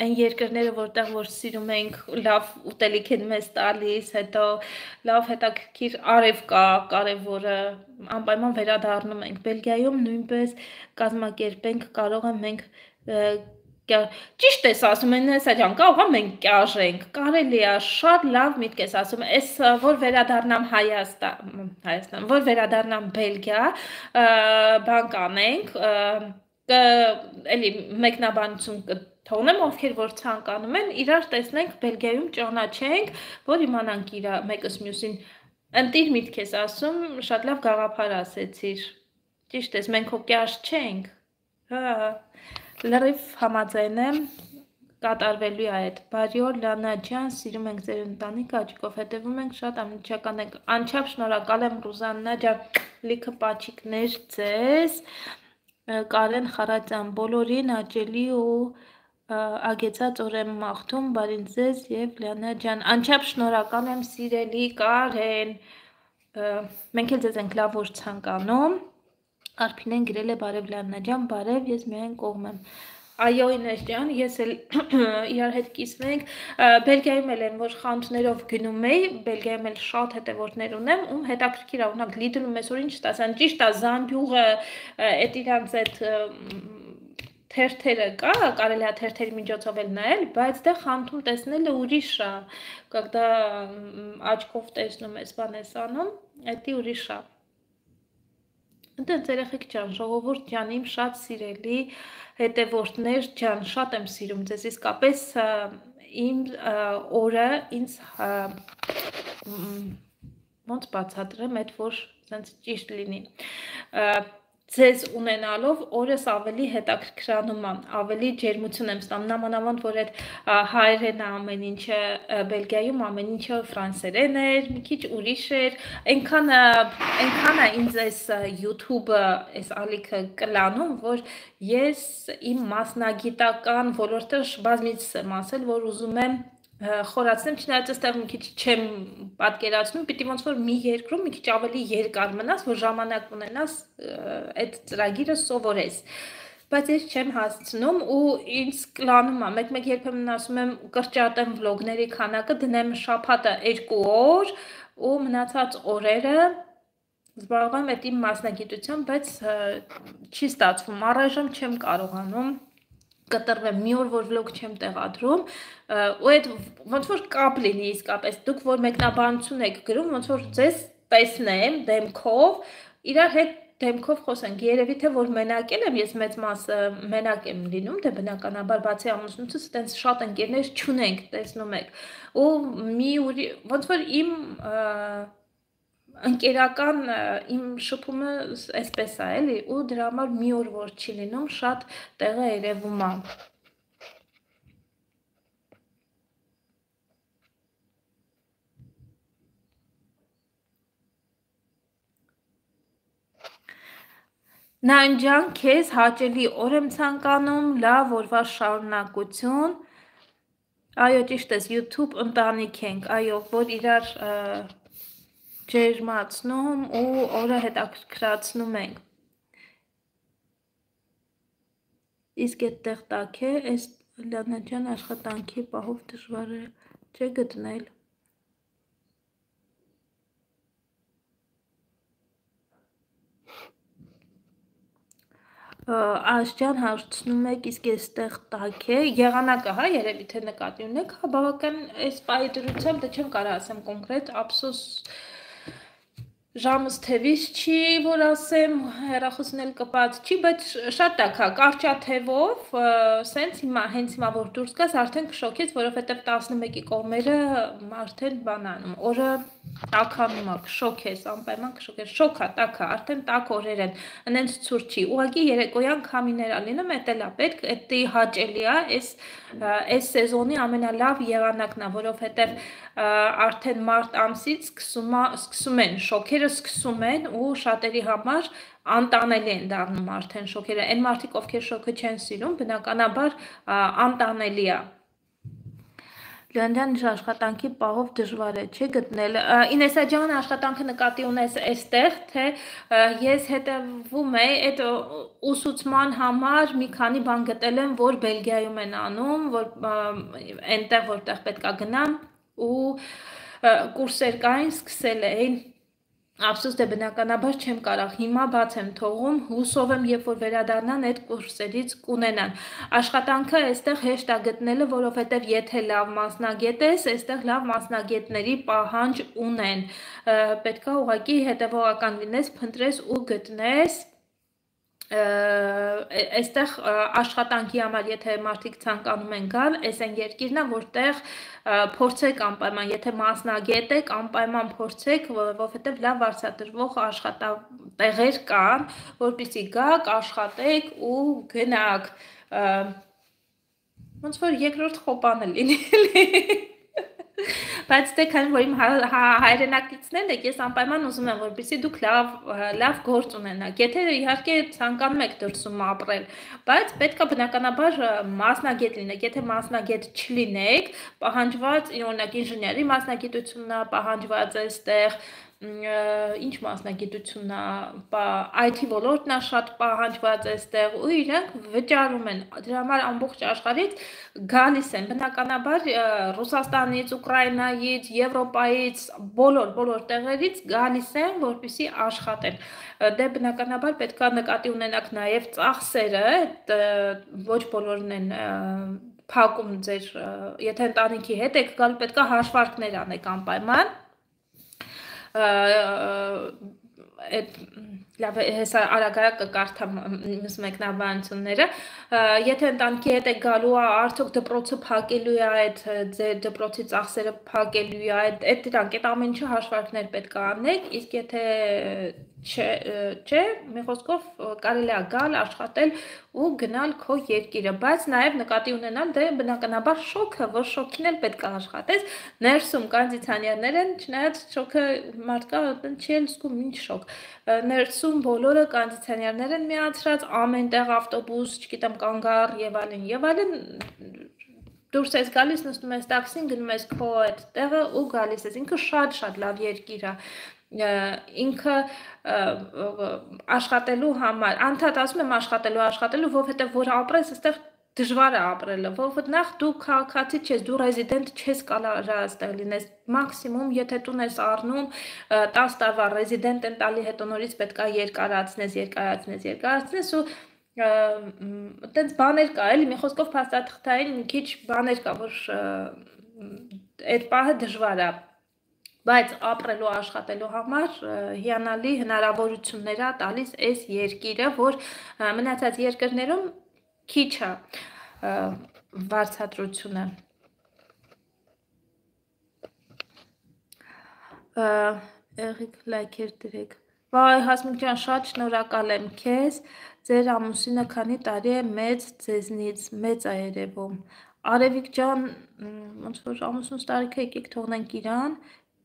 այն երկրները, որտեղ որ սիրում ենք, լավ ուտելիք են մեզ տալիս, հետո լավ հետաքրքիր արև կա, կարևորը, անպայման վերադառնում ենք, Բելգիայում նույնպես կազմակերպենք, կարող եմ մենք, ճիշտ ես ասում են, հեսա ջան, կարող եմ մենք կյաժենք, կարելի է, շատ լավ միտք ես ասում, ես որ վերադառնամ Հայաստան, որ վերադառնամ Բելգիա, բան կանենք, էլի մեկնաբանություն թողնեմ, ովքեր որ ցանկանում են, իրար տեսնենք, Բելգիայում ճանաչենք, որ իմանանք իր մեկս մյուսին, ընտիր միտք ես ասում, շատ լավ գաղափար ասեցիր, ճիշտ ես, մենք հոկյաշ չենք, լրիվ համաձայն եմ, կատարվելու է այդ, բարի օր Լիանա ջան, սիրում ենք ձեր ընտանիքը, աչիկով հետևում ենք, շատ անմիջական ենք, անչափ շնորհակալ եմ Ռուզաննա ջան, լիքը պաչիկներ ձեզ, Կարեն Խարատյան, բոլորին հաճելի ու ագեցած օր եմ մաղթում, բարին ձեզ և Լիանա ջան, անչափ շնորհակալ եմ սիրելի Կարեն, մենք էլ ձեզ ենք լավ որ ցանկանում, Արփինեն գրել է բարև Լիանա ջան, բարև, ես միայն կողմ եմ, այո Ինես ջան, ես էլ իրար հետ կիսվենք, Բելգիայում էլ են, որ խանութներով գնում էի, Բելգիայում էլ շատ հետևորդներ ունեմ, ում հետաքրքիր է, օրինակ Լիդլում այսօր ինչ ստացան, ճիշտ է, Զամբյուղը, այդ իրանց այդ թերթերը կա, կարելի է թերթերի միջոցով էլ նայել, բայց դե խանութում տեսնելը ուրիշ է, когда աչքով տեսնում ես բան ես անում, դա ուրիշ է։ Ընտենց երեխեք ջան, ժողովուրդ ջան, իմ շատ սիրելի հետևորդներ ջան, շատ եմ սիրում ձեզ, իսկապես իմ օրը ինձ ոնց բացատրեմ, այդ որ սենց ճիշտ լինի, ձեզ ունենալով օրս ավելի հետաքրքրանում եմ, ավելի ջերմություն եմ ստանում, նամանավանդ որ այդ հայերեն ամեն ինչը Բելգիայում ամեն ինչը ֆրանսերեն էր, մի քիչ ուրիշ էր, այնքան է ինձ այս YouTube-ը, այս ալիքը կլանում, որ ես իմ մասնագիտական ոլորտը բազմից եմ ասել, որ ուզում եմ խորացնեմ, չնայած այստեղ մի քիչ չեմ պատկերացնում, պիտի ոնց որ մի երկրում մի քիչ ավելի երկար մնաս, որ ժամանակ ունենաս այդ ծրագիրը սովորես։ Բայց ես չեմ հասցնում ու ինձ կլանում է, մեկ-մեկ երբեմն ասում եմ կրճատեմ վլոգների քանակը, դնեմ շաբաթը 2 օր ու մնացած օրերը զբաղվում եմ այդ իմ մասնագիտությամբ, բայց չի ստացվում, առայժմ չեմ կարողանում կտրվեմ, մի օր որ վլոգ չեմ տեղադրում, ու այդ ոնց որ կապ լինի իսկապես, դուք որ մեկնաբանություն եք գրում, ոնց որ ձեզ տեսնեմ դեմքով, իրար հետ դեմքով խոսենք, երևի թե որ մենակ եմ, ես մեծ մասը մենակ եմ լինում, դե բնականաբար բացի ամուսնուցս տենց շատ ընկերներ չունենք, տեսնում եք, ու ոնց որ իմ ընկերական իմ շփումը այսպես է էլի, ու դրա համար մի օր որ չի լինում, շատ տեղը երևում է։ Նայն ջան, քեզ հաճելի օր եմ ցանկանում, լավ օրվա շարունակություն։ Այո, ճիշտ ես, YouTube ընտանիք ենք, այո, որ իրար ջերմացնում ու օրը հետաքրքրացնում ենք։ Իսկ այդտեղ տակ է, այս Լիանա ջան աշխատանքի պահով դժվար է չէ գտնել։ Աշջան հարցնում եք, իսկ այստեղ տակ է, եղանակը, հա, երևի թե նկատի ունեք, հա, բավական այս պահի դրությամբ, դե չեմ կարող ասեմ կոնկրետ, ափսոս ժամս թևից չի, որ ասեմ, հեռախոսն էլ կպած չի, բայց շատ տաք է, կարճաթևով, սենց հիմա, հենց հիմա որ դուրս գաս, արդեն կշոքեց, որովհետև 11-ի կողմերը արդեն բանանում, օրը տաքանում է, կշոքես, անպայման կշոքես, շոք է, տաք է, արդեն տաք օրեր են, ընենց ցուրտ չի, ուղղակի երեկոյան քամիներ է լինում, էդ էլ է պետք, էդ հաճելի է, այս սեզոնի ամենալավ եղանակն է, որովհետև արդեն մարտ ամսից սկսում են շոքերը սկսում են ու շատերի համար անտանելի են դառնում արդեն շոքերը, այն մարդիկ ովքեր շոքը չեն սիրում, բնականաբար անտանելի է։ Լիանջան աշխատանքի պահով դժվար է չէ գտնել։ Ինեսա ջան, աշխատանքը նկատի ունես այստեղ, թե ես հետևում եմ այդ ուսուցման համար մի քանի բան գտել եմ, որ Բելգիայում են անում, որ այնտեղ որտեղ պետքա գնամ ու կուրսեր կային, սկսել էին Ափսոս դե բնականաբար չեմ կարող, հիմա բաց եմ թողում, հուսով եմ, երբ որ վերադառնան այդ կուրսերից կունենան։ Աշխատանքը այստեղ հեշտ է գտնելը, որովհետև եթե լավ մասնագետ ես, այստեղ լավ մասնագետների պահանջ ունեն։ Պետքա ուղղակի հետևողական լինես, փնտրես ու գտնես այստեղ աշխատանքի համար, եթե մարդիկ ցանկանում են գալ, այս այն երկիրն է, որտեղ փորձեք անպայման, եթե մասնագետ եք, անպայման փորձեք, որովհետև լավ վարձատրվող աշխատատեղեր կան, որպեսզի գաք, աշխատեք ու գնաք։ Ոնց որ երկրորդ խոպանը լինի։ Բայց դե քանի որ իմ հայրենակիցներն եք, ես անպայման ուզում եմ, որպեսզի դուք լավ գործ ունենաք։ Եթե իհարկե ցանկանում եք դրսում ապրել, բայց պետք է բնականաբար մասնագետ լինեք։ Եթե մասնագետ չլինեք, պահանջված օրինակ ինժեների մասնագիտությունն է պահանջված այստեղ, ինչ մասնագիտությունն է, IT ոլորտն է շատ պահանջված այստեղ ու իրենք վճարում են։ Դրա համար ամբողջ աշխարհից գալիս են բնականաբար Ռուսաստանից, Ուկրաինայից, Եվրոպայից, բոլոր տեղերից գալիս են, որպեսզի աշխատեն։ Դե բնականաբար պետք է նկատի ունենաք նաև ծախսերը, ոչ բոլորն են փակում ձեր, եթե ընտանիքի հետ եք գալ, պետք է հաշվարկներ անեք անպայման։ Լավ, հեսա արագ կկարդամ մյուս մեկնաբանությունները, եթե ընտանիքի հետ եք գալու է, արդյոք դպրոցը փակելու է այդ ձեր դպրոցի ծախսերը փակելու է, այդ դրանք, այդ ամեն ինչը հաշվարկներ պետք է անեք, իսկ եթե չէ, մի խոսքով կարելի է գալ, աշխատել ու գնալ քո երկիրը, բայց նաև նկատի ունենալ դե բնականաբար շոքը, որ շոքին էլ պետք է աշխատես, ներսում կոնդիցիոներներ են, չնայած շոքը մարդկա չի էլ զգում ինչ շոք, ներսում բոլորը կոնդիցիոներներ են միացրած, ամեն տեղ ավտոբուս, չգիտեմ, կանգառ եւ այլն, դուրս ես գալիս, նստում ես տաքսին, գնում ես քո այդ տեղը ու գալիս ես։ Ինքը շատ լավ երկիր է։ Ինքը աշխատելու համար, անդադ ասում եմ աշխատելու, որովհետև որ ապրես, այստեղ դժվար է ապրելը, որովհետև նախ դու քաղաքացի չես, դու ռեզիդենտ չես կարող այստեղ լինես, մաքսիմում եթե տուն ես առնում 10 տարվա ռեզիդենտ են տալի, հետո նորից պետք է երկարացնես ու այտենց բաներ կա, էլի մի խոսքով փաստաթղթային մի քիչ բաներ կա, որ այդ պահը դժվար է, բայց ապրելու աշխատելու համար հիանալի հնարավորություններ է տալիս այս երկիրը, որ մնացած երկրներում քիչ է վարձատրությունը։ Եղիք լայքեր դրեք։ Վայ, Հասմիկ ջան, շատ շնորհակալ եմ քեզ, ձեր ամուսինը քանի տարի է մեծ ձեզնից, մեծ է երևում։ Արևիկ ջան, ոնց որ ամուսնուս տարիքը եկեք թողնենք իրան,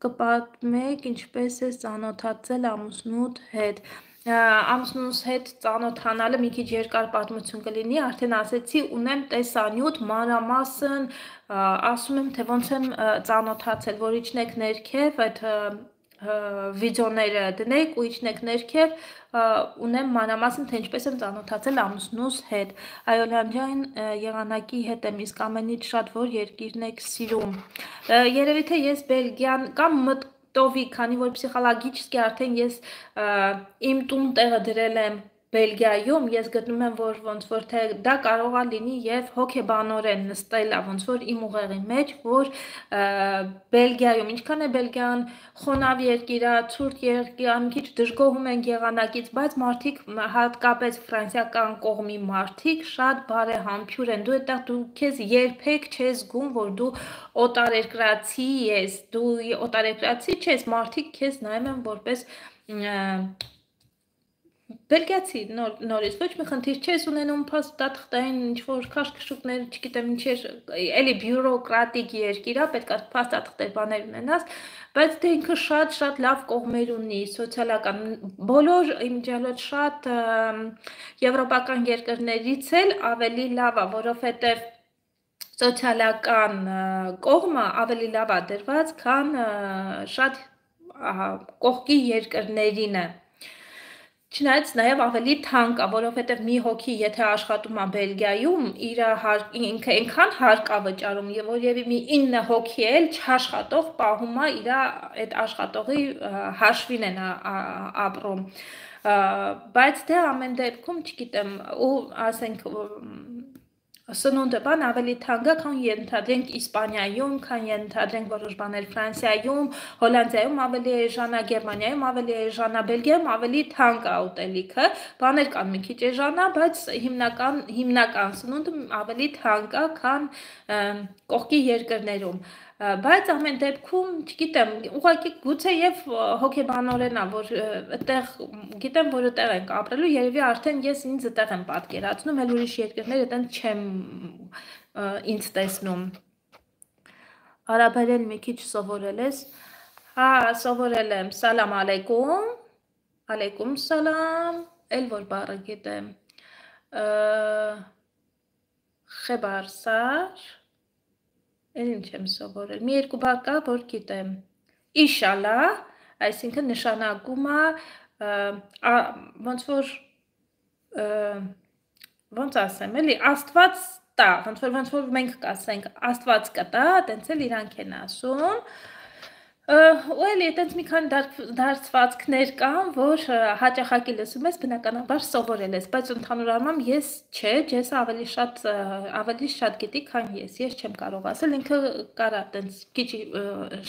կպատմեք ինչպես է ծանոթացել ամուսնուդ հետ։ Ամուսնուս հետ ծանոթանալը մի քիչ երկար պատմություն կլինի, արդեն ասեցի, ունեմ տեսանյութ մանրամասն, ասում եմ, թե ոնց եմ ծանոթացել, որ իջնեք ներքև, այդ վիդեոները դնեք ու իջնեք ներքև, ունեմ մանրամասն, թե ինչպես եմ ծանոթացել ամուսնուս հետ։ Այոլյան ջան, եղանակի հետ եմ, իսկ ամենից շատ որ երկիրն եք սիրում։ Երևի թե ես Բելգիան կամ մտովի, քանի որ պսիխոլոգիչիսկի արդեն ես իմ տուն տեղը դրել եմ Բելգիայում, ես գտնում եմ, որ ոնց որ թե դա կարող է լինի եւ հոգեբանորեն նստելա, ոնց որ իմ ուղեղի մեջ, որ Բելգիայում, ինչքան է Բելգիան խոնավ երկիր է, ցուրտ երկիր է, մի քիչ դժգոհում են եղանակից, բայց մարդիկ, հատկապես ֆրանսիական կողմի մարդիկ, շատ բարեհամբույր են, դու այդտեղ դու քեզ երբեք չես զգում, որ դու օտարերկրացի ես, դու օտարերկրացի չես, մարդիկ քեզ նայում են որպես Բելգիացի նորից ոչ մի խնդիր չես ունենում փաստաթղթային ինչ-որ քաշքշուկներ, չգիտեմ ինչեր, էլի բյուրոկրատիկ երկիր է, պետք է փաստաթղթեր բաներ ունենաս, բայց դե ինքը շատ լավ կողմեր ունի, սոցիալական, բոլոր իմիջիալոց շատ եվրոպական երկրներից էլ ավելի լավ է, որովհետև սոցիալական կողմը ավելի լավ է դրված, քան շատ կողքի երկրներին է։ Չնայած նաև ավելի թանկ է, որովհետև մի հոգի եթե աշխատում է Բելգիայում, ինքը այնքան հարկ է վճարում, եւ որևէ մի 9 հոգի էլ չաշխատող պահում է իր այդ աշխատողի հաշվին են ապրում։ Բայց դե ամեն դեպքում, չգիտեմ, ու ասենք սնունդը բան ավելի թանկ է, քան ենթադրենք Իսպանիայում, քան ենթադրենք որոշ բաներ Ֆրանսիայում, Հոլանդիայում ավելի էժան է, Գերմանիայում ավելի էժան է, Բելգիայում ավելի թանկ է ուտելիքը, բաներ կան մի քիչ էժան է, բայց հիմնական սնունդը ավելի թանկ է, քան կողքի երկրներում։ Բայց ամեն դեպքում, չգիտեմ, ուղղակի գուցե եւ հոգեբանորեն է, որ այդտեղ գիտեմ, որ այդտեղ ենք ապրելու, երևի արդեն ես ինձ այդտեղ եմ պատկերացնում, էլ ուրիշ երկրներ այդտեղ չեմ ինձ տեսնում։ Արաբերեն մի քիչ սովորել ես։ Հա, սովորել եմ։ Սալամ ալեյկում։ Ալեյկում սալամ։ Էլ որ բառը գիտեմ։ Խեբարսար Էլ ինչ եմ սովորել, մի երկու բառ կա, որ գիտեմ, իշալա, այսինքն նշանակում է, ոնց ասեմ, էլի, աստված տա, ոնց որ մենք կասենք, աստված կտա, տենց էլ իրանք են ասում, ու էլի, տենց մի քանի դարձվածքներ կան, որ հաճախակի լսում ես, բնականաբար սովորել ես, բայց ընդհանուր առմամբ ես չէ, ջեսը ավելի շատ գիտի, քան ես չեմ կարող ասել, ինքը կարա տենց քիչ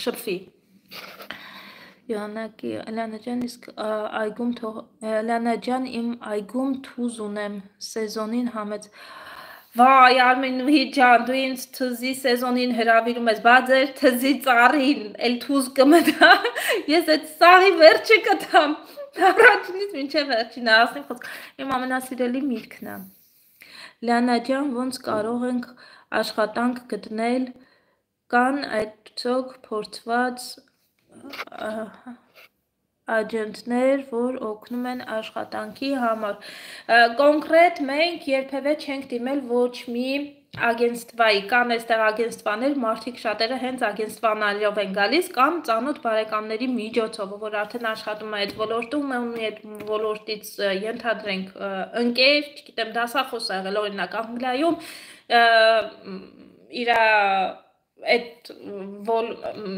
շփվի։ Յոհանակի, Էլանա ջան, իսկ այգում Էլանա ջան, իմ այգում թուզ ունեմ, սեզոնին համեց։ Վայ, Արմենուհի ջան, դու ինձ թզի սեզոնին հրավիրում ես, բա ձեր թզի ծառին, էլ թուզ կմտա, ես այդ սաղի վերջը կտամ, առաջինից մինչև վերջին, ասեմ խոսք, իմ ամենասիրելի միտքն է։ Լիանա ջան, ոնց կարող ենք աշխատանք գտնել, կան այդցոք փորձված աջենտներ, որ օգնում են աշխատանքի համար։ Կոնկրետ մենք երբևէ չենք դիմել ոչ մի ագենստվայի կան այստեղ ագենստվաներ, մարդիկ շատերը հենց ագենստվաներով են գալիս կամ ծանոթ բարեկամների միջոցով, որ արդեն աշխատում է այդ ոլորտում, ունի այդ ոլորտից ենթադրենք ընկեր, չգիտեմ, դասախոս ա եղել օրինակ Անգլիայում, իր այդ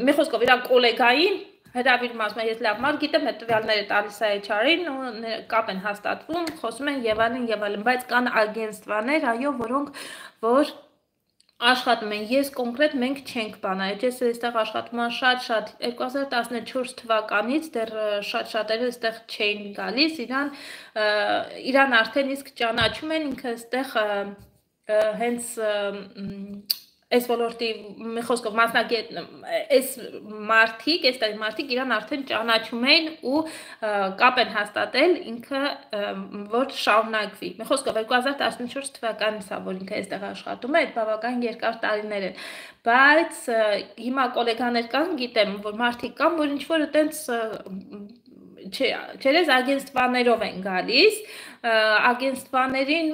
մի խոսքով իր գոլեգային հրավիրում ասում է, ես լավ մարդ գիտեմ, այդ տվյալները տալիս է HR-ին ու կապ են հաստատվում, խոսում են եւ այլն, բայց կան ագենստվաներ, այո, որոնք որ աշխատում են, ես կոնկրետ մենք չենք բանայել, ես այստեղ աշխատում եմ շատ 2014 թվականից դեռ շատերը այստեղ չէին գալիս, իրան արդեն իսկ ճանաչում են, ինքը այստեղ հենց այս ոլորտի մի խոսքով մասնագետ այս մարդիկ իրան արդեն ճանաչում են ու կապ են հաստատել ինքը որ շարունակվի մի խոսքով 2014 թվականից է որ ինքը այստեղ աշխատում է այդ բավական երկար տարիներ են բայց հիմա գոլեգաներ կան գիտեմ որ մարդիկ կան որ ինչ որ այտենց չերես ագենստվաներով են գալիս ագենստվաներին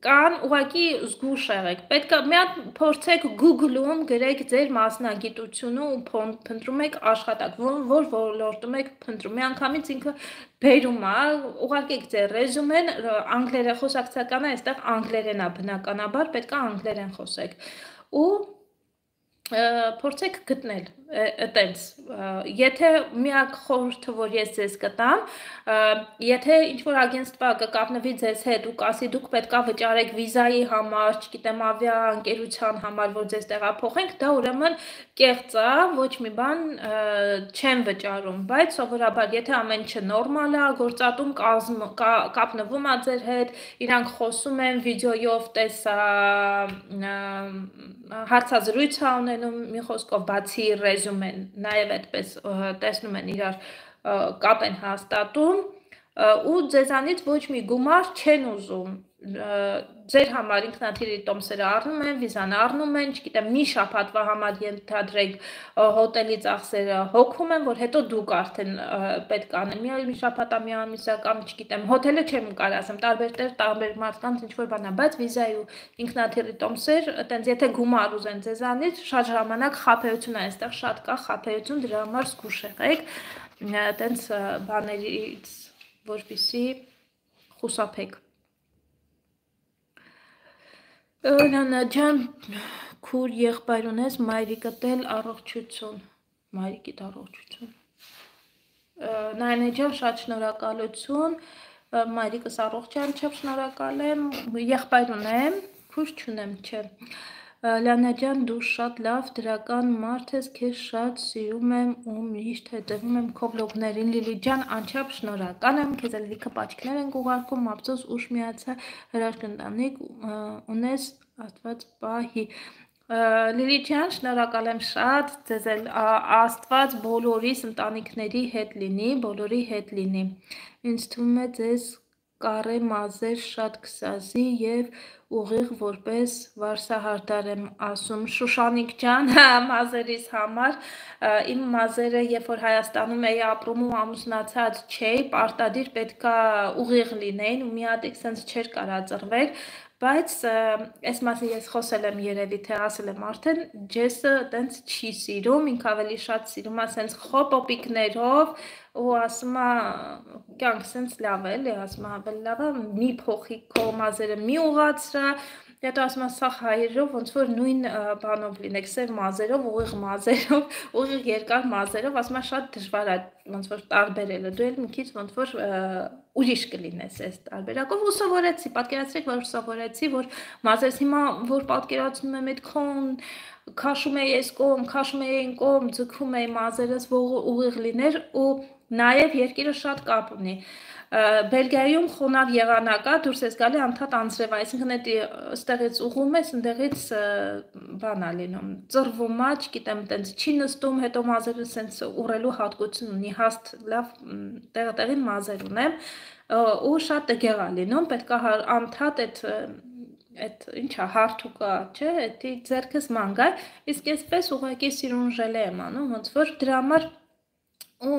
կան ուղղակի զգուշ եղեք պետք է մի հատ փորձեք Google-ում գրեք ձեր մասնագիտությունը ու փնտրում եք աշխատանք որ ոլորտում եք փնտրում միանգամից ինքը բերում է ուղարկեք ձեր ռեզումեն անգլերենխոսակցական է այստեղ անգլերեն է բնականաբար պետք է անգլերեն խոսեք ու փորձեք գտնել այտենց եթե միակ խորհուրդը որ ես ձեզ կտամ եթե ինչ որ ագենստվա կկապնվի ձեզ հետ ու կասի դուք պետքա վճարեք վիզայի համար, չգիտեմ ավիաընկերության համար որ ձեզ տեղափոխենք դա ուրեմն կեղծ է ոչ մի բան չեն վճարում բայց սովորաբար եթե ամեն ինչը նորմալ է գործատում կապնվում է ձեր հետ իրանք խոսում են վիդեոյով տեսա հարցազրույց է ունենում մի խոսքով բացի ռեզումեն նաև այդպես տեսնում են իրար կապ են հաստատում ու ձեզանից ոչ մի գումար չեն ուզում ձեր համար ինքնաթիռի տոմսերը առնում են, վիզան առնում են, չգիտեմ, մի շաբաթվա համար ենթադրենք հոտելի ծախսերը հոգում են, որ հետո դուք արդեն պետք է անեք մի շաբաթա, մի ամիսա կամ չգիտեմ, հոթելը չեմ կարող ասեմ, տարբեր մարդկանց ինչ որ բան է, բայց վիզայի ու ինքնաթիռի տոմսեր, այտենց եթե գումար ուզեն ձեզանից, շատ ժամանակ խաբեություն է, այստեղ շատ կա խաբեություն, դրա համար զգուշ եղեք, այտենց բաներից, որպեսզի խուսափեք Լանա ջան, քուր եղբայր ունես, մայրիկդ էլ առողջություն, մայրիկիդ առողջություն, Նայնե ջան, շատ շնորհակալություն, մայրիկս առողջ է, անչափ շնորհակալ եմ, եղբայր ունեմ, քուր չունեմ, չէ, Լանա ջան, դու շատ լավ դրական մարդ ես, քեզ շատ սիրում եմ ու միշտ հետևում եմ քո վլոգներին, Լիլի ջան, անչափ շնորհակալ եմ, քեզ էլ լիքը պատճիկներ ենք ուղարկում, ափսոս ուշ միացա հրաշք ընտանիք ունես, Աստված պահի, Լիլի ջան, շնորհակալ եմ շատ, ձեզ էլ Աստված բոլորիս ընտանիքների հետ լինի, բոլորի հետ լինի, ինձ թվում է ձեզ կարե մազեր շատ կսազի և ուղիղ որպես վարսահարդար եմ ասում Շուշանիկ ջան մազերիս համար իմ մազերը երբ որ Հայաստանում էի ապրում ու ամուսնացած չէի պարտադիր պետքա ուղիղ լինեին ու մի հատ sense չէր կարա ծռվեր բայց այս մասին ես խոսել եմ երևի թե ասել եմ արդեն ջեսը տենց չի սիրում ինք ավելի շատ սիրում է sense խոպոպիկներով ու ասում է կյանք sense լավ է էլի ասում է ավելի լավ է մի փոխի քո մազերը մի ուղացրա Հետո ասում եմ սա հայերով ոնց որ նույն բանով լինեք սև մազերով, ուղիղ երկար մազերով, ասում եմ շատ դժվար է ոնց որ տարբերելը, դու էլ մի քիչ ոնց որ ուրիշ կլինես այս տարբերակով ու սովորեցի, պատկերացրեք որ սովորեցի, որ մազերս հիմա որ պատկերացնում եմ այդքան քաշում էի այս կողմ, քաշում էի այն կողմ, ձգում էի մազերս, որ ուղիղ լիներ ու նաև երկիրը շատ կապ ունի Բելգիայում խոնավ եղանակ է, դուրս ես գալի անդադ անձրև, այսինքն այդ ստեղից ուղում ես, ընդեղից բան է լինում, ծռվում է, չգիտեմ, տենց չի նստում, հետո մազերը սենց ուռելու հատկություն ունի, հաստ լավ տեղին մազեր ունեմ, ու շատ տգեղ է լինում, պետք է անդադ այդ ինչա հարթուկա, չէ, էդի ձեռքս մանգայ, իսկ այսպես ուղղակի սիրունժելե եմ անում, ոնց որ դրա համար ու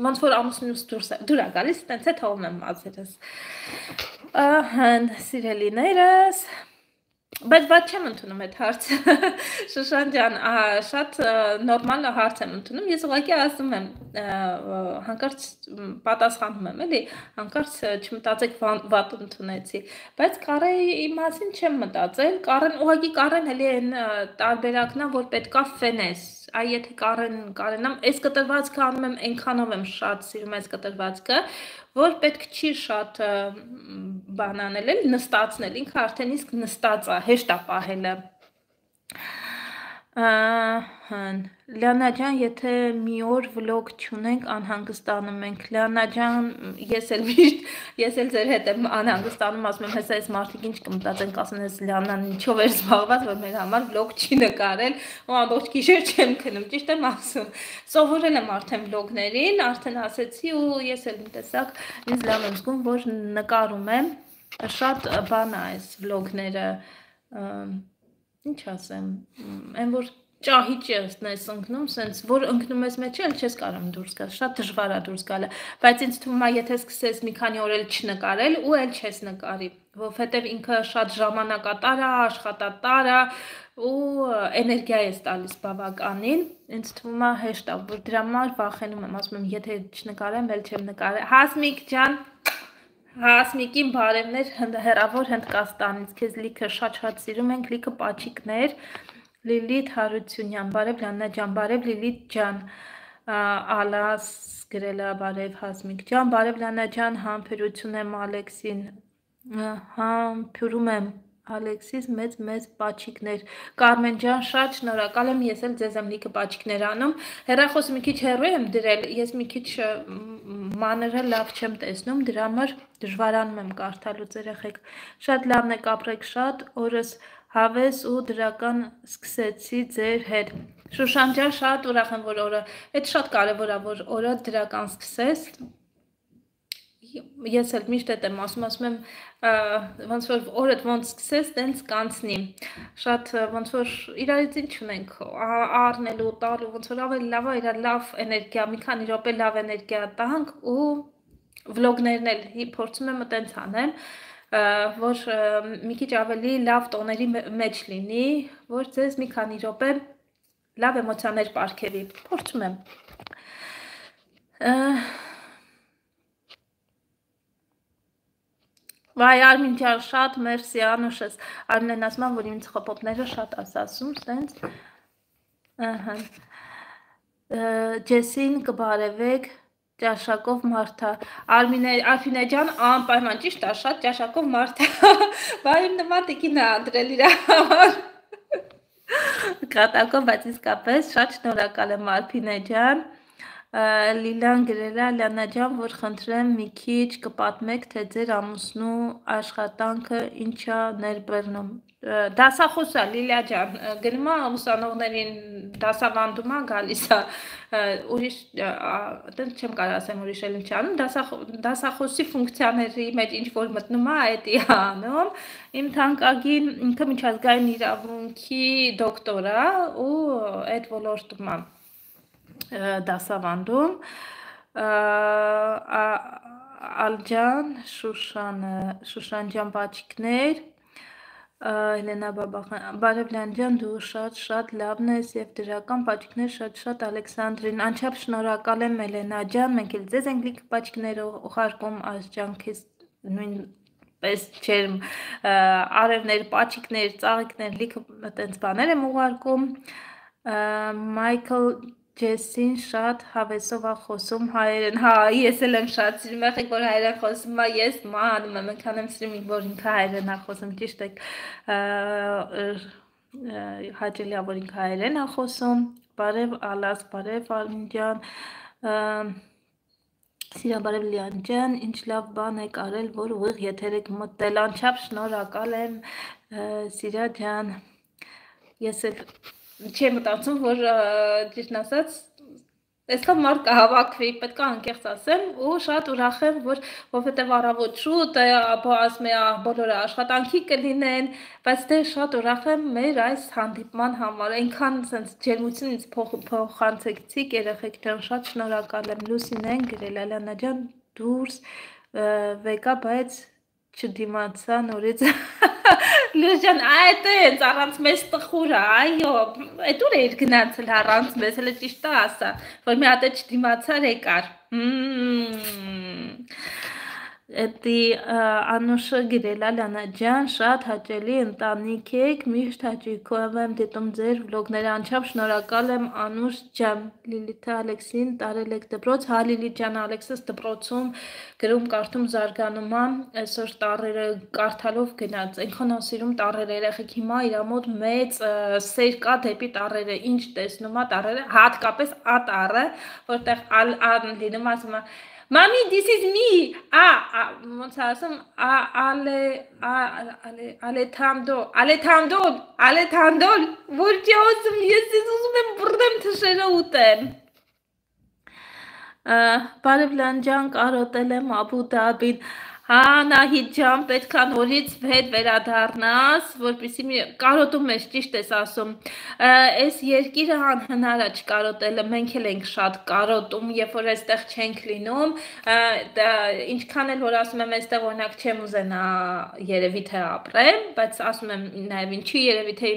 ոնց որ ամուսնուս դուր է գալիս, տենց է թողում եմ մազերս։ Ահա, սիրելիներս, Բայց բաց չեմ ընդունում այդ հարցը։ Շուշան ջան, շատ նորմալ հարց եմ ընդունում։ Ես ուղղակի ասում եմ, հանկարծ պատասխանում եմ, էլի, հանկարծ չմտածեք վատ ընդունեցի։ Բայց Կարեի մասին չեմ մտածել։ Ուղղակի Կարեն էլի այն տարբերակն է, որ պետքա ֆենես։ Այ եթե Կարենամ, այս կտրվածքը անում եմ, այնքանով եմ շատ սիրում այս կտրվածքը, որ պետք չի շատ բան անել, նստածնել, ինքը արդեն իսկ նստած է, հեշտ է պահելը։ Լիանա ջան, եթե մի օր վլոգ չունենք, անհանգստանում ենք։ Լիանա ջան, ես էլ ձեր հետ եմ անհանգստանում, ասում եմ, հեսա այս մարդիկ ինչ կմտածեն, ասեն, այս Լիանան ինչով էր զբաղված, որ մեր համար վլոգ չի նկարել, ու ամբողջ գիշեր չեմ քնում, ճիշտ եմ ասում։ Սովորել եմ արդեն վլոգներին, արդեն ասեցի, ու ես էլ մի տեսակ ինձ լավ եմ զգում, որ նկարում եմ, շատ բան է այս վլոգները, ինչ ասեմ, այն որ ճահիճ ես ընկնում, սենց որ ընկնում ես մեջ էլ չես կարող դուրս գալ, շատ դժվար է դուրս գալը, բայց ինձ թվում է, եթե սկսես մի քանի օր էլ չնկարել ու էլ չես նկարի, որովհետև ինքը շատ ժամանակատար է, աշխատատար է ու էներգիա ես տալիս բավականին, ինձ թվում է հեշտ է, որ դրա համար վախենում եմ, ասում եմ, եթե չնկարեմ, էլ չեմ նկարել։ Հասմիկ ջան, Հասմիկին բարևներ հեռավոր Հնդկաստանից, քեզ լիքը շատ սիրում ենք, լիքը պաչիկներ, Լիլիթ Հարությունյան, բարև Լիանա ջան, բարև Լիլիթ ջան, Ալաս գրել է, բարև Հասմիկ ջան, բարև Լիանա ջան, համբերություն եմ Ալեքսին, համբերում եմ Ալեքսիս մեծ պաչիկներ, Կարմեն ջան, շատ շնորհակալ եմ, ես էլ ձեզ եմ լիքը պաչիկներ անում, հեռախոսը մի քիչ հեռու եմ դրել, ես մի քիչ մանրը լավ չեմ տեսնում, դրա համար դժվարանում եմ կարդալուց երեխեք, շատ լավն եք ապրեք շատ, օրս հավես ու դրական սկսեցի ձեր հետ, Շուշան ջան, շատ ուրախ եմ, որ օրը, այդ շատ կարևոր է, որ օրը դրական սկսես, ես էլ միշտ եմ ասում եմ, ոնց որ օրդ ոնց սկսես, տենց կանցնի, շատ ոնց որ իրարից ինչ ունենք, առնելու, տալու, ոնց որ ավելի լավ է, իրար լավ էներգիա, մի քանի րոպե լավ էներգիա տանք ու վլոգներն էլ փորձում եմ տենց անեմ, որ մի քիչ ավելի լավ տոների մեջ լինի, որ ձեզ մի քանի րոպե լավ էմոցիաներ պարգևի, փորձում եմ։ Վայ Արմին ջան, շատ մերսի Անուշս, Արմինեն ասում եմ, որ իմ ծխոպոպները շատ ասում, սենց, Ջեսին կբարևեք, ճաշակով մարդա, Արմինե ջան, անպայման ճիշտ է, շատ ճաշակով մարդա, վայ իմ նման տիկին է անդրել իր համար, կատակով, բայց իսկապես շատ շնորհակալ եմ Արփինե ջան, Լիլան գրել է, Լիանա ջան, որ խնդրեմ մի քիչ կպատմեք, թե ձեր ամուսնու աշխատանքը ինչա ներբեռնում։ Դասախոս է, Լիլիա ջան, գնում է ուսանողներին դասավանդում է, գալիս է, ուրիշ, այդպես չեմ կարող ասեմ ուրիշ էլ ինչ անում, դասախոսի ֆունկցիաների մեջ ինչ որ մտնում է, այդ է անում։ Իմ թանկագին ինքը միջազգային իրավունքի դոկտոր է ու այդ ոլորտում է դասավանդում, Ալջան, Շուշան ջան պաչիկներ, Հելենա Բաբախան, բարև Լիան ջան, դու շատ լավն ես և դրական պաչիկներ շատ Ալեքսանդրին, անչափ շնորհակալ եմ Հելենա ջան, մենք էլ ձեզ ենք լիքը պաչիկներ ուղարկում, Ազջան քեզ նույնպես չեմ արևներ, պաչիկներ, ծաղիկներ, լիքը տենց բաներ եմ ուղարկում, Մայքլ Ջեսին շատ հավեսով է խոսում հայերեն, հա, ես էլ եմ շատ սիրում, եղեք, որ հայերեն խոսում է, ես մանում եմ, ընքան եմ սիրում, որ ինքը հայերեն է խոսում, ճիշտ եք, հաճելի է, որ ինքը հայերեն է խոսում, բարև Ալաս, բարև Արմին ջան, Սիրա բարև Լիան ջան, ինչ լավ բան եք արել, որ ուղիղ եթեր եք մտել, անչափ շնորհակալ եմ, Սիրա ջան, ես էլ չեմ մտածում, որ ճիշտն ասած, այսքան մարդ կհավաքվի, պետք է անկեղծ ասեմ, ու շատ ուրախ եմ, որովհետև առավոտ շուտ, ասում է, բոլորը աշխատանքի կլինեն, բայց դե շատ ուրախ եմ մեր այս հանդիպման համար, այնքան սենց ջերմություն ինձ փոխանցեցիք, երեխեք ջան, շատ շնորհակալ եմ, Լուսինեն գրել, Ալյանա ջան, դուրս վեկա, բայց չդիմացա նորից Լուժան, այդ էնց առանց մեզ տխուրա, այո, այդ ուր էր գնացել առանց մեզ, հələ ճիշտը ասա, որ մի հատ է չդիմացար եկար։ Էդի Անուշը գրել է Լանա ջան, շատ հաճելի ընտանիք եք, միշտ հաճույքով եմ դիտում ձեր վլոգները, անչափ շնորհակալ եմ Անուշ ջան, Լիլիթ Ալեքսին տարել եք դպրոց, հա Լիլիթ ջան, Ալեքսս դպրոցում գրում կարդում զարգանում է, այսօր տառերը կարդալով գնաց, այնքան ասիրում տառերը երեխեք հիմա իր մոտ մեծ սեր կա դեպի տառերը, ինչ տեսնում է տառերը, հատկապես ատառը, որտեղ լինում ասում է Mami, this is me. Ոնց ասում, Ալեթանդոլ, որ չի ասում, ես ուզում եմ բռնեմ թշերը ուտեմ։ Բարև Լանջան, կարոտել եմ Աբու Դաբին։ Հա, Նահիդ ջան, պետք է նորից հետ վերադառնաս, որպեսզի կարոտում ես, ճիշտ ես ասում։ Այս երկիրը անհնար է չկարոտելը, մենք էլ ենք շատ կարոտում, երբ որ այստեղ չենք լինում, ինչքան էլ որ ասում եմ այստեղ օրինակ չեմ ուզենա երևի թե ապրեմ, բայց ասում եմ նաև ինչի երևի թե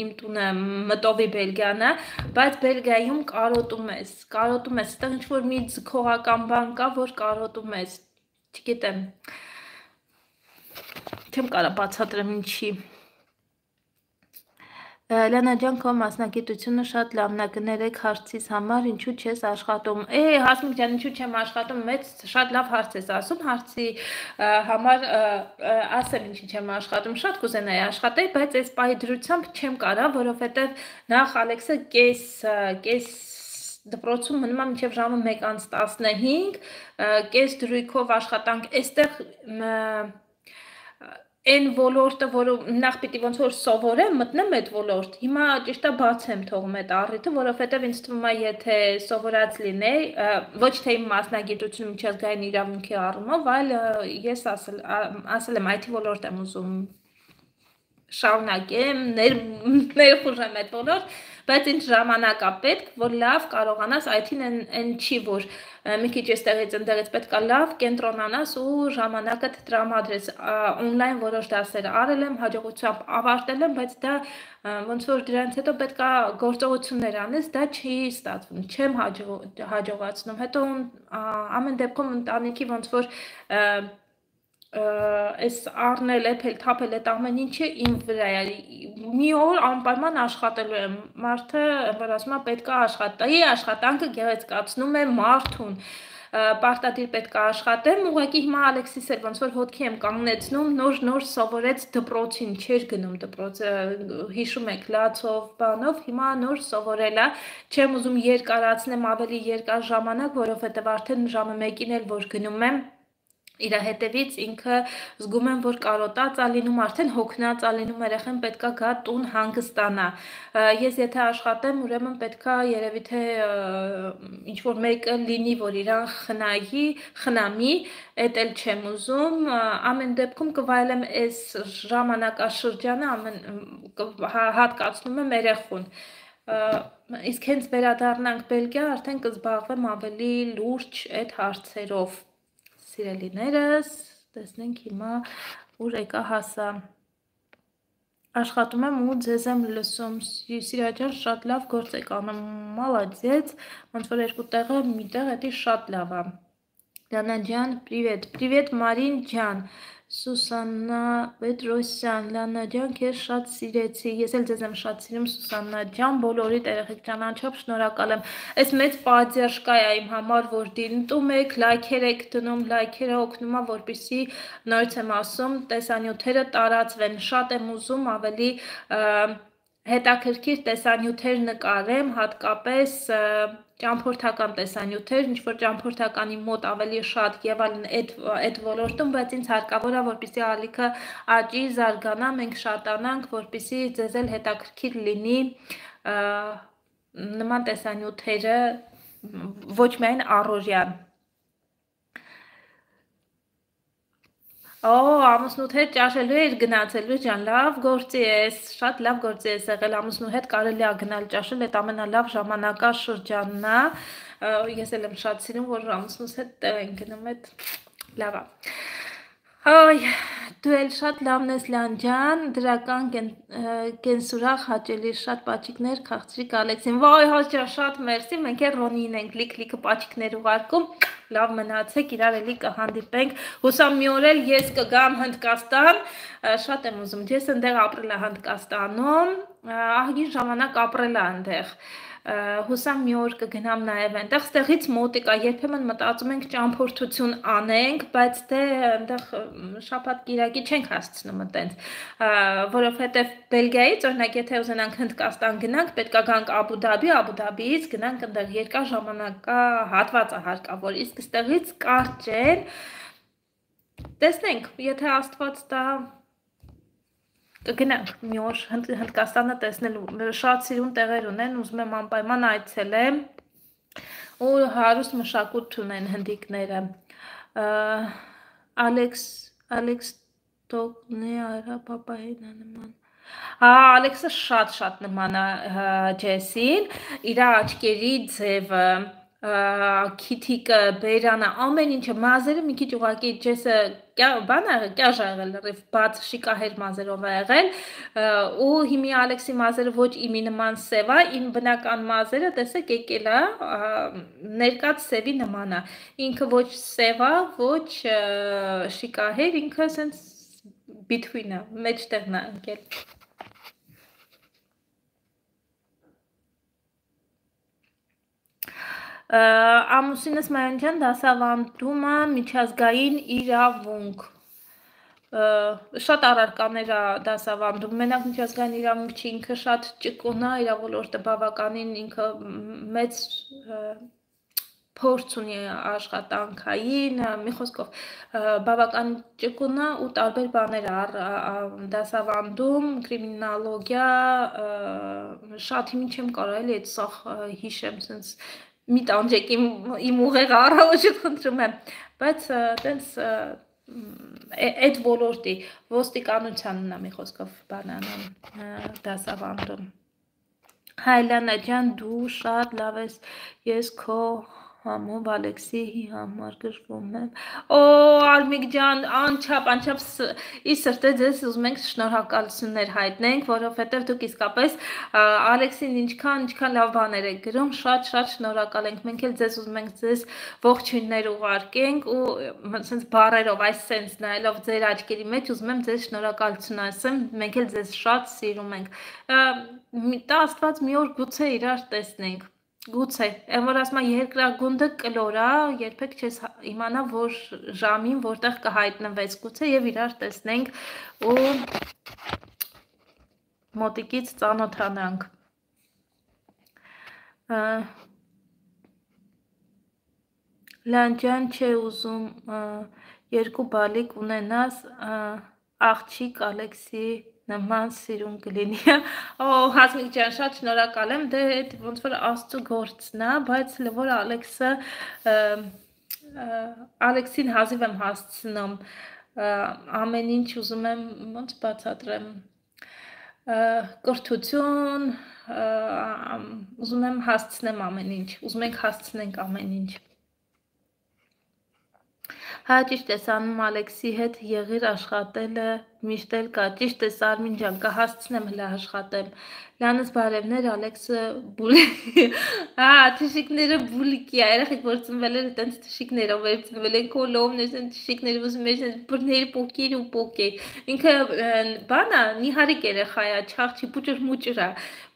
իմ տունը մտովի Բելգիան է, բայց Բելգիայում կարոտում ես, այստեղ ինչ որ մի ձգողական բան կա, որ կարոտում ես, չգիտեմ, չեմ կարա բացատրեմ ինչի։ Լանա ջան, քո մասնագիտությունը շատ լավն է, կներեք հարցիս համար, ինչու չես աշխատում։ Հասմիկ ջան, ինչու չեմ աշխատում, շատ լավ հարց ես ասում, հարցի համար ասեմ ինչի չեմ աշխատում, շատ կուզենայի աշխատել, բայց այս պահի դրությամբ չեմ կարա, որովհետև նախ Ալեքսը կես դպրոցում մնում է մինչև ժամը 1:15, կես դրույքով աշխատանք, այստեղ Այն ոլորտը, որը նախ պիտի ոնց որ սովորեմ, մտնեմ այդ ոլորտ, հիմա ճիշտ է բաց եմ թողում այդ առիթը, որովհետև ինձ թվում է, եթե սովորած լինեի, ոչ թե իմ մասնագիտությունը միջազգային իրավունքի առումով, այլ ես ասել եմ IT ոլորտ եմ ուզում շարունակեմ, ներխուժեմ այդ ոլորտ, բայց ինչ ժամանակ է պետք, որ լավ կարողանաս IT-ն այն չի, որ մի քիչ այստեղից ընդեղից պետք է լավ կենտրոնանաս ու ժամանակդ տրամադրես, օնլայն որոշ դասեր արել եմ, հաջողությամբ ավարտել եմ, բայց դա ոնց որ դրանից հետո պետք է գործողություններ անես, դա չի ստացվում, չեմ հաջողացնում, հետո ամեն դեպքում ընտանիքի ոնց որ այս առնել, էփել, թափել այդ ամեն ինչը իմ վրա է, մի օր անպայման աշխատելու եմ, մարդը, որ ասում է պետք է աշխատայի, աշխատանքը գեղեցկացնում է մարդուն, պարտադիր պետք է աշխատեմ, ուղղակի հիմա Ալեքսիս էր ոնց որ ոտքի եմ կանգնեցնում, նոր սովորեց դպրոցին, չէր գնում դպրոցը, հիշում եք լացով, բանով, հիմա նոր սովորել է, չեմ ուզում երկարացնեմ ավելի երկար ժամանակ, որովհետև արդեն ժամը 1-ին էլ որ գնում եմ իր հետևից ինքը զգում եմ, որ կարոտած է լինում, արդեն հոգնած է լինում, երեխան պետքա գա տուն հանգստանա։ Ես եթե աշխատեմ, ուրեմն պետքա երևի թե ինչ որ մեկը լինի, որ իրան խնամի, էդ էլ չեմ ուզում, ամեն դեպքում կվայելեմ այս ժամանակաշրջանը, հատկացնում եմ երեխուն։ Իսկ հենց վերադառնանք Բելգիա, արդեն կզբաղվեմ ավելի լուրջ այդ հարցերով։ Սիրելիներս, տեսնենք հիմա ուր եկա հասա, աշխատում եմ ու ձեզ եմ լսում, Սիրա ջան, շատ լավ գործ եք անում, մալադեց, ոնց որ երկու տեղը մի տեղ էդի շատ լավ է, Լանա ջան, привет Մարին ջան, Սուսաննա Պետրոսյան, Լանա ջան, քեզ շատ սիրեցի, ես էլ ձեզ եմ շատ սիրում Սուսաննա ջան, բոլորիդ երեխեք ջան, անչափ շնորհակալ եմ, այս մեծ պատժաշկա է իմ համար, որ դիտում եք, լայքեր եք դնում, լայքերը օգնում է, որպեսզի նորից եմ ասում, տեսանյութերը տարածվեն, շատ եմ ուզում ավելի հետաքրքիր տեսանյութեր նկարեմ, հատկապես ճամփորդական տեսանյութեր, ինչ որ ճամփորդականի մոտ ավելի շատ եւ այլն այդ ոլորտում, բայց ինձ հարկավոր է, որպեսզի ալիքը աճի, զարգանա, մենք շատանանք, որպեսզի ձեզ էլ հետաքրքիր լինի նման տեսանյութերը ոչ միայն առօրյան։ Ամուսնուդ հետ ճաշելու էր գնացելու ջան, լավ գործի ես, շատ լավ գործի ես եղել, ամուսնու հետ կարելի է գնալ ճաշել, այդ ամենալավ ժամանակաշրջանն է, ես էլ եմ շատ սիրում, որ ամուսնուս հետ տեղ են գնում, այդ լավ է։ Այ դու էլ շատ լավն ես Լանջան, դրական կենսուրախ հաճելի շատ պաճիկներ քաղցրիկ Ալեքսին։ Վայ հաճա շատ մերսի, մենք էլ Ռոնին ենք լիքը պաճիկներ ուղարկում։ Լավ մնացեք, իրար էլի կհանդիպենք։ Հուսամ մի օր էլ ես կգամ Հնդկաստան, շատ եմ ուզում։ Ես այնտեղ ապրել եմ Հնդկաստանում, ահագին ժամանակ ապրել եմ այնտեղ։ Հուսամ մի օր կգնամ նաև այնտեղ, ստեղից մոտիկ է, երբեմն մտածում ենք ճամփորդություն անենք, բայց դե այնտեղ շաբաթ կիրակի չենք հասցնում այտենց, որովհետև Բելգիայից օրինակ եթե ուզենանք Հնդկաստան գնանք, պետք է գանք Աբու Դաբի, Աբու Դաբիից գնանք այնտեղ երկար ժամանակա հատված է հարկավոր, իսկ ստեղից կարճ են, տեսնենք, եթե Աստված տա կգնանք մի օր Հնդկաստանը տեսնելու շատ սիրուն տեղեր ունեն, ուզում եմ անպայման այցելեմ ու հարուստ մշակույթ ունեն հնդիկները։ Ալեքս Տոկնի արա պապային նման։ Ալեքսը շատ նման է Ջեսին, իր աչքերի ձևը քիթիկը, բերանը, ամեն ինչը, մազերը մի քիչ ուղղակի Ջեսը բան է եղել, կյաժ է եղել, լրիվ բաց շիկահեր մազերով է եղել, ու հիմի Ալեքսի մազերը ոչ իմի նման սև է, իմ բնական մազերը, տեսեք եկել է, ներկած սևի նման է, ինքը ոչ սև է, ոչ շիկահեր, ինքը սենց between է, մեջտեղն է ընկել։ Ամուսինս Մանջան դասավանդում է միջազգային իրավունք, շատ առարկաներ է դասավանդում, մենակ միջազգային իրավունք չի, ինքը շատ ճկուն է, իր ոլորտը բավականին ինքը մեծ փորձ ունի աշխատանքային, մի խոսքով բավական ճկուն է ու տարբեր բաներ դասավանդում, կրիմինալոգիա, շատ հիմի չեմ կարող էլի այդ սախ հիշեմ, սենց մի տանջեք իմ ուղեղը առավոտ խնդրում եմ, բայց տենց այդ ոլորտի ոստիկանությանն է մի խոսքով բանանան դասավանդում։ Հայլանա ջան, դու շատ լավ ես, ես քո համով Ալեքսի համար գրվում եմ։ Օ, Արմիկ ջան, անչափ ի սրտե ձեզ ուզում ենք շնորհակալություններ հայտնենք, որովհետև դուք իսկապես Ալեքսին ինչքան լավ բաներ եք գրում, շատ շնորհակալ ենք։ Մենք էլ ձեզ ուզում ենք ձեզ ողջույններ ուղարկենք ու sense բառերով այս sense նայելով ձեր աչքերի մեջ ուզում եմ ձեզ շնորհակալություն ասեմ, մենք էլ ձեզ շատ սիրում ենք։ Տա Աստված մի օր գուցե իրար տեսնենք։ Գուցե, այն որ ասում եմ երկրագունդը կլոր է, երբեք չես իմանա որ ժամին որտեղ կհայտնվես, գուցե եւ իրար տեսնենք ու մոտիկից ծանոթանանք։ Լանջան չէ ուզում երկու բալիկ ունենաս աղջիկ Ալեքսի նման սիրուն կլինի։ Օ, Հասմիկ ջան, շատ շնորհակալ եմ, դե այդ ոնց որ Աստծո գործն է, բայց որ Ալեքսին հազիվ եմ հասցնում, ամեն ինչ ուզում եմ ոնց բացատրեմ, կրթություն, ուզում եմ հասցնեմ ամեն ինչ, ուզում ենք հասցնենք ամեն ինչ։ Հա ճիշտ ես անում Ալեքսի հետ եղիր աշխատելը միշտ էլ կա, ճիշտ ես Արմին ջան, կհասցնեմ հլա աշխատեմ, լանս բարևներ Ալեքսը թշիկները բուլիկի է, երեխեք որ ծնվել էր տենց թշիկներով էր ծնվել են կոլովներ, թշիկները ուզում էր բրներ պոկեր ու պոկեր, ինքը բանա նիհարիկ երեխա է, չաղջի պուճր մուճր է,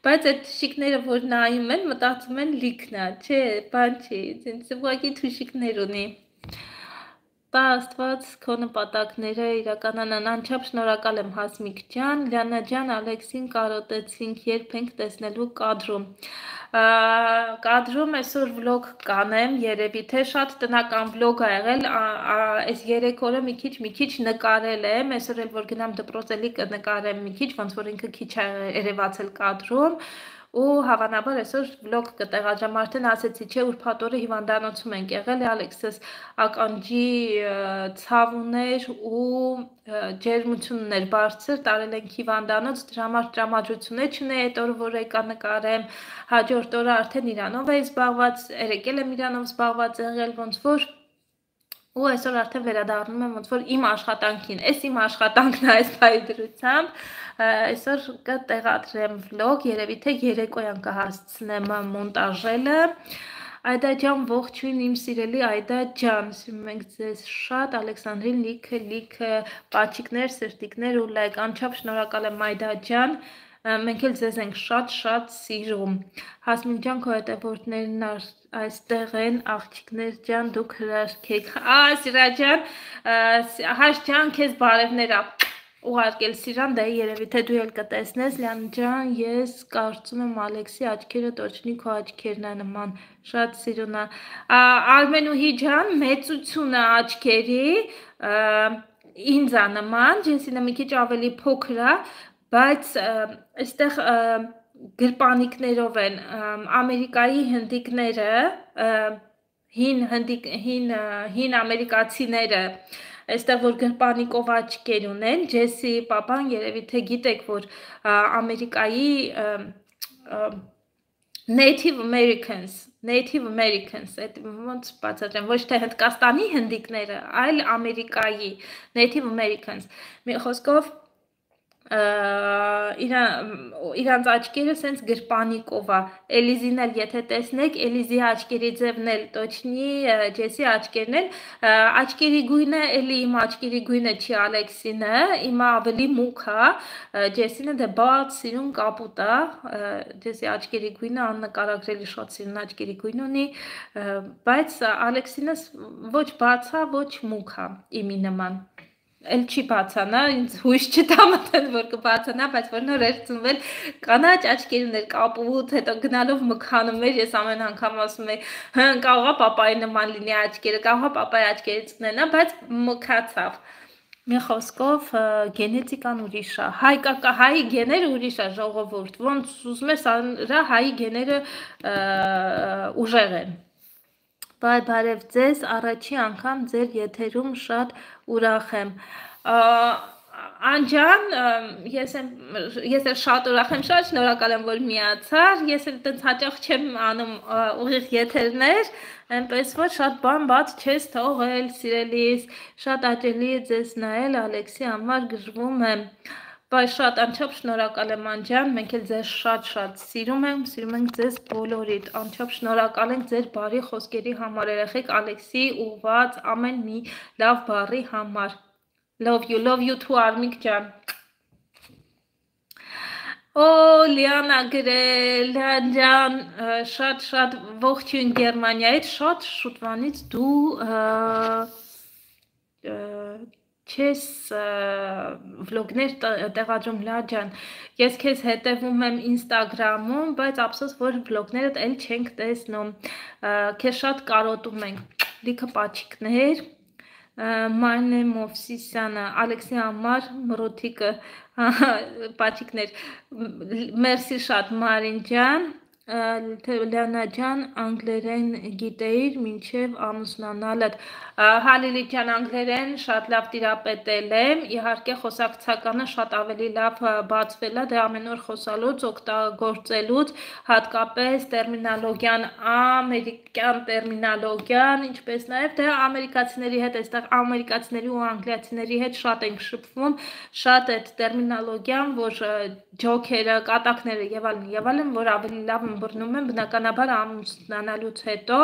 բայց այդ թշիկները որ նայում են մտածում են լիքն է, չէ, բան չի, ցենց ուղղակի թշիկներ ունի։ Տա Աստված քո նպատակները իրականանան, անչափ շնորհակալ եմ Հասմիկ ջան, Լիանա ջան, Ալեքսին կարոտեցինք, երբ ենք տեսնելու կադրում։ Կադրում այսօր վլոգ կանեմ, երևի թե շատ տնական վլոգ ա եղել, այս 3 օրը մի քիչ նկարել եմ, այսօր էլ որ գնամ դպրոց էլի կնկարեմ մի քիչ, ոնց որ ինքը քիչ է երևացել կադրում։ Ու հավանաբար այսօր վլոգ կտեղադրեմ, արդեն ասեցի, չէ, ուրբաթ օրը հիվանդանոցում ենք եղել, Ալեքսս ականջի ցավ ուներ ու ջերմություն ուներ բարձր, տարել ենք հիվանդանոց, դրա համար տրամադրություններ չունեի այդ օրը, որ եկա նկարեմ, հաջորդ օրը արդեն իրանով էի զբաղված, երեկել եմ իրանով զբաղված եղել, ոնց որ ու այսօր արդեն վերադառնում եմ ոնց որ իմ աշխատանքին, այս իմ աշխատանքն է այս բայդրությամբ, այսօր կտեղադրեմ վլոգ, երևի թե երեկոյան կհասցնեմ մոնտաժելը, Այդա ջան, ողջույն իմ սիրելի Այդա ջան, սիրում ենք ձեզ շատ, Ալեքսանդրին լիքը պաչիկներ, սրտիկներ ու լայք, անչափ շնորհակալ եմ Այդա ջան, մենք էլ ձեզ ենք շատ սիրում, Հասմիկ ջան, քո հետևորդներն այստեղ են, աղջիկներ ջան, դուք հրաշք եք, Սիրա ջան, Հաշ ջան, քեզ բարևներ ուղարկել Սիրան, դա երևի թե դու էլ կտեսնես, Լիան ջան, ես կարծում եմ Ալեքսի աչքերը տոչնի քո աչքերն է նման, շատ սիրուն է, Արմենուհի ջան, մեծությունը աչքերի, ինձ է նման, Ջեսինը մի քիչ ավելի փոքր է, բայց այստեղ գրպանիկներով են, Ամերիկայի հնդիկները, հին ամերիկացիները, Այստեղ որ գրպանիկով աչքեր ունեն, Ջեսի պապան երևի թե գիտեք, որ Ամերիկայի Native Americans, այդ ոնց բացատրեմ, ոչ թե Հնդկաստանի հնդիկները, այլ Ամերիկայի Native Americans, մի խոսքով իրանց աչքերը սենց գրպանիկով է, Էլիզին էլ եթե տեսնեք, Էլիզի աչքերի ձևն էլ տոչնի, Ջեսի աչքերն էլ, աչքերի գույնը էլի իմ աչքերի գույնը չի Ալեքսինը, իմը ավելի մուք է, Ջեսինը դե բաց սիրուն կապուտ է, Ջեսի աչքերի գույնը աննկարագրելի շատ սիրուն աչքերի գույն ունի, բայց Ալեքսինը ոչ բաց է, ոչ մուք է իմի նման Էլ չի բացանա, ինձ հույս չտա մտել, որ կբացանա, բայց որ նոր էր ծնվել կանաչ աչքեր ուներ կապուտ, հետո գնալով մքանում էր, ես ամեն անգամ ասում էի, կարող է պապայի նման լինի աչքերը, կարող է պապայի աչքերից կնենա, բայց մքացավ։ Մի խոսքով գենետիկան ուրիշ է, հայի գեները ուրիշ է, ժողովուրդ, ոնց ուզում ես արա հայի գեները ուժեղ են։ Բարև ձեզ, առաջի անգամ ձեր եթերում շատ ուրախ եմ, Անջան, ես էլ շատ ուրախ եմ, շատ շնորհակալ եմ, որ միացար, ես էլ տենց հաճախ չեմ անում ուղիղ եթերներ, այնպես որ շատ բան բաց չես թողել, սիրելիս, շատ աջելի է ձեզ նայել, Ալեքսի համար գժվում եմ, Բայց շատ անչափ շնորհակալ եմ Անջան, մենք էլ ձեզ շատ սիրում ենք ձեզ բոլորիդ, անչափ շնորհակալ ենք ձեր բարի խոսքերի համար, երեխեք Ալեքսի ուղված ամեն մի լավ բառի համար, love you too Արմիկ ջան, Լիանա գրել, Ջան, շատ ողջույն Գերմանիայից, շատ շուտվանից դու չես վլոգներ տեղադրում Լա ջան, ես քեզ հետևում եմ ինստագրամում, բայց ափսոս, որ վլոգներդ էլ չենք տեսնում, քեզ շատ կարոտում ենք, լիքը պաչիկներ, Մարնե Մովսիսյանը, Ալեքսի համար մրոթիկը, պաչիկներ, մերսի շատ Մարին ջան, Լիանա ջան, անգլերեն գիտեիր մինչև ամուսնանալդ, Հալիլի ջան, անգլերեն շատ լավ տիրապետել եմ, իհարկե խոսակցականը շատ ավելի լավ բացվել է, դե ամեն օր խոսալուց, օգտագործելուց, հատկապես տերմինոլոգիան, ամերիկյան տերմինոլոգիան, ինչպես նաև դե ամերիկացիների հետ, այստեղ ամերիկացիների ու անգլիացիների հետ շատ ենք շփվում, շատ այդ տերմինոլոգիան, որ ջոքերը, կատակները եւ այլն, որ ավելի լավ ըմբռնում եմ բնականաբար ամուսնանալուց հետո,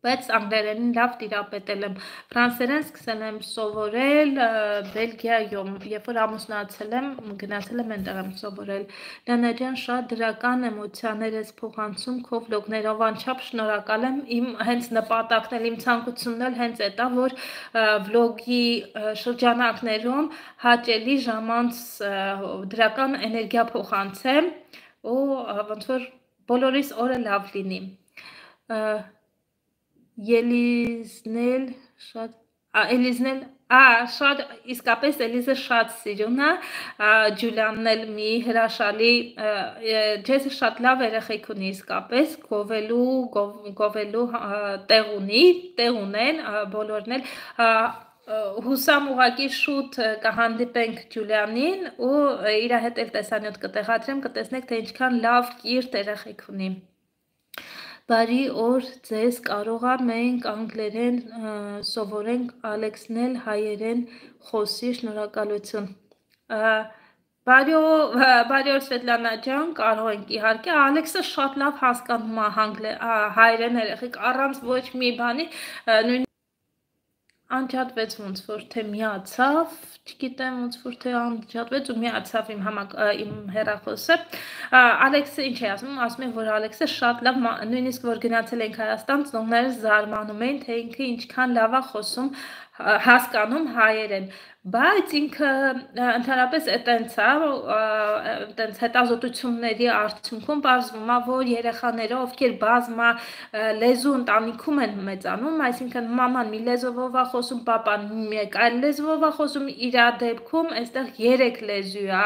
բայց անգլերենին լավ տիրապետել եմ, ֆրանսերեն սկսել եմ սովորել Բելգիայում, երբ որ ամուսնացել եմ, գնացել եմ այնտեղ եմ սովորել, Լիանա ջան, շատ դրական էմոցիաներ ես փոխանցում քո վլոգներով, անչափ շնորհակալ եմ, իմ հենց նպատակն էլ, իմ ցանկությունն էլ հենց այդ է, որ վլոգի շրջանակներում հաճելի ժամանց դրական էներգիա փոխանցեմ ու ոնց որ բոլորիս օրը լավ լինի, Ելիզնել շատ իսկապես Էլիզը շատ սիրուն է, Ջուլիանն էլ մի հրաշալի, Ջեսը շատ լավ երեխեք ունի իսկապես, գովելու տեղ ունեն, բոլորն էլ, Հուսամ ուղղակի շուտ կհանդիպենք Ջուլիանին ու իր հետ էլ տեսանյութ կտեղադրեմ, կտեսնեք թե ինչքան լավ կիրթ երեխեք ունի, Բարի օր ձեզ, կարող է մենք անգլերեն սովորենք, Ալեքսն էլ հայերեն խոսի, շնորհակալություն։ Բարի օր Սվետլանա ջան, կարող ենք իհարկե, Ալեքսը շատ լավ հասկանում է հայերեն երեխեք, առանց ոչ մի բանի, նույն անջատվեց ոնց որ թե միացավ, չգիտեմ ոնց որ թե անջատվեց ու միացավ իմ հեռախոսը։ Ալեքսը ինչ է ասում է, որ Ալեքսը շատ լավ, նույնիսկ որ գնացել ենք Հայաստան, ծնողները զարմանում էին, թե ինքը ինչքան լավ է խոսում, հասկանում հայերեն, բայց ինքը ընդհանրապես այտենց է, այտենց հետազոտությունների արդյունքում պարզվում է, որ երեխաները, ովքեր բազմա լեզու ընտանիքում են մեծանում, այսինքն մաման մի լեզվով է խոսում, պապան մեկ այլ լեզվով է խոսում, իր դեպքում այստեղ 3 լեզու է,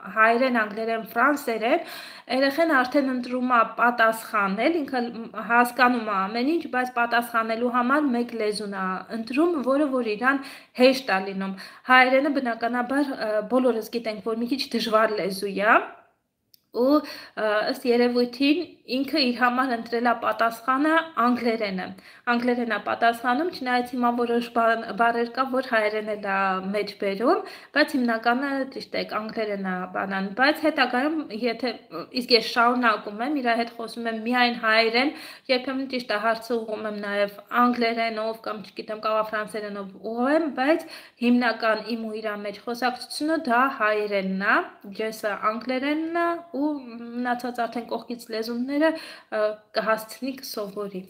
հայերեն, անգլերեն, ֆրանսերեն, երեխան արդեն ընտրում է պատասխանել, ինքը հասկանում է ամեն ինչ, բայց պատասխանելու համար մեկ լեզուն է ընտրում, որը որ իրան հեշտ է լինում։ Հայերենը բնականաբար բոլորս գիտենք, որ մի քիչ դժվար լեզու է, ու ըստ երևույթին ինքը իր համար ընտրել է պատասխանը անգլերենը։ Անգլերենը պատասխանում, չնայած հիմա որոշ բառեր կա, որ հայերենը դա մեջ բերում, բայց հիմնականը ճիշտ է, անգլերենը բանան, բայց հետագայում եթե իսկ ես շարունակում եմ, իր հետ խոսում եմ միայն հայերեն, երբեմն ճիշտ է հարցը ուղղում եմ նաև անգլերենով կամ չգիտեմ, կարող ֆրանսերենով ուղղեմ, բայց հիմնական իմ ու իր մեջ խոսակցությունը դա հայերենն է, ջեսը անգլերենն է ու մնացած արդեն կողքից լեզունները կհասցնի կսովորի։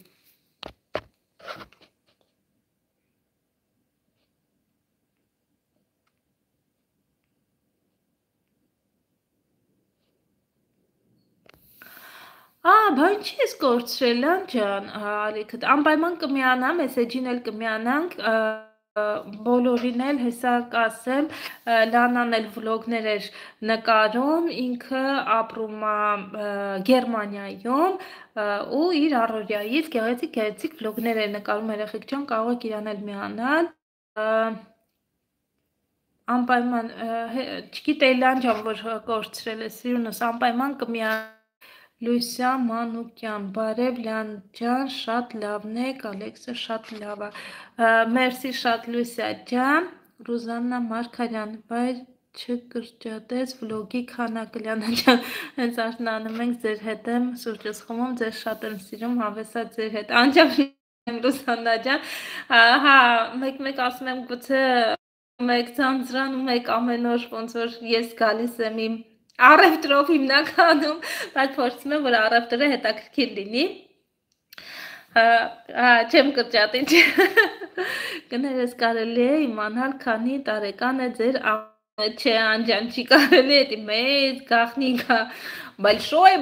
Բան չես կորցրել, ջան, Ալիքդ, անպայման կմիանամ, մեսեջին էլ կմիանանք, բոլորին էլ հեսա կասեմ, Լանան էլ վլոգներ էր նկարում, ինքը ապրում է Գերմանիայում ու իր առօրյայից գեղեցիկ վլոգներ էր նկարում, երեխեք ջան, կարող եք իրան էլ միանալ։ Անպայման, չգիտեի Լան ջան, որ կորցրել է սիրունս, անպայման կմիանալ։ Լույսա Մանուկյան, բարև Լյան ջան, շատ լավն եք, Ալեքսը շատ լավ է, մերսի շատ Լույսա ջան, Ռուզաննա Մարգարյան, բայց չկրճատեց վլոգի քանակը, Լյանա ջան, հենց արթնանում ենք ձեր հետ եմ սուրճս խմում, ձեզ շատ եմ սիրում, հավեսա ձեր հետ, անջամ Ռուզաննա ջան, հա, մեկ ասում եմ գուցե մեկ ձանձրանում եք ամեն օր, ոնց որ ես գալիս եմ իմ առևտրով հիմնականում, բայց փորձում եմ, որ առևտրը հետաքրքիր լինի, չեմ կրճատի, կներես կարելի է իմանալ, քանի տարեկան է ձեր չէ, անջան, չի կարելի է, մեծ գաղտնիք է, большой,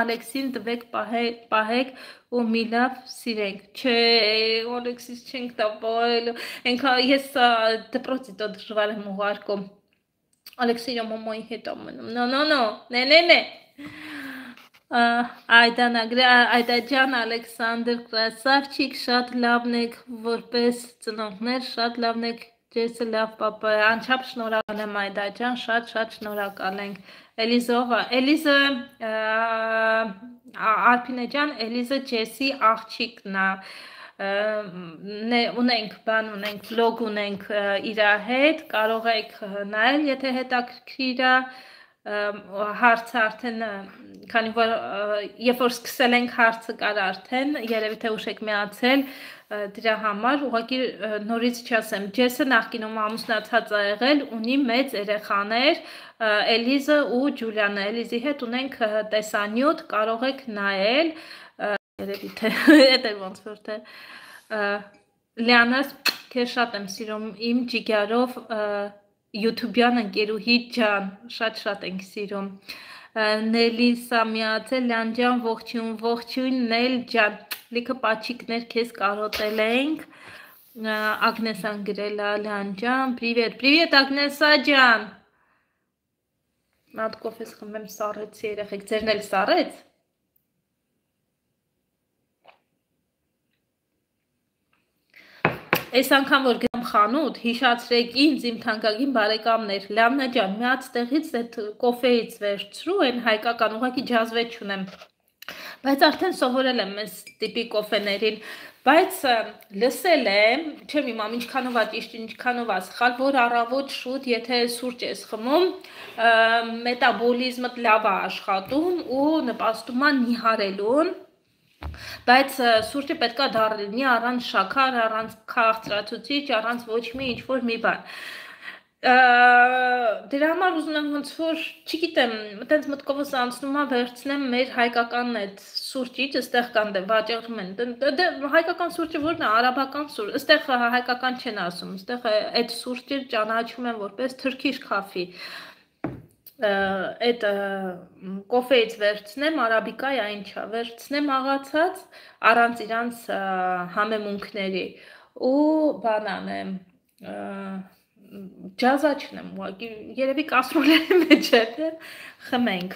Ալեքսին տվեք պահեք ու մի լավ սիրենք, չէ, Ալեքսիս չենք տապայել, ես դպրոցի դժվար եմ ուղարկում, Ալեքսիյը մամայի հետ ամնում, նե, Այդա ջան, Ալեքսանդր, կրասավչիկ, շատ լավն եք, որպես ծնողներ, շատ լավն եք, ջեսը լավ պապա է, անչափ շնորհակալ եմ Այդա ջան, շատ շնորհակալ ենք, Էլիզը, Արփինե ջան, Էլիզը ջեսի աղջիկն է, ունենք վլոգ ունենք իր հետ, կարող եք նայել, եթե հետաքրքիր է, հարցը արդեն, քանի որ երբ որ սկսել ենք հարցը կար արդեն, երևի թե ուշ եք միացել դրա համար, ուղղակի նորից չասեմ, Ջեսը նախկինում ամուսնացած ա եղել, ունի մեծ երեխաներ, Էլիզը ու Ջուլիանը, Էլիզի հետ ունենք տեսանյութ, կարող եք նայել, երևի թե հետ էր ոնց որ թե Լյանաս քեզ շատ եմ սիրում իմ ջիգարով յութուբյան ընկերուհի ջան, շատ ենք սիրում, Նելի Սամիացել, Լյան ջան, ողջույն, Նել ջան, լիքը պաչիկներ քեզ կարոտել ենք, Ագնեսան գրել է Լյան ջան, պրիվետ Ագնեսա ջան, Մատ կոֆես խմեմ սառեցի երեխեք, ձերն էլ սառեց, Այս անգամ որ գնամ խանութ, հիշացրեք ինձ իմ թանկագին բարեկամներ, Լյաննա ջան, մի հատ տեղից այդ կոֆեից վերցրու, այն հայկական ուղղակի ջազվետ չունեմ, Բայց արդեն սովորել եմ այս տիպի կոֆեներին, բայց լսել եմ, չեմ իմամ ինչքանով է ճիշտ, ինչքանով է սխալ, որ առավոտ շուտ, եթե սուրճ ես խմում, մետաբոլիզմդ լավ է աշխատում ու նպաստում է նիհարելուն, բայց սուրճը պետք է դառը լինի առանց շաքար, առանց քաղցրացուցիչ, առանց ոչ մի ինչ-որ մի բան։ Դրա համար ուզում եմ ոնց որ, չգիտեմ, այտենց մտքովս անցնում է վերցնեմ մեր հայկական այդ սուրճից, այստեղ կան վաճառում են։ Հայկական սուրճը որն է, արաբական սուրճ, այստեղ հայկական չեն ասում, այստեղ այդ սուրճը ճանաչում են որպես Turkish coffee։ Այդ կոֆեից վերցնեմ, արաբիկա է ինչա, վերցնեմ աղացած առանց իրանց համեմունքների ու բան անեմ, ջազա չնեմ ուղղակի, երևի կասրոլերի մեջ է, խմենք։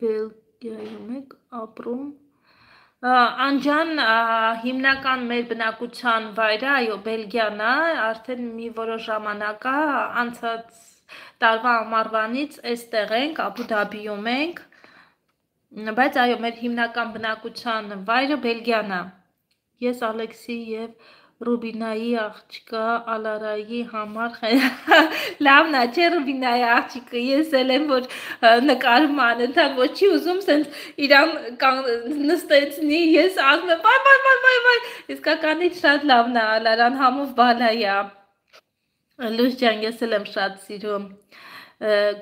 Բելգիայում եք ապրում։ Անջան հիմնական մեր բնակության վայրը, այո, Բելգիան է, արդեն մի որոշ ժամանակ է, անցած տարվա ամառվանից այստեղ ենք, Աբու Դաբիում ենք, բայց այո, մեր հիմնական բնակության վայրը Բելգիան է։ Ես Ալեքսի և Ռուբինայի աղջկա Ալարայի համար լավն է, չէ Ռուբինայի աղջիկը, ես էլ եմ, որ նկարում անընդհատ ոչի ուզում սենց իրան նստեցնի, ես ասում եմ, վայ, իսկականից շատ լավն է, Ալարան համով բալայա։ Լույս ջան, ես էլ եմ շատ սիրում։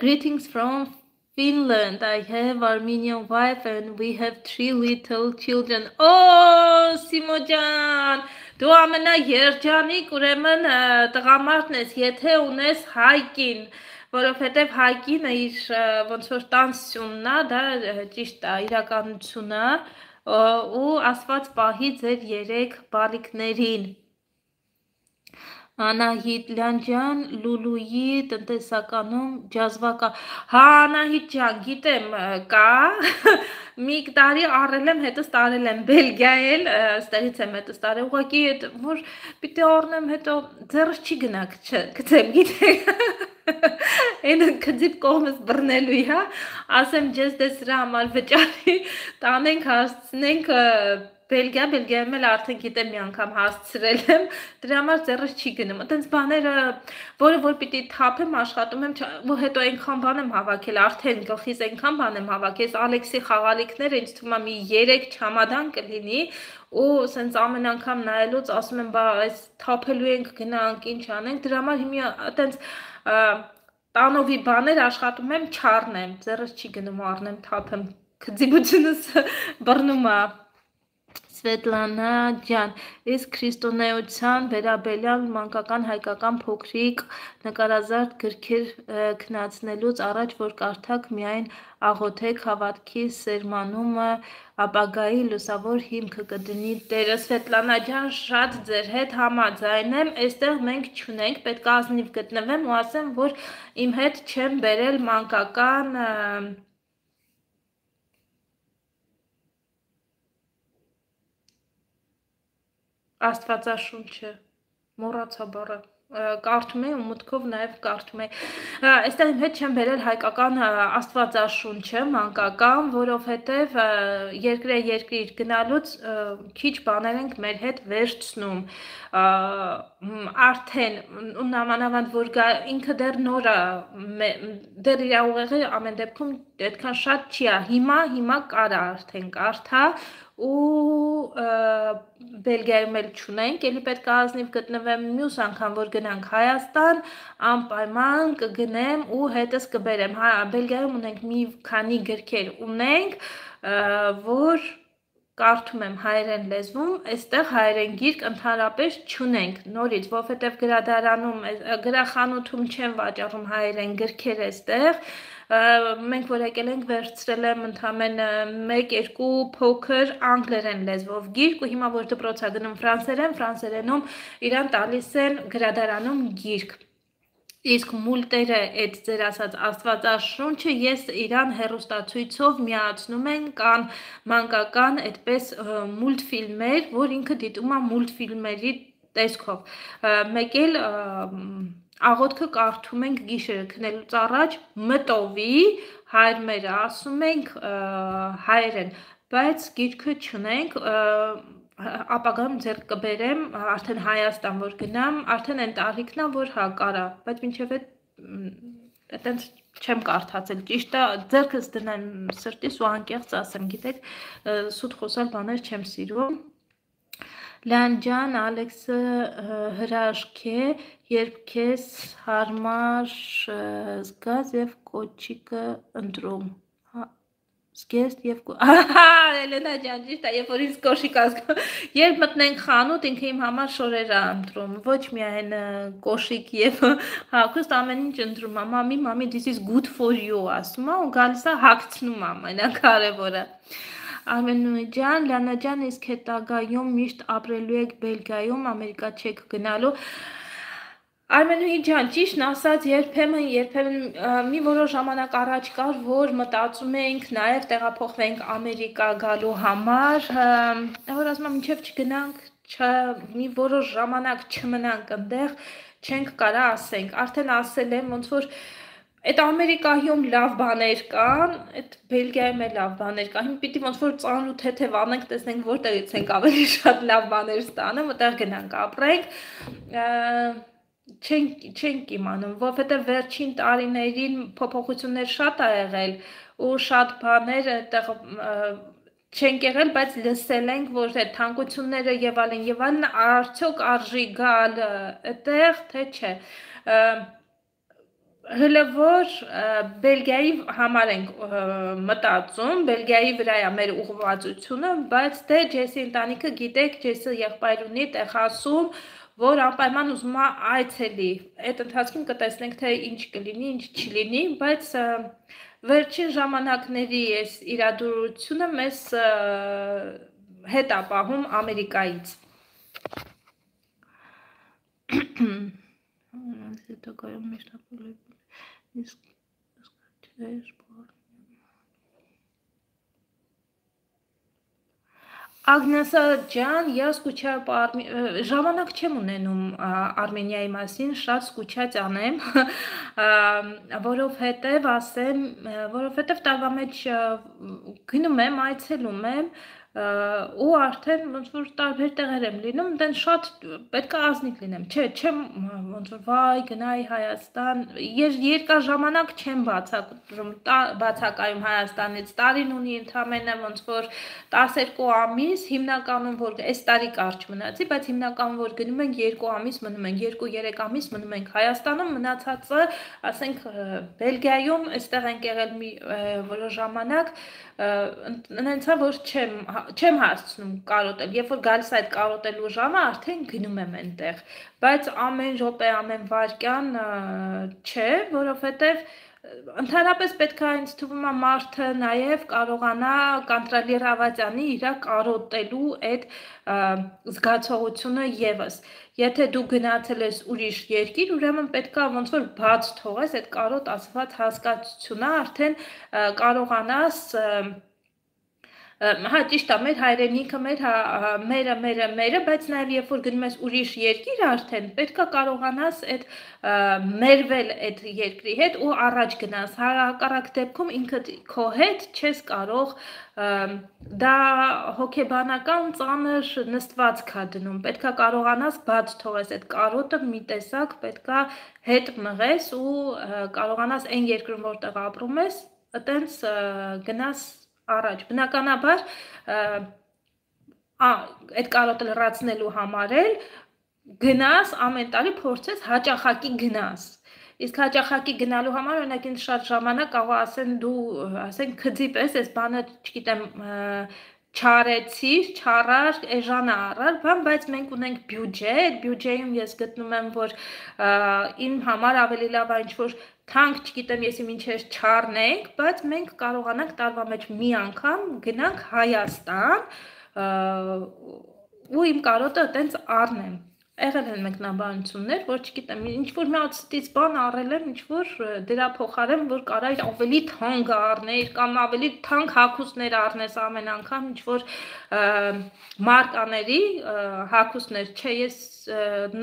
Greetings from Finland. I have Armenian wife and we have 3 little children. Oh, Simojan, դու ամենա երջանիկ ուրեմն տղամարդն ես, եթե ունես հայկին, որովհետև հայկինը իր ոնց որ տանսյունն է, դա ճիշտ է, իրականությունն է, ու Աստված պահի ձեր 3 բալիկներին։ Անահիտ Լանջան, Լուլուի տնտեսականում ջազվակա։ Հա, Անահիտ ջան, գիտեմ, կա, մի տարի առել եմ, հետս տարել եմ Բելգիայել, ստեղից եմ հետս տարել, ուղղակի որ պիտի առնեմ, հետո ձեռս չի գնա գցեմ, գիտեք, այն կձիպ կողմս բռնելու, հա, ասեմ ջես դե սրա համար վճարի, տանենք, հասցնենք Բելգիայում էլ արդեն գիտեմ մի անգամ հասցրել եմ, դրա համար ձեռս չի գնում, այտենց բաները, որը որ պիտի թափեմ, աշխատում եմ, հետո այնքան բան եմ հավաքել, արդեն գլխիս այնքան բան եմ հավաքել, Ալեքսի խաղալիքները ինձ թվում է մի 3 չամադան կլինի, ու սենց ամեն անգամ նայելուց ասում եմ, բա այս թափելու ենք գնանք, ինչ անենք, դրա համար հիմա այտենց տանովի բաներ աշխատում եմ չառնեմ, ձեռս չի գնում առնեմ, թափեմ, քծիբությունս բռնում է։ Սվետլանա ջան, իսկ քրիստոնեության վերաբերյալ մանկական հայկական փոքրիկ նկարազարդ գրքեր քննեցնելուց առաջ որ կարդաք միայն աղոթեք հավատքի սերմանումը ապագայի լուսավոր հիմքը կդնի Տերը։ Սվետլանա ջան, շատ ձեր հետ համաձայն եմ, այստեղ մենք չունենք, պետք է ազնիվ գտնվեմ ու ասեմ, որ իմ հետ չեմ բերել մանկական Աստվածաշունչը, մոռացա բառը, կարդում եմ ու մտքով նաև կարդում եմ, այստեղ իմ հետ չեմ բերել հայկական Աստվածաշունչը, մանկական, որովհետև երկիր գնալուց քիչ բաներ ենք մեր հետ վերցնում, արդեն ու նամանավանդ որ ինքը դեռ նոր է, դեռ իր ուղեղը ամեն դեպքում այդքան շատ չի է, հիմա կարա արդեն կարդա ու Բելգիայում էլ չունենք, էլի պետք է ազնիվ գտնվեմ մյուս անգամ, որ գնանք Հայաստան, անպայման կգնեմ ու հետս կբերեմ, Բելգիայում ունենք մի քանի գրքեր ունենք, որ կարդում եմ հայերեն լեզվում, այստեղ հայերեն գիրք ընդհանրապես չունենք, նորից, որովհետև գրադարանում, գրախանութում չեն վաճառում հայերեն գրքեր այստեղ, մենք որ եկել ենք վերցրել եմ ընդամենը 1-2 փոքր անգլերեն լեզվով գիրք ու հիմա որ դպրոց է գնում ֆրանսերենում իրան տալիս են գրադարանում գիրք։ Իսկ մուլտերը այդ ձեր ասած Աստվածաշունչը ես իրան հեռուստացույցով միացնում են կան մանկական այդպես մուլտֆիլմեր, որ ինքը դիտում է մուլտֆիլմերի տեսքով, մեկ էլ աղոթքը կարդում ենք գիշերը քնելուց առաջ մտովի, հայրմերը ասում ենք հայերեն, բայց գիրքը չունենք, ապագայում ձեռք կբերեմ, արդեն Հայաստան որ գնամ, արդեն այն տարիքն է, որ հա կարա, բայց մինչև այտենց չեմ կարդացել, ճիշտ է, ձեռքս դնեմ սրտիս ու անկեղծ ասեմ, գիտեք, սուտ խոսալ բաներ չեմ սիրում։ Լան ջան, Ալեքսը հրաշք է, երբ քեզ հարմար զգաս եւ կոչիկը ընտրում։ Զգեստ եւ Էլենա ջան, ճիշտ է, երբ որ ինձ կոշիկ ազգում, երբ մտնենք խանութ, ինքը իմ համար շորեր է ընտրում, ոչ միայն կոշիկ եւ հագուստ ամեն ինչ ընտրում, մամի, this is good for you, ասում է ու գալիս է հագցնում ամենակարևորը։ Արմենուի ջան, Լանա ջան, իսկ հետագայում միշտ ապրելու եք Բելգիայում, Ամերիկա չեք գնալու։ Արմենուի ջան, ճիշտն ասած, երբեմն մի որոշ ժամանակ առաջ կար, որ մտածում էինք նաև տեղափոխվենք Ամերիկա գալու համար, որ ասում եմ, մինչև չգնանք, մի որոշ ժամանակ չմնանք այնտեղ, չենք կարա ասենք, արդեն ասել եմ, ոնց որ այդ Ամերիկայում լավ բաներ կան, այդ Բելգիայում էլ լավ բաներ կան, հիմա պիտի ոնց որ ծանր ու թեթև անենք, տեսնենք որտեղից ենք ավելի շատ լավ բաներ ստանում, այդտեղ գնանք ապրենք, չենք իմանում, որովհետև վերջին տարիներին փոփոխություններ շատ ա եղել ու շատ բաներ այդտեղ չենք եղել, բայց լսել ենք, որ այդ թանկությունները եւ այլն, արդյոք արժի գալ այդտեղ, թե չէ։ Հələ որ Բելգիայի համար ենք մտածում, Բելգիայի վրա է մեր ուղղվածությունը, բայց դե Ջեսի ընտանիքը գիտեք, Ջեսը եղբայր ունի, տեխասում, որ անպայման ուզում է այցելի, այդ ընթացքում կտեսնենք, թե ինչ կլինի, ինչ չլինի, բայց վերջին ժամանակների այս իրադրությունը մեզ հետ է պահում Ամերիկայից։ Ագնեսա ջան, я скучаю по Արմենիայի, ժամանակ չեմ ունենում Արմենիայի մասին, շատ սկուչած անեմ, որովհետև տարվա մեջ գնում եմ, այցելում եմ, ու արդեն ոնց որ տարբեր տեղեր եմ լինում, դեն շատ պետք է ազնիվ լինեմ, չեմ ոնց որ վայ գնայի Հայաստան, երկար ժամանակ չեմ բացակայում Հայաստանից, տարին ունի ընդամենը ոնց որ 12 ամիս, հիմնականում որ այս տարի կարճ մնացի, բայց հիմնականում որ գնում ենք 2 ամիս մնում ենք, 2-3 ամիս մնում ենք Հայաստանում, մնացածը, ասենք Բելգիայում, այստեղ ենք եղել մի որոշ ժամանակ, նենցա որ չեմ հասցնում կարոտել, երբ որ գալիս այդ կարոտելու ժամը, արդեն գնում եմ այնտեղ, բայց ամեն րոպե, ամեն վայրկյան չէ, որովհետև ընդհանրապես պետք է ինձ թվում է մարդը նաև կարողանա կոնտրոլირավատյանի իր կարոտելու այդ զգացողությունը եւս։ Եթե դու գնացել ես ուրիշ երկիր, ուրեմն պետք է ոնց որ բաց թողես այդ կարոտ ասված հասկացությունը, արդեն կարողանաս հա ճիշտ է, մեր հայրենիքը, մերը, բայց նաև երբ որ գնում ես ուրիշ երկիր արդեն, պետք է կարողանաս այդ մերվել այդ երկրի հետ ու առաջ գնաս, հակառակ դեպքում ինքդ քո հետ չես կարող, դա հոգեբանական ծանր նստվածք է դնում, պետք է կարողանաս բաց թողես այդ կարոտը մի տեսակ, պետք է հետ մղես ու կարողանաս այն երկրում որտեղ ապրում ես, այտենց գնաս առաջ, բնականաբար այդ կարոտը լրացնելու համար էլ գնաս ամեն տարի փորձես հաճախակի գնաս, իսկ հաճախակի գնալու համար օրինակ ինձ շատ ժամանակ կարող ասեն դու ասենք քծի պես այս բանը չգիտեմ չարեցիր, չարար, էժան առար, բայց մենք ունենք բյուջե, այդ բյուջեում ես գտնում եմ, որ իմ համար ավելի լավ է ինչ-որ թանկ, չգիտեմ եսի մինչև չառնենք, բայց մենք կարողանանք տարվա մեջ մի անգամ գնանք Հայաստան ու իմ կարոտը այտենց առնեմ, եղել են մեկնաբանություններ, որ չգիտեմ, ինչ-որ մի ածտից բան առել եմ, ինչ-որ դրա փոխարեն, որ կարա ավելի թանկ առներ, կամ ավելի թանկ հագուստներ առնես ամեն անգամ, ինչ-որ մարկաների հագուստներ, չէ, ես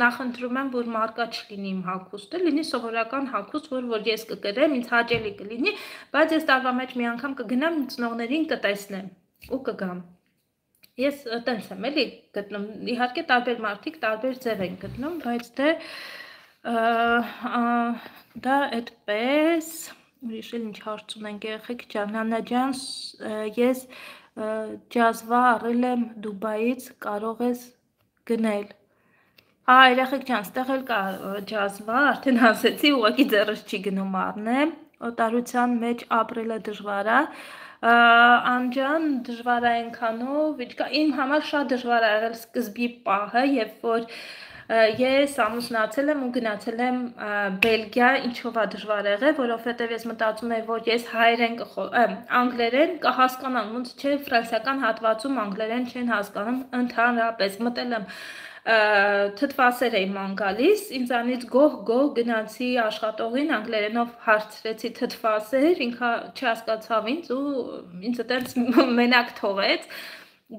նախընտրում եմ, որ մարկա չլինի իմ հագուստը, լինի սովորական հագուստ, որ ես կկրեմ, ինձ հաճելի կլինի, բայց ես տարվա մեջ մի անգամ կգնամ, ծնողներին կտեսնեմ ու կգամ։ Ես տենց եմ էլի գտնում, իհարկե տարբեր մարդիկ տարբեր ձև են գտնում, բայց դա այդպես, ուրիշ էլ ինչ հարց ունենք երեխեք ջան, Նանա ջան, ես ջազվա առել եմ Դուբայից, կարող ես գնել։ Երեխեք ջան, ստեղ էլ կա ջազվա, արդեն ասեցի, ուղղակի ձեռս չի գնում առնեմ, օտարության մեջ ապրելը դժվար է, անջան դժվար է այնքանով, իմ համար շատ դժվար է եղել սկզբի պահը, երբ որ ես ամուսնացել եմ ու գնացել եմ Բելգիա, ինչով է դժվար եղել, որովհետև ես մտածում եմ, որ ես հայերեն անգլերեն կհասկանամ, ոնց չէ ֆրանսիական հատվածում անգլերեն չեն հասկանում ընդհանրապես, մտել եմ թթվասեր էի ման գալիս, ինձանից գոհ գնացի աշխատողին, անգլերենով հարցրեցի թթվասեր, ինքը չհասկացավ ինձ ու ինձ այդպես մենակ թողեց,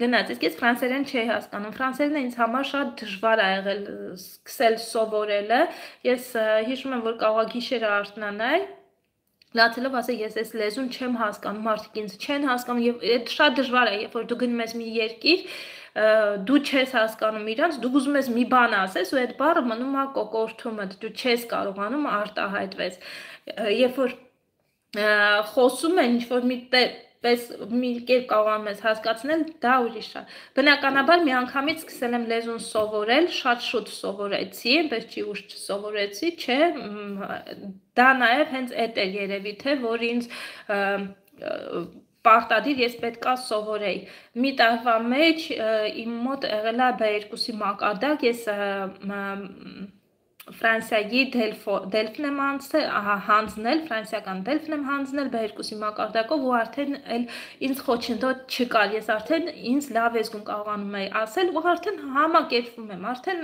գնաց, իսկ ես ֆրանսերեն չէի հասկանում, ֆրանսերենը ինձ համար շատ դժվար է եղել սկսել սովորելը, ես հիշում եմ, որ կարող գիշերը արթնանալ, լացելով ասել, ես այս լեզուն չեմ հասկանում, մարդիկ ինձ չեն հասկանում եւ շատ դժվար է, երբ որ դու գնում ես մի երկիր, դու չես հասկանում իրանց, դու ուզում ես մի բան ասես ու այդ բառը մնում է կոկորթումդ, դու չես կարողանում արտահայտվես։ Երբ որ խոսում են ինչ-որ մի կերպ կարողանում ես հասկացնել, դա ուրիշ է։ Բնականաբար մի անգամից սկսել եմ լեզուն սովորել, շատ շուտ սովորեցի, այնպես չի ուշ չսովորեցի, չէ, դա նաև հենց այդ էր երևի թե, որ ինձ պարտադիր ես պետք է սովորեի։ Մի տարվա մեջ իմ մոտ եղել է B2-ի մակարդակ, ես Ֆրանսիայի Դելֆն եմ հանձնել, ֆրանսիական Դելֆն եմ հանձնել B2-ի մակարդակով ու արդեն ինձ խոչընդոտ չկար, ես արդեն ինձ լավ ես գում կարողանում էի ասել ու արդեն համակերպվում եմ, արդեն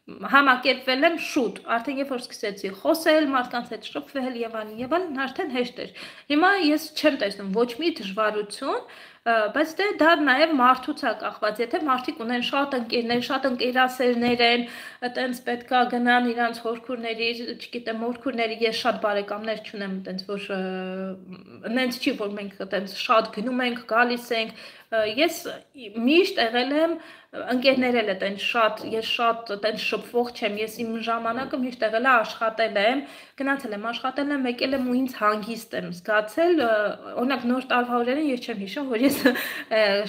համակերպվել եմ շուտ, արդեն երբ որ սկսեցի խոսել, մարդկանց հետ շփվել եւ այլն, արդեն հեշտ էր։ Հիմա ես չեմ տեսնում ոչ մի դժվարություն, բայց դա նաև մարդուց է կախված, եթե մարդիկ ունեն շատ ընկերներ, շատ ընկերասերներ են, այտենց պետքա գնան իրանց հորքուրների, չգիտեմ, հորքուրների, ես շատ բարեկամներ չունեմ, այտենց որ նենց չի, որ մենք այտենց շատ գնում ենք, գալիս ենք, ես միշտ եղել եմ ընկերներ էլ այտենց շատ, ես շատ այտենց շփվող չեմ, ես իմ ժամանակը միշտ եղել է աշխատել եմ, գնացել եմ, աշխատել եմ, եկել եմ ու ինձ հանգիստ եմ զգացել, օրինակ նոր տարվա օրերին ես չեմ հիշում, որ ես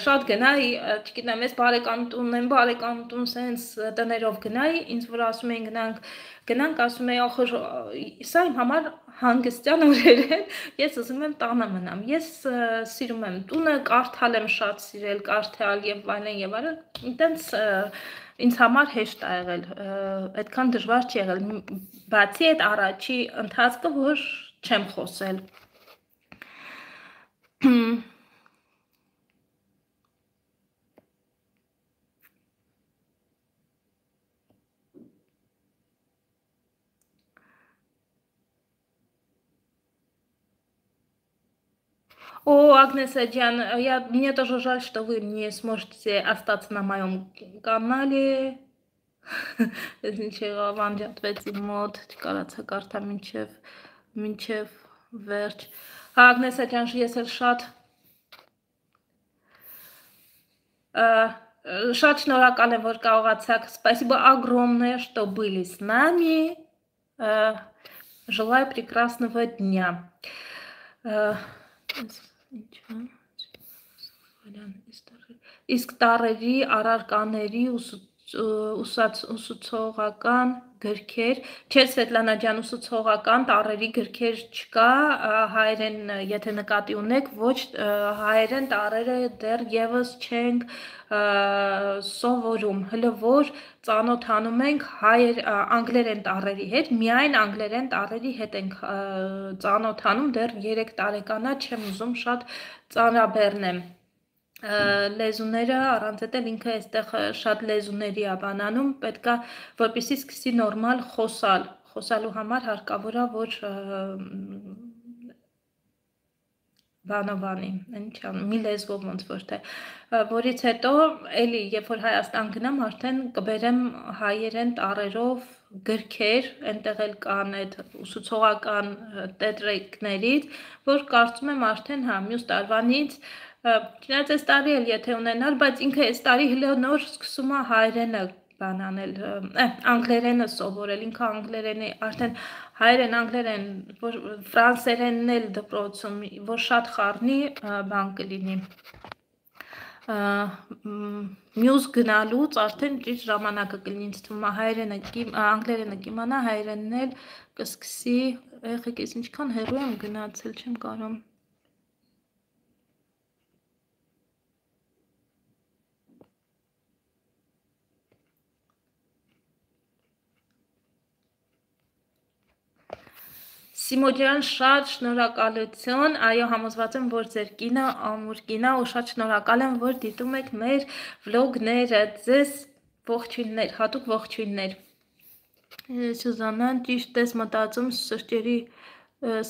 շատ գնայի, չգիտեմ, ես բարեկամ տուն եմ, բարեկամ տուն սենց տներով գնայի, ինձ որ ասում էին գնանք, ասում էի, ախր սա իմ համար հանգստյան օրեր են, ես ուզում եմ տանը մնամ, ես սիրում եմ տունը, կարդալ եմ շատ սիրել, կարդալ եւ այլն, այտենց ինձ համար հեշտ է եղել, այդքան դժվար չի եղել, բացի այդ առաջի ընթացքը, որ չեմ խոսել։ О, Агнеса Джан, мне тоже жаль, что вы не сможете остаться на моем канале. Ничего, вам ответил мод, կարացա կարդա մինչև վերջ։ Агнеса Джан, ես էլ շատ շնորհակալ եմ, որ կարողացաք, спасибо огромное, что были с нами. Желаю прекрасного дня. Իսկ տարերի, առարկաների ուսուցողական գրքեր, չէ Սվետլանա ջան, ուսուցողական տարերի գրքեր չկա, հայերեն, եթե նկատի ունեք, ոչ հայերեն տարերը դեռ եւս չենք սովորում, հələ որ ծանոթանում ենք անգլերեն տարերի հետ, միայն անգլերեն տարերի հետ ենք ծանոթանում, դեռ 3 տարեկան է, չեմ ուզում շատ ծանրաբեռնեմ։ լեզուները առանց էլ ինքը այստեղ շատ լեզուների է բանանում, պետք է որպեսզի սկսի նորմալ խոսալու համար հարկավոր է որ բանովանի, մի լեզվով ոնց որ թե, որից հետո էլի, երբ որ Հայաստան գնամ, արդեն կբերեմ հայերեն տառերով գրքեր, այնտեղ էլ կան այդ ուսուցողական տետրիկներից, որ կարծում եմ արդեն հա մյուս տարվանից Չնայած այս տարի էլ եթե ունենալ, բայց ինքը այս տարի հլը նոր սկսում է հայերենը բանանել, անգլերենը սովորել, ինքը անգլերենի, արդեն հայերեն, անգլերեն, որ ֆրանսերենն էլ դպրոցում, որ շատ խառնի, բան կլինի, մյուս գնալուց արդեն ճիշտ ժամանակը կլինի, ինձ թվում է հայերենը, անգլերենը կիմանա, հայերենն էլ կսկսի, եղեք ես ինչքան հեռու եմ գնացել, չեմ կարում Սիմո ջան, շատ շնորհակալություն, այո համոզված եմ, որ ձեր կինը ամուր կին է ու շատ շնորհակալ եմ, որ դիտում եք մեր վլոգները, ձեզ ողջույններ, հատուկ ողջույններ։ Սուզանան, ճիշտ ես մտածում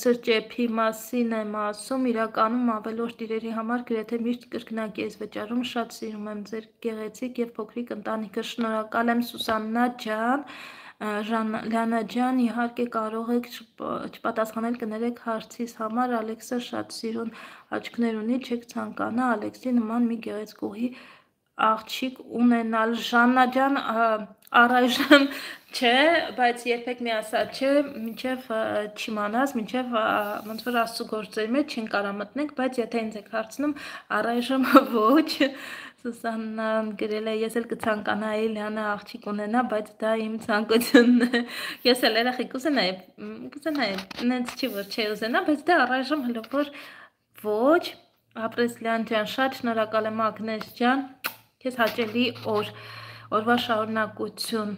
սրճեփի մասին եմ ասում, իրականում ավելորդ իրերի համար գրեթե միշտ կրկնակի ես վճարում, շատ սիրում եմ ձեր գեղեցիկ և փոքրիկ ընտանիքը, շնորհակալ եմ Սուսաննա ջան, Լանա ջան, իհարկե կարող եք չպատասխանել կներեք հարցիս համար, Ալեքսը շատ սիրուն աչքներ ունի, չեք ցանկանա Ալեքսի նման մի գեղեցկուհի աղջիկ ունենալ, Ժաննա ջան, առայժմ չէ, բայց երբեք մի ասած չէ, մինչև չիմանաս, մինչև ոնց որ Աստծո գործերի մեջ չեն կարա մտնենք, բայց եթե ինձ եք հարցնում, առայժմ ոչ, Սուսաննան գրել է, ես էլ կցանկանայի Լիանա աղջիկ ունենա, բայց դա իմ ցանկությունն է, ես էլ երեխի կուզենայի, նենց չի որ չի ուզենա, բայց դա առայժմ հլը որ ոչ, ապրես Լիան ջան, շատ շնորհակալ եմ Ագնես ջան, քեզ հաճելի օրվա շարունակություն,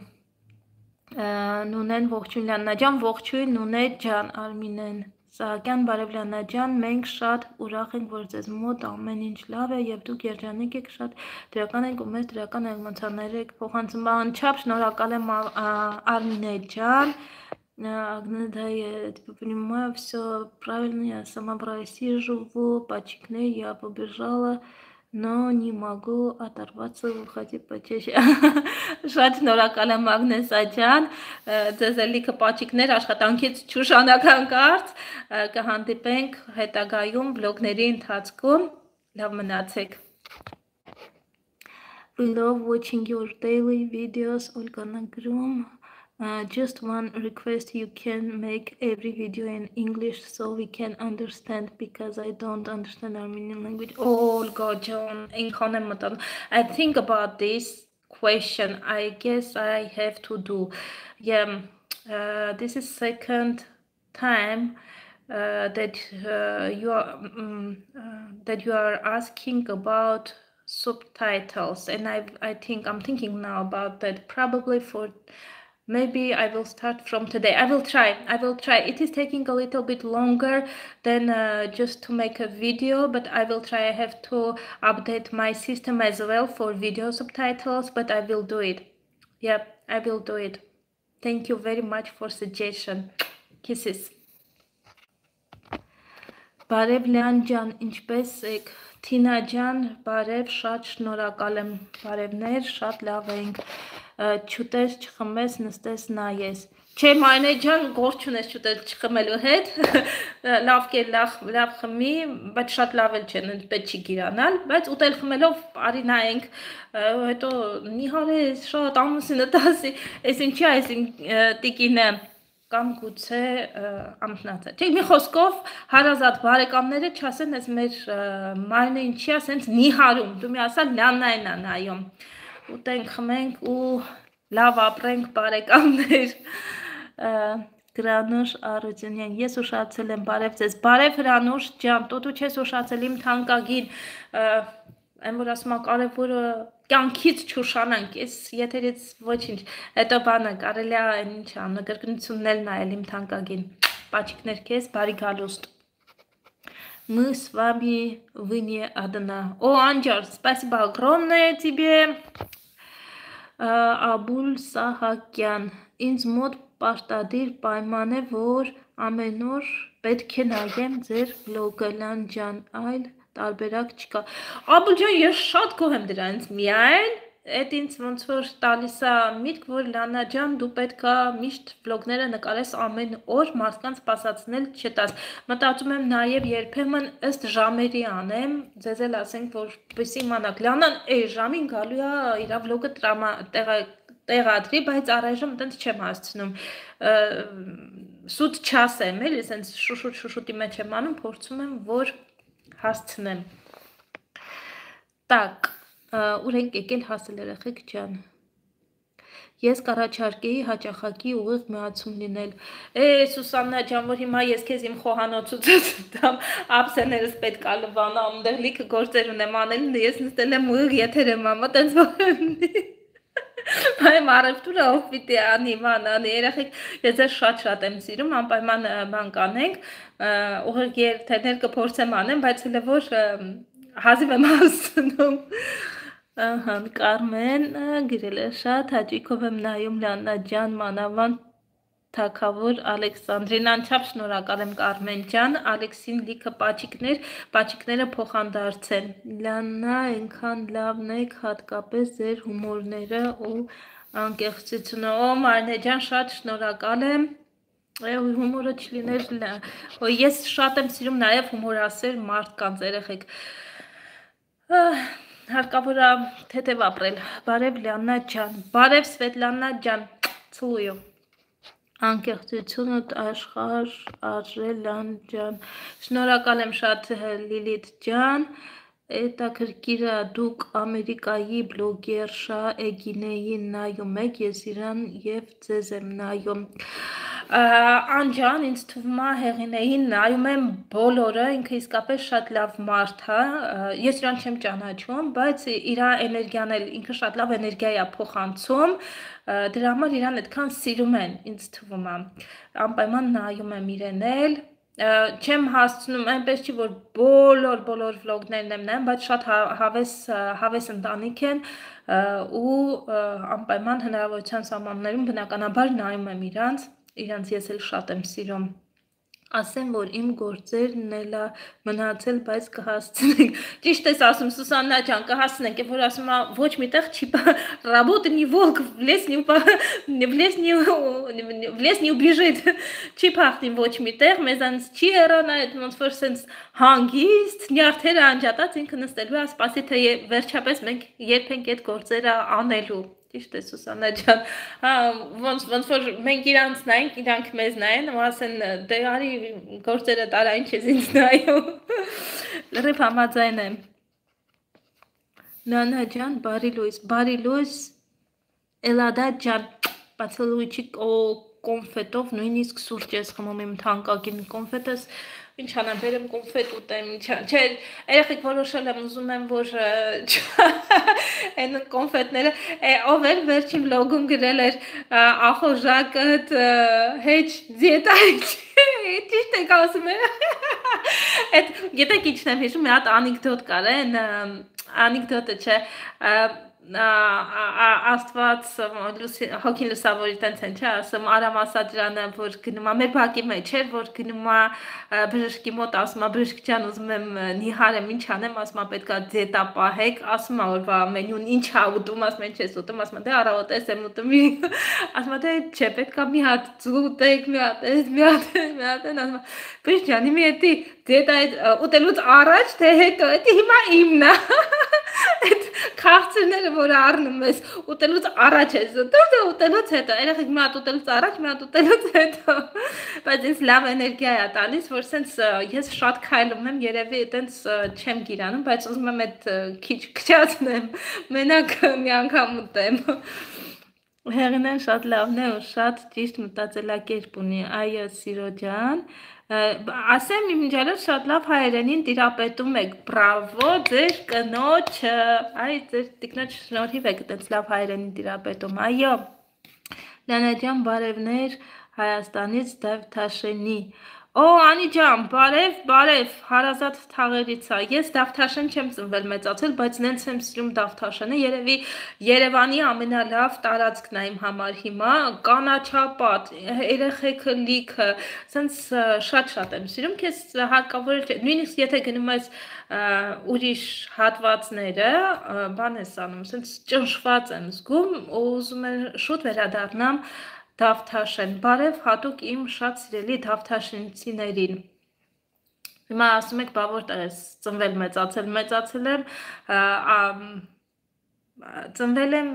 Նունեն ողջույն Լիանա ջան, ողջույն Նունե ջան, Արմինեն Սահակյան, բարև Լիանա ջան, մենք շատ ուրախ ենք, որ ձեզ մոտ ամեն ինչ լավ է եւ դուք երջանիկ եք, շատ դրական եք ու մեզ դրական էմոցիաներ եք փոխանցում, անչափ շնորհակալ եմ Արմինե ջան, Агнеда, я понимаю, все правильно, я сама в России живу, пачекне, я побежала, но не могу оторваться, выходи почаще. Շատ շնորհակալ եմ Ագնեսա ջան, ձեզ էլի կպաչիկներ աշխատանքից չուշանական կարծ, կհանդիպենք հետագայում վլոգների ընթացքում, լավ մնացեք. We love watching your daily videos, Olgana Grum. Just one request, you can make every video in English so we can understand because I don't understand Armenian language. Oh God, John, I think about this question. I guess I have to do. Yeah, this is second time that you are asking about subtitles, and I'm thinking now about that. Probably for. Maybe I will start from today. I will try. It is taking a little bit longer than just to make a video, but I will try. I have to update my system as well for video subtitles, but I will do it. Yeah, I will do it. Thank you very much for suggestion. Kisses. Բարև Լիան ջան, ինչպես եք, Թինա ջան, բարև, շատ շնորհակալ եմ, բարևներ, շատ լավ ենք, չուտես, չխմես, նստես, նայես, չէ Մանե ջան, գործ չունես չուտես, չխմելու հետ, լավ կեր, լավ խմի, բայց շատ լավ էլ չեն, պետք չի գիրանալ, բայց ուտել խմելով արի նայենք, հետո նիհար ես, շատ ամուսինը տասի, ես ինչի այս իմ տիկինը, կամ գուցե ամտնացա, չէ, մի խոսքով հարազատ բարեկամները չասեն, ես մեր մայրն է ինչի ասենց նիհարում, դու մի ասա լաննային անայում, ուտենք, խմենք ու լավ ապրենք բարեկամներ, Հրանուշ Արությունյան, ես ուշացել եմ, բարև ձեզ, բարև Հրանուշ ջան, տոտու չես ուշացել իմ թանկագին, այն որ ասում կարևորը կյանքից չուշանանք, ես եթերից ոչինչ, հետո բանը կարելի է ինչ նկրկնությունն էլ նայել իմ թանկագին, պաչիկներ քեզ, բարի գալուստ, Мы с вами вне одна. О, Анджар, спасибо огромное тебе. Աբուլ Սահակյան, ինձ մոտ պարտադիր պայման է, որ ամեն օր պետք է նայեմ ձեր վլոգը, Լան ջան, այլ տարբերակ չկա։ Աբուլ ջան, ես շատ գոհ եմ դրանից, միայն այդ ինձ ոնց որ տալիս է միտք, որ Լանա ջան, դու պետքա միշտ վլոգները նկարես ամեն օր, մարդկանց սպասացնել չտաս։ Մտածում եմ նաև երբեմն ըստ ժամերի անեմ, ձեզ էլ ասենք, որպեսզի իմանաք, Լանան այս ժամին գալու է իր վլոգը տեղադրի, բայց առայժմ այդպես չեմ հասցնում։ Սուտ չասեմ, էլի, ասենց շուշուտի մեջ եմ անում, փորձում եմ, որ հասցնեմ։ Так, ուր ենք եկել հասել երեխեք ջան։ Ես կառաջարկեի հաճախակի ուղիղ միացում լինել։ Սուսաննա ջան, որ հիմա ես քեզ իմ խոհանոցուց դամ ափսեներս պետք է լվանամ, այնտեղ լիքը գործեր ունեմ անել, ես նստել եմ ուղիղ եթեր եմ անում, տենց որ Բայց առևտուրը ով պիտի անի, անի, երեխեք, ես ձեզ շատ եմ սիրում, անպայման բան կանենք, ուղիղ եթերներ կփորձեմ անեմ, բայց հələ որ հազիվ եմ հասցնում։ Ահա, Կարմեն գրել է շատ հաճույքով եմ նայում Լանա ջան, մանավանդ Թագավոր Ալեքսանդրին, անչափ շնորհակալ եմ Կարմեն ջան, Ալեքսին լիքը պաչիկները փոխանդարձեն։ Լանա, այնքան լավն եք, հատկապես ձեր հումորները ու անկեղծությունը։ Օ Մարնե ջան, շատ շնորհակալ եմ։ Հումորը չլիներ, ես շատ եմ սիրում նաև հումորասեր մարդկանց, երեխեք։ Հարկավոր է թեթև ապրել։ Բարև Լանա ջան, բարև Սվետլանա ջան, ցույո։ Անկեղծությունդ աշխարհ արժել Լան ջան, շնորհակալ եմ շատ Լիլիթ ջան, հետաքրքիր է դուք Ամերիկայի բլոգերշա Էգինեին նայում եք, ես իրան եւ ձեզ եմ նայում։ Անջան, ինձ թվում է Հեղինեին նայում եմ բոլորը, ինքը իսկապես շատ լավ մարդ է, ես իրան չեմ ճանաչում, բայց իր էներգիան էլ ինքը շատ լավ էներգիա է փոխանցում, դրա համար իրան այդքան սիրում են, ինձ թվում է, անպայման նայում եմ իրեն էլ, չեմ հասցնում, այնպես չի, որ բոլոր վլոգներն եմ նայում, բայց շատ հավես ընտանիք են ու անպայման հնարավորության սահմաններում բնականաբար նայում եմ իրանց ես էլ շատ եմ սիրում, ասեմ, որ իմ գործերն էլ մնացել, բայց կհասցնենք, ճիշտ ես ասում, Սուսաննա ջան, կհասցնենք, որ ասում է, ոչ միտեղ չի, работа не волк, в лес не убежит, չի փախնի ոչ միտեղ, մեզանց չի հեռանա, ոնց որ սենց հանգիստ, նյարդերը անջատած ինքը նստելու է, սպասի, թե վերջապես մենք երբ ենք այդ գործերը անելու, ճիշտ է Սուսաննա ջան, ոնց որ մենք իրանց նայենք, իրանք մեզ նայեն, ու ասեն, դե արի գործերը տարա, ինչ ես ինձ նայում, լրիվ համաձայն եմ, Լանա ջան, բարի լույս, Էլադա ջան, բացալույչի կոնֆետով, նույնիսկ սուրճ ես խմում իմ թանկագին կոնֆետս, ինչ անեմ, բերեմ կոնֆետ ուտեմ, չէ, երեխեք որոշել եմ, ուզում եմ, որ այն կոնֆետները, ով էր վերջին վլոգում գրել էր ախորժակըտ հեչ դիետա ճիշտ եք ասում է, գետեք ինչն եմ հիշում, մի հատ անիկդոտ կար, անիկդոտը չէ, Աստված հոգին լուսավորի տենց են, չէ, ասում Արամ Ասատրյանը, որ գնում է մեր բակի մեջ էր, որ գնում է բժշկի մոտ, ասում է բժշկ ջան, ուզում եմ նիհար եմ, ինչ անեմ, ասում է պետք է դիետա պահեք, ասում է օրվա մենյուն ինչ ա ուտում, ասում են չես ուտում, ասում է դե առավոտես եմ ուտում, ասում է դե չէ, պետք է մի հատ ուտեք, մի հատ, ասում է բժշկ ջան, իմի էդի դիետա ուտելուց առաջ, թե հետո, էդի հիմա իմն է, այդ քաղցրները, որ առնում ես, ուտելուց առաջ ես ուտում, թե ուտելուց հետո, երեխեք մի հատ ուտելուց առաջ, մի հատ ուտելուց հետո, բայց ինձ լավ էներգիա է տալիս, որ սենց ես շատ քայլում եմ, երևի այտենց չեմ գիրանում, բայց ուզում եմ այդ քիչ քչացնեմ, մենակ մի անգամ ուտեմ։ Հեղինեն շատ լավն է ու շատ ճիշտ մտածելակերպ ունի, այո սիրո ջան, ասեմ իմ ջալով շատ լավ հայերենին տիրապետում եք, բրավո ձեր կնոջը, այ ձեր տիկնոջ շնորհիվ եք այդպես լավ հայերենին տիրապետում, այո, Լանա ջան բարևներ Հայաստանից Դավթաշենի, Օ, Անի ջան, բարև, հարազատ թաղերից է։ Ես Դավթաշեն չեմ ծնվել մեծացել, բայց նենց եմ սիրում Դավթաշենը, երևի Երևանի ամենալավ տարածքն է իմ համար հիմա, կանաչապատ, երեխեքը լիքը, սենց շատ եմ սիրում, քեզ հարկավոր է, նույնիսկ եթե գնում ես ուրիշ հատվածները, բան ես անում, սենց ճնշված եմ զգում, ու ուզում եմ շուտ վերադառնամ Դավթաշեն, բարև հատուկ իմ շատ սիրելի դավթաշենցիներին։ Հիմա ասում եք, բա որտեղ ես ծնվել մեծացել եմ, ծնվել եմ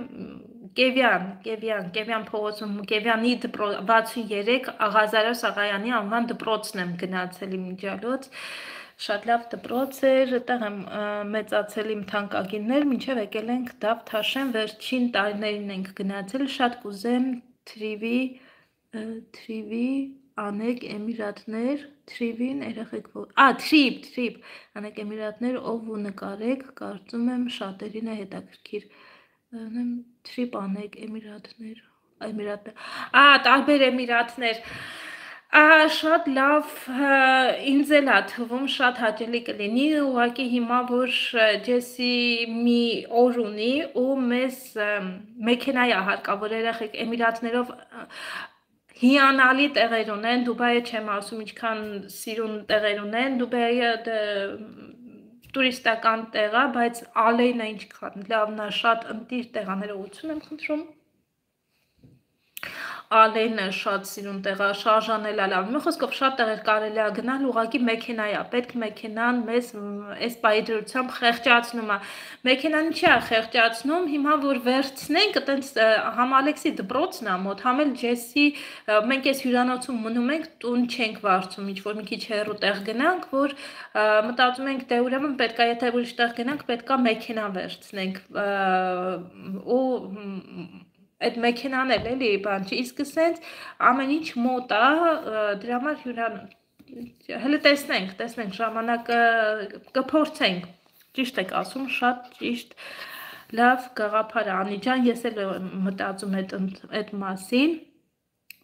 Կևյան փողոցում, Կևյանի 63 Աղազարոս Աղայանի անվան դպրոցն եմ գնացել իմ միջալոց, շատ լավ դպրոց էր, այդտեղ եմ մեծացել իմ թանկագիններ, մինչև եկել ենք Դավթաշեն, վերջին տարիներին ենք գնացել, շատ կուզեմ թրիվի անեք Էմիրատներ, թրիվին երեխեք, թրիպ, անեք Էմիրատներ, ով ու նկարեք, կարծում եմ շատերին է հետաքրքիր, թրիպ անեք Էմիրատներ, տարբեր Էմիրատներ, շատ լավ, ինձ էլ է թվում շատ հաճելի կլինի, ուղղակի հիմա որ Ջեսի մի օր ունի ու մեզ մեքենա է հարկավոր երեխեք Էմիրատներով հիանալի տեղեր ունեն, Դուբայը չեմ ասում ինչքան սիրուն տեղեր ունեն, Դուբայը տուրիստական տեղ է, բայց Ալեյնը ինչքան լավն է, շատ ընտիր տեղաներողություն եմ խնդրում։ Ալեյնը շատ սիրուն տեղ է, շարժանել է լավ, մի խոսքով շատ տեղեր կարելի է գնալ, ուղղակի մեքենա է, պետք մեքենան մեզ այս պահի դրությամբ խեղճացնում է, մեքենան չի է խեղճացնում, հիմա որ վերցնենք, այտենց համ Ալեքսի դպրոցն է մոտ, համ էլ Ջեսի, մենք այս հյուրանոցում մնում ենք, տուն չենք վարձում, ինչ որ մի քիչ հեռու տեղ գնանք, որ մտածում ենք, դե ուրեմն պետք է, եթե ուրիշ տեղ գնանք, պետք է մեքենա վերցնենք, ու այդ մեքենան էլ էլի բան չի, իսկ սենց ամեն ինչ մոտ է, դրա համար հələ տեսնենք ժամանակը կփորձենք, ճիշտ եք ասում, շատ ճիշտ, լավ գաղափար է, Անի ջան, ես էլ մտածում այդ մասին,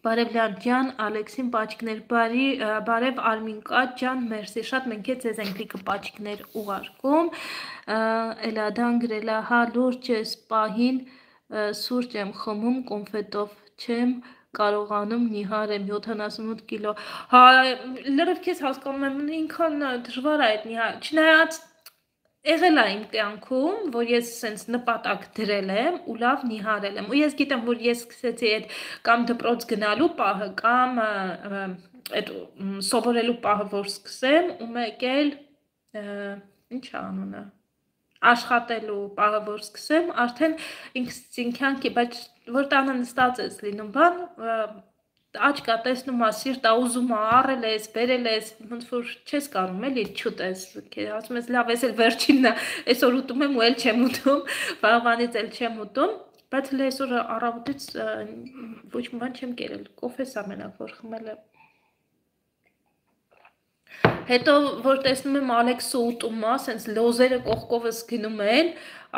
բարև Լիան ջան, Ալեքսին պաչիկներ, բարև Արմինկա ջան, մերսի, շատ մենք ձեզ ենք լիքը պաչիկներ ուղարկում, Էլադան գրել է, հա լուրջ ես պահին, սուրճ եմ խմում, կոնֆետով չեմ կարողանում, նիհար եմ 78 կիլո, հա լրիվ քեզ հասկանում եմ, ինքան դժվար է այդ նիհար, չնայած եղել է իմ կյանքում, որ ես սենց նպատակ դրել եմ ու լավ նիհարել եմ, ու ես գիտեմ, որ ես սկսեցի այդ կամ դպրոց գնալու պահը, կամ այդ սովորելու պահը, որ սկսեմ, ու մեկ էլ, ինչ է անունը, աշխատելու պահը, որ սկսեմ, արդեն ինքնքի, բայց որ տանը նստած ես լինում բան, աչկա տեսնում է, սիրտ է ուզում է, առել ես, բերել ես, ոնց որ չես կարում էլի չուտես, ասում ես լավ, ես էլ վերջինն է, այսօր ուտում եմ ու էլ չեմ ուտում, վաղվանից էլ չեմ ուտում, բայց հələ այսօր առավոտից ոչ մի բան չեմ կերել, կոֆես է մենակ, որ խմել եմ։ Հետո, որ տեսնում եմ Ալեքսը ուտում է, սենց լոզերը կողքովս գնում են,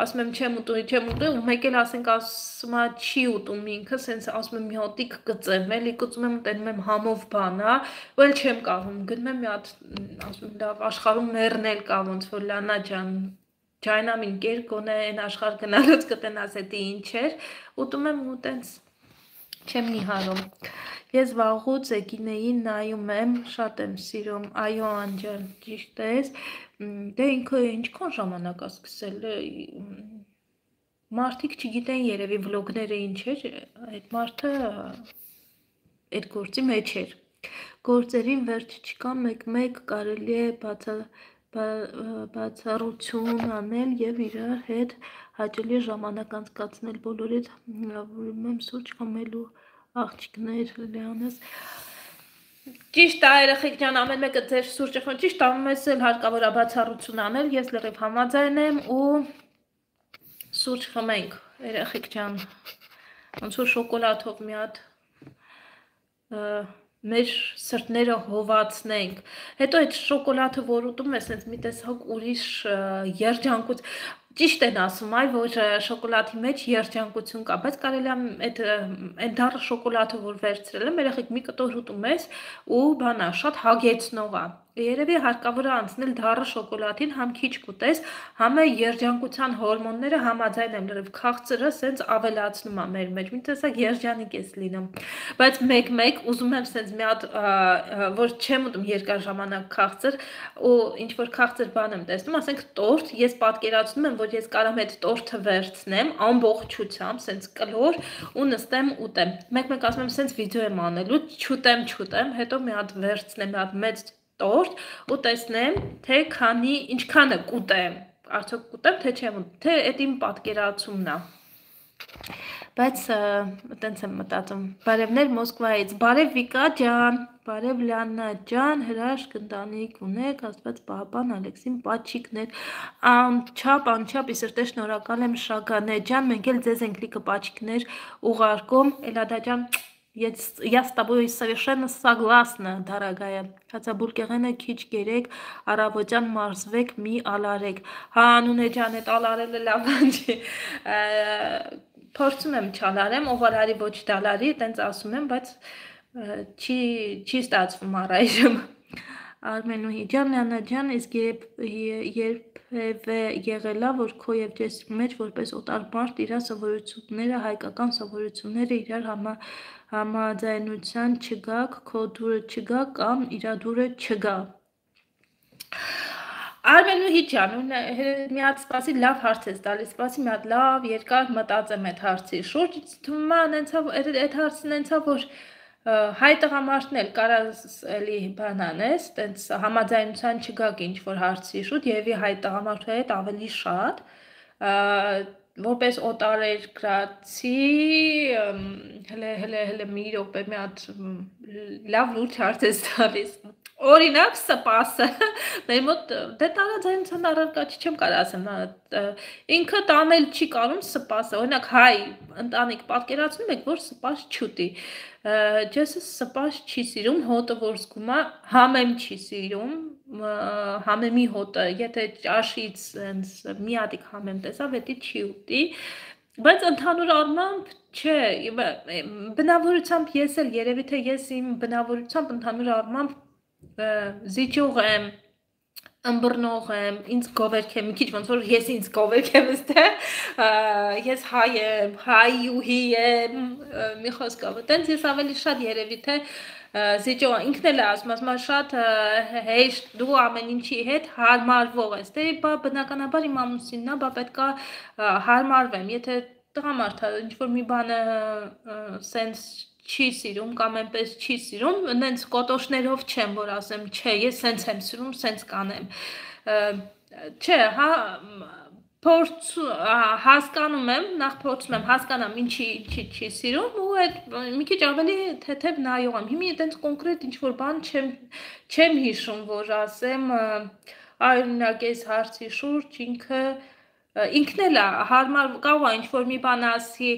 ասում եմ չեմ ուտում, ու մեկ էլ ասում է չի ուտում ինքը, սենց ասում եմ մի հոտիկ կծեմ, էլի կծում եմ, տենում եմ համով բան, ու էլ չեմ կարում, գնում եմ մի հատ, ասում եմ լավ, աշխարհում մեռնել կա, ոնց որ Լանա ջան, ջայնամին կեր, գոնե այն աշխարհ գնալուց կտնաս էդի ինչ էր, ուտում եմ ու տենց չեմ նիհարում։ Ես վաղուց Էգինեին նայում եմ, շատ եմ սիրում, այո Անջան, ճիշտ ես, դե ինքը ինչքան ժամանակ է սկսել, մարդիկ չգիտեն երևի վլոգները ինչ էր, այդ մարդը այդ գործի մեջ էր, գործերին վերջ չկա, մեկ կարելի է բացառություն անել և իրար հետ հաճելի ժամանակ անցկացնել, բոլորիդ հրավիրում եմ սուրճ խմելու աղջիկներ Լիանես, ճիշտ է երեխեք ջան, ամեն մեկը ձեր սուրճը խմում, ճիշտ է, մեզ էլ հարկավոր է բացառություն անել, ես լրիվ համաձայն եմ ու սուրճ խմենք, երեխեք ջան, ոնց որ շոկոլադով մի հատ մեր սրտները հովացնենք, հետո այդ շոկոլադը որ ուտում ես, մի տեսակ ուրիշ երջանկություն, Ճիշտ են ասում, այ որ շոկոլադի մեջ երջանկություն կա, բայց կարելի է այդ դառը շոկոլադը որ վերցրել եմ, երեխեք մի կտոր ուտում ես ու բանա շատ հագեցնող է։ Երևի հարկավոր է անցնել դառը շոկոլադին, համ քիչ կուտես, համ երջանկության հորմոնները համաձայն են լրիվ քաղցրը սենց ավելացնում է մեր մեջ, մի տեսակ երջանիկ ես լինում։ Բայց մեկ-մեկ ուզում եմ սենց մի հատ որ չեմ ուտում երկար ժամանակ քաղցր ու ինչ որ քաղցր բան եմ տեսնում, ասենք տորտ, ես պատկերացնում եմ, որ ես կարամ այդ տորտը վերցնեմ ամբողջությամբ, սենց կլոր ու նստեմ ուտեմ։ Մեկ-մեկ ասում եմ սենց վիդեո եմ անելու, չուտեմ, հետո մի հատ վերցնեմ, մի հատ մեծ տորտ ու տեսնեմ, թե ինչքանը կուտեմ, արդյոք կուտեմ, թե չեմ ուտեմ, թե այդ իմ պատկերացումն է։ Բայց տենց եմ մտածում, բարևներ Մոսկվայից, բարև Վիկա ջան, բարև Լիաննա ջան, հրաշք ընտանիք ունեք, Աստված պահապան Ալեքսին պատչիկներ, անչափ իսրտե շնորհակալ եմ Շագանե ջան, մենք էլ ձեզ ենք լիքը պատչիկներ ուղարկում, Էլադա ջան, я с тобой совершенно согласна, дорогая. Հացաբուրկեղենը քիչ գերեք, առավոտյան մարզվեք, մի ալարեք։ Հա, Անունե ջան, այդ ալարելը լավ չի։ Փորձում եմ չալարեմ, ով արարի ոչ դալարի, տենց ասում եմ, բայց չի ստացվում առայժմ։ Արմենուհի ջան, Լիաննա ջան, իսկ երբևէ եղելա, որ քո եւ Ջեսիկի մեջ որպես օտար մարդ իր սովորությունները, հայկական սովորությունները իրար համաձայնության չգաք, քո դուրը չգա կամ իր դուրը չգա։ Արմենուհի ջան, մի հատ սպասի լավ հարց ես տալիս, սպասի մի հատ լավ երկար մտածեմ այդ հարցի շուրջ, թվում է այդ հարցն ենցա, որ հայ տղամարդն էլ կարաս էլի բանանես, տենց համաձայնության չգաք ինչ որ հարցի շուրջ, եւի հայ տղամարդու հետ ավելի շատ, որպես օտարերկրացի, հələ մի րոպե մի հատ լավ լուրջ հարց ես տալիս։ Օրինակ սպասը, մեր մոտ դե տարաձայնության առարկա չի, չեմ կարող ասեմ, ինքը տանել չի կարում սպասը, օրինակ հայ ընտանիք պատկերացնում եք, որ սպաս չուտի, Ջեսը սպաս չի սիրում, հոտը որ զգում է, համեմ չի սիրում, համեմի հոտը, եթե ճաշից մի հատիկ համեմ տեսավ, հետի չի ուտի, բայց ընդհանուր առմամբ չէ, բնավորությամբ ես էլ երևի թե ես իմ բնավորությամբ ընդհանուր առմամբ զիջող եմ, ըմբռնող եմ, ինձ գովերք եմ, մի քիչ ոնց որ ես ինձ գովերք եմ ստե, ես հայ եմ, հայուհի եմ, մի խոսքով, տենց ես ավելի շատ երևի թե զիջող, ինքն էլ է ասում շատ հեշտ դու ամեն ինչի հետ հարմարվող ես, դե բնականաբար իմ ամուսինն է, բա պետք է հարմարվեմ, եթե տղամարդը ինչ որ մի բանը սենց չի սիրում կամ այնպես չի սիրում, նենց կոտոշներով չեմ, որ ասեմ, չէ, ես սենց եմ սիրում, սենց կանեմ։ Չէ, հա, հասկանում եմ, նախ փորձում եմ հասկանամ ինչի չի սիրում ու այդ մի քիչ ավելի թեթև նայող եմ։ Հիմա այդպես կոնկրետ ինչ որ բան չեմ հիշում, որ ասեմ, օրինակ այս հարցի շուրջ ինքն էլ է հարմար կարող է ինչ որ մի բան ասի,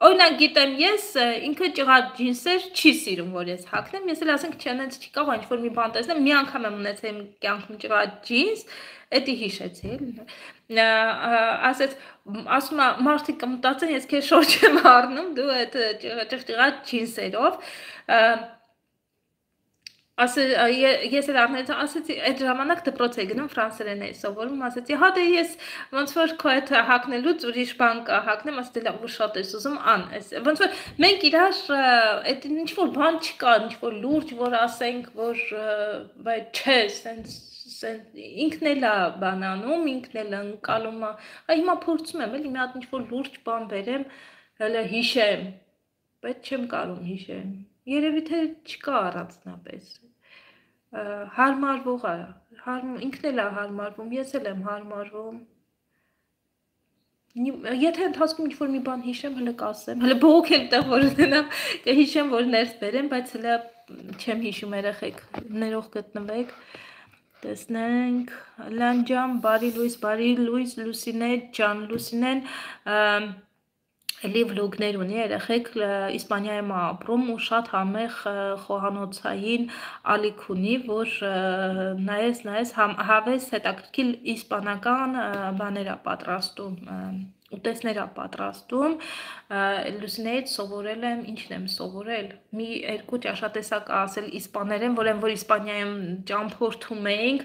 օրինակ գիտեմ ես ինքը ճղած ջինսեր չի սիրում, որ ես հագնեմ, ես էլ ասենք չենենց չի կարող ինչ որ մի բան տեսնեմ, մի անգամ եմ ունեցել իմ կյանքում ճղած ջինս, էդի հիշեցի էլ, ասում է մարդիկ կմտածեն ես քեզ շորջ եմ առնում, դու այդ ճղած ջինսերով, ես էլ առնեցի, ասեցի, այդ ժամանակ դպրոց էի գնում, ֆրանսերեն էի սովորում, ասեցի, հա դե ես ոնց որ քո հետ հագնելուց ուրիշ բան հագնեմ, ասեցի լավ ու շատ ես ուզում ան, ոնց որ մենք իրար այդ ինչ որ բան չկա, ինչ որ լուրջ, որ ասենք, որ բայց չէ, սենց ինքն էլ է բանանում, ինքն էլ ընկալում է, հիմա փորձում եմ էլի մի հատ ինչ որ լուրջ բան բերեմ, հələ հիշեմ, բայց չեմ կարող հիշեմ, երևի թե չկա առանձնապես, հարմարվող է, ինքն էլ է հարմարվում, ես էլ եմ հարմարվում, եթե ընթացքում ինչ-որ մի բան հիշեմ, հələ կասեմ, հələ բողոք եմ տեղ որ ունենամ, կհիշեմ, որ ներս բերեմ, բայց հələ չեմ հիշում երեխեք, ներող գտնվեք, տեսնենք, Լան ջան, բարի լույս, Լուսինե ջան, Լուսինեն Էլի վլոգներ ունի երեխեք Իսպանիայում ապրում ու շատ համեղ խոհանոցային ալիք ունի, որ նայես հավես հետաքրքիր իսպանական բաներ է պատրաստում, ուտեստներ է պատրաստում, Լուսինեից սովորել եմ, ինչն եմ սովորել, մի երկու ճաշատեսակ ասել իսպաներեն, որ Իսպանիայում ճամփորդում էինք,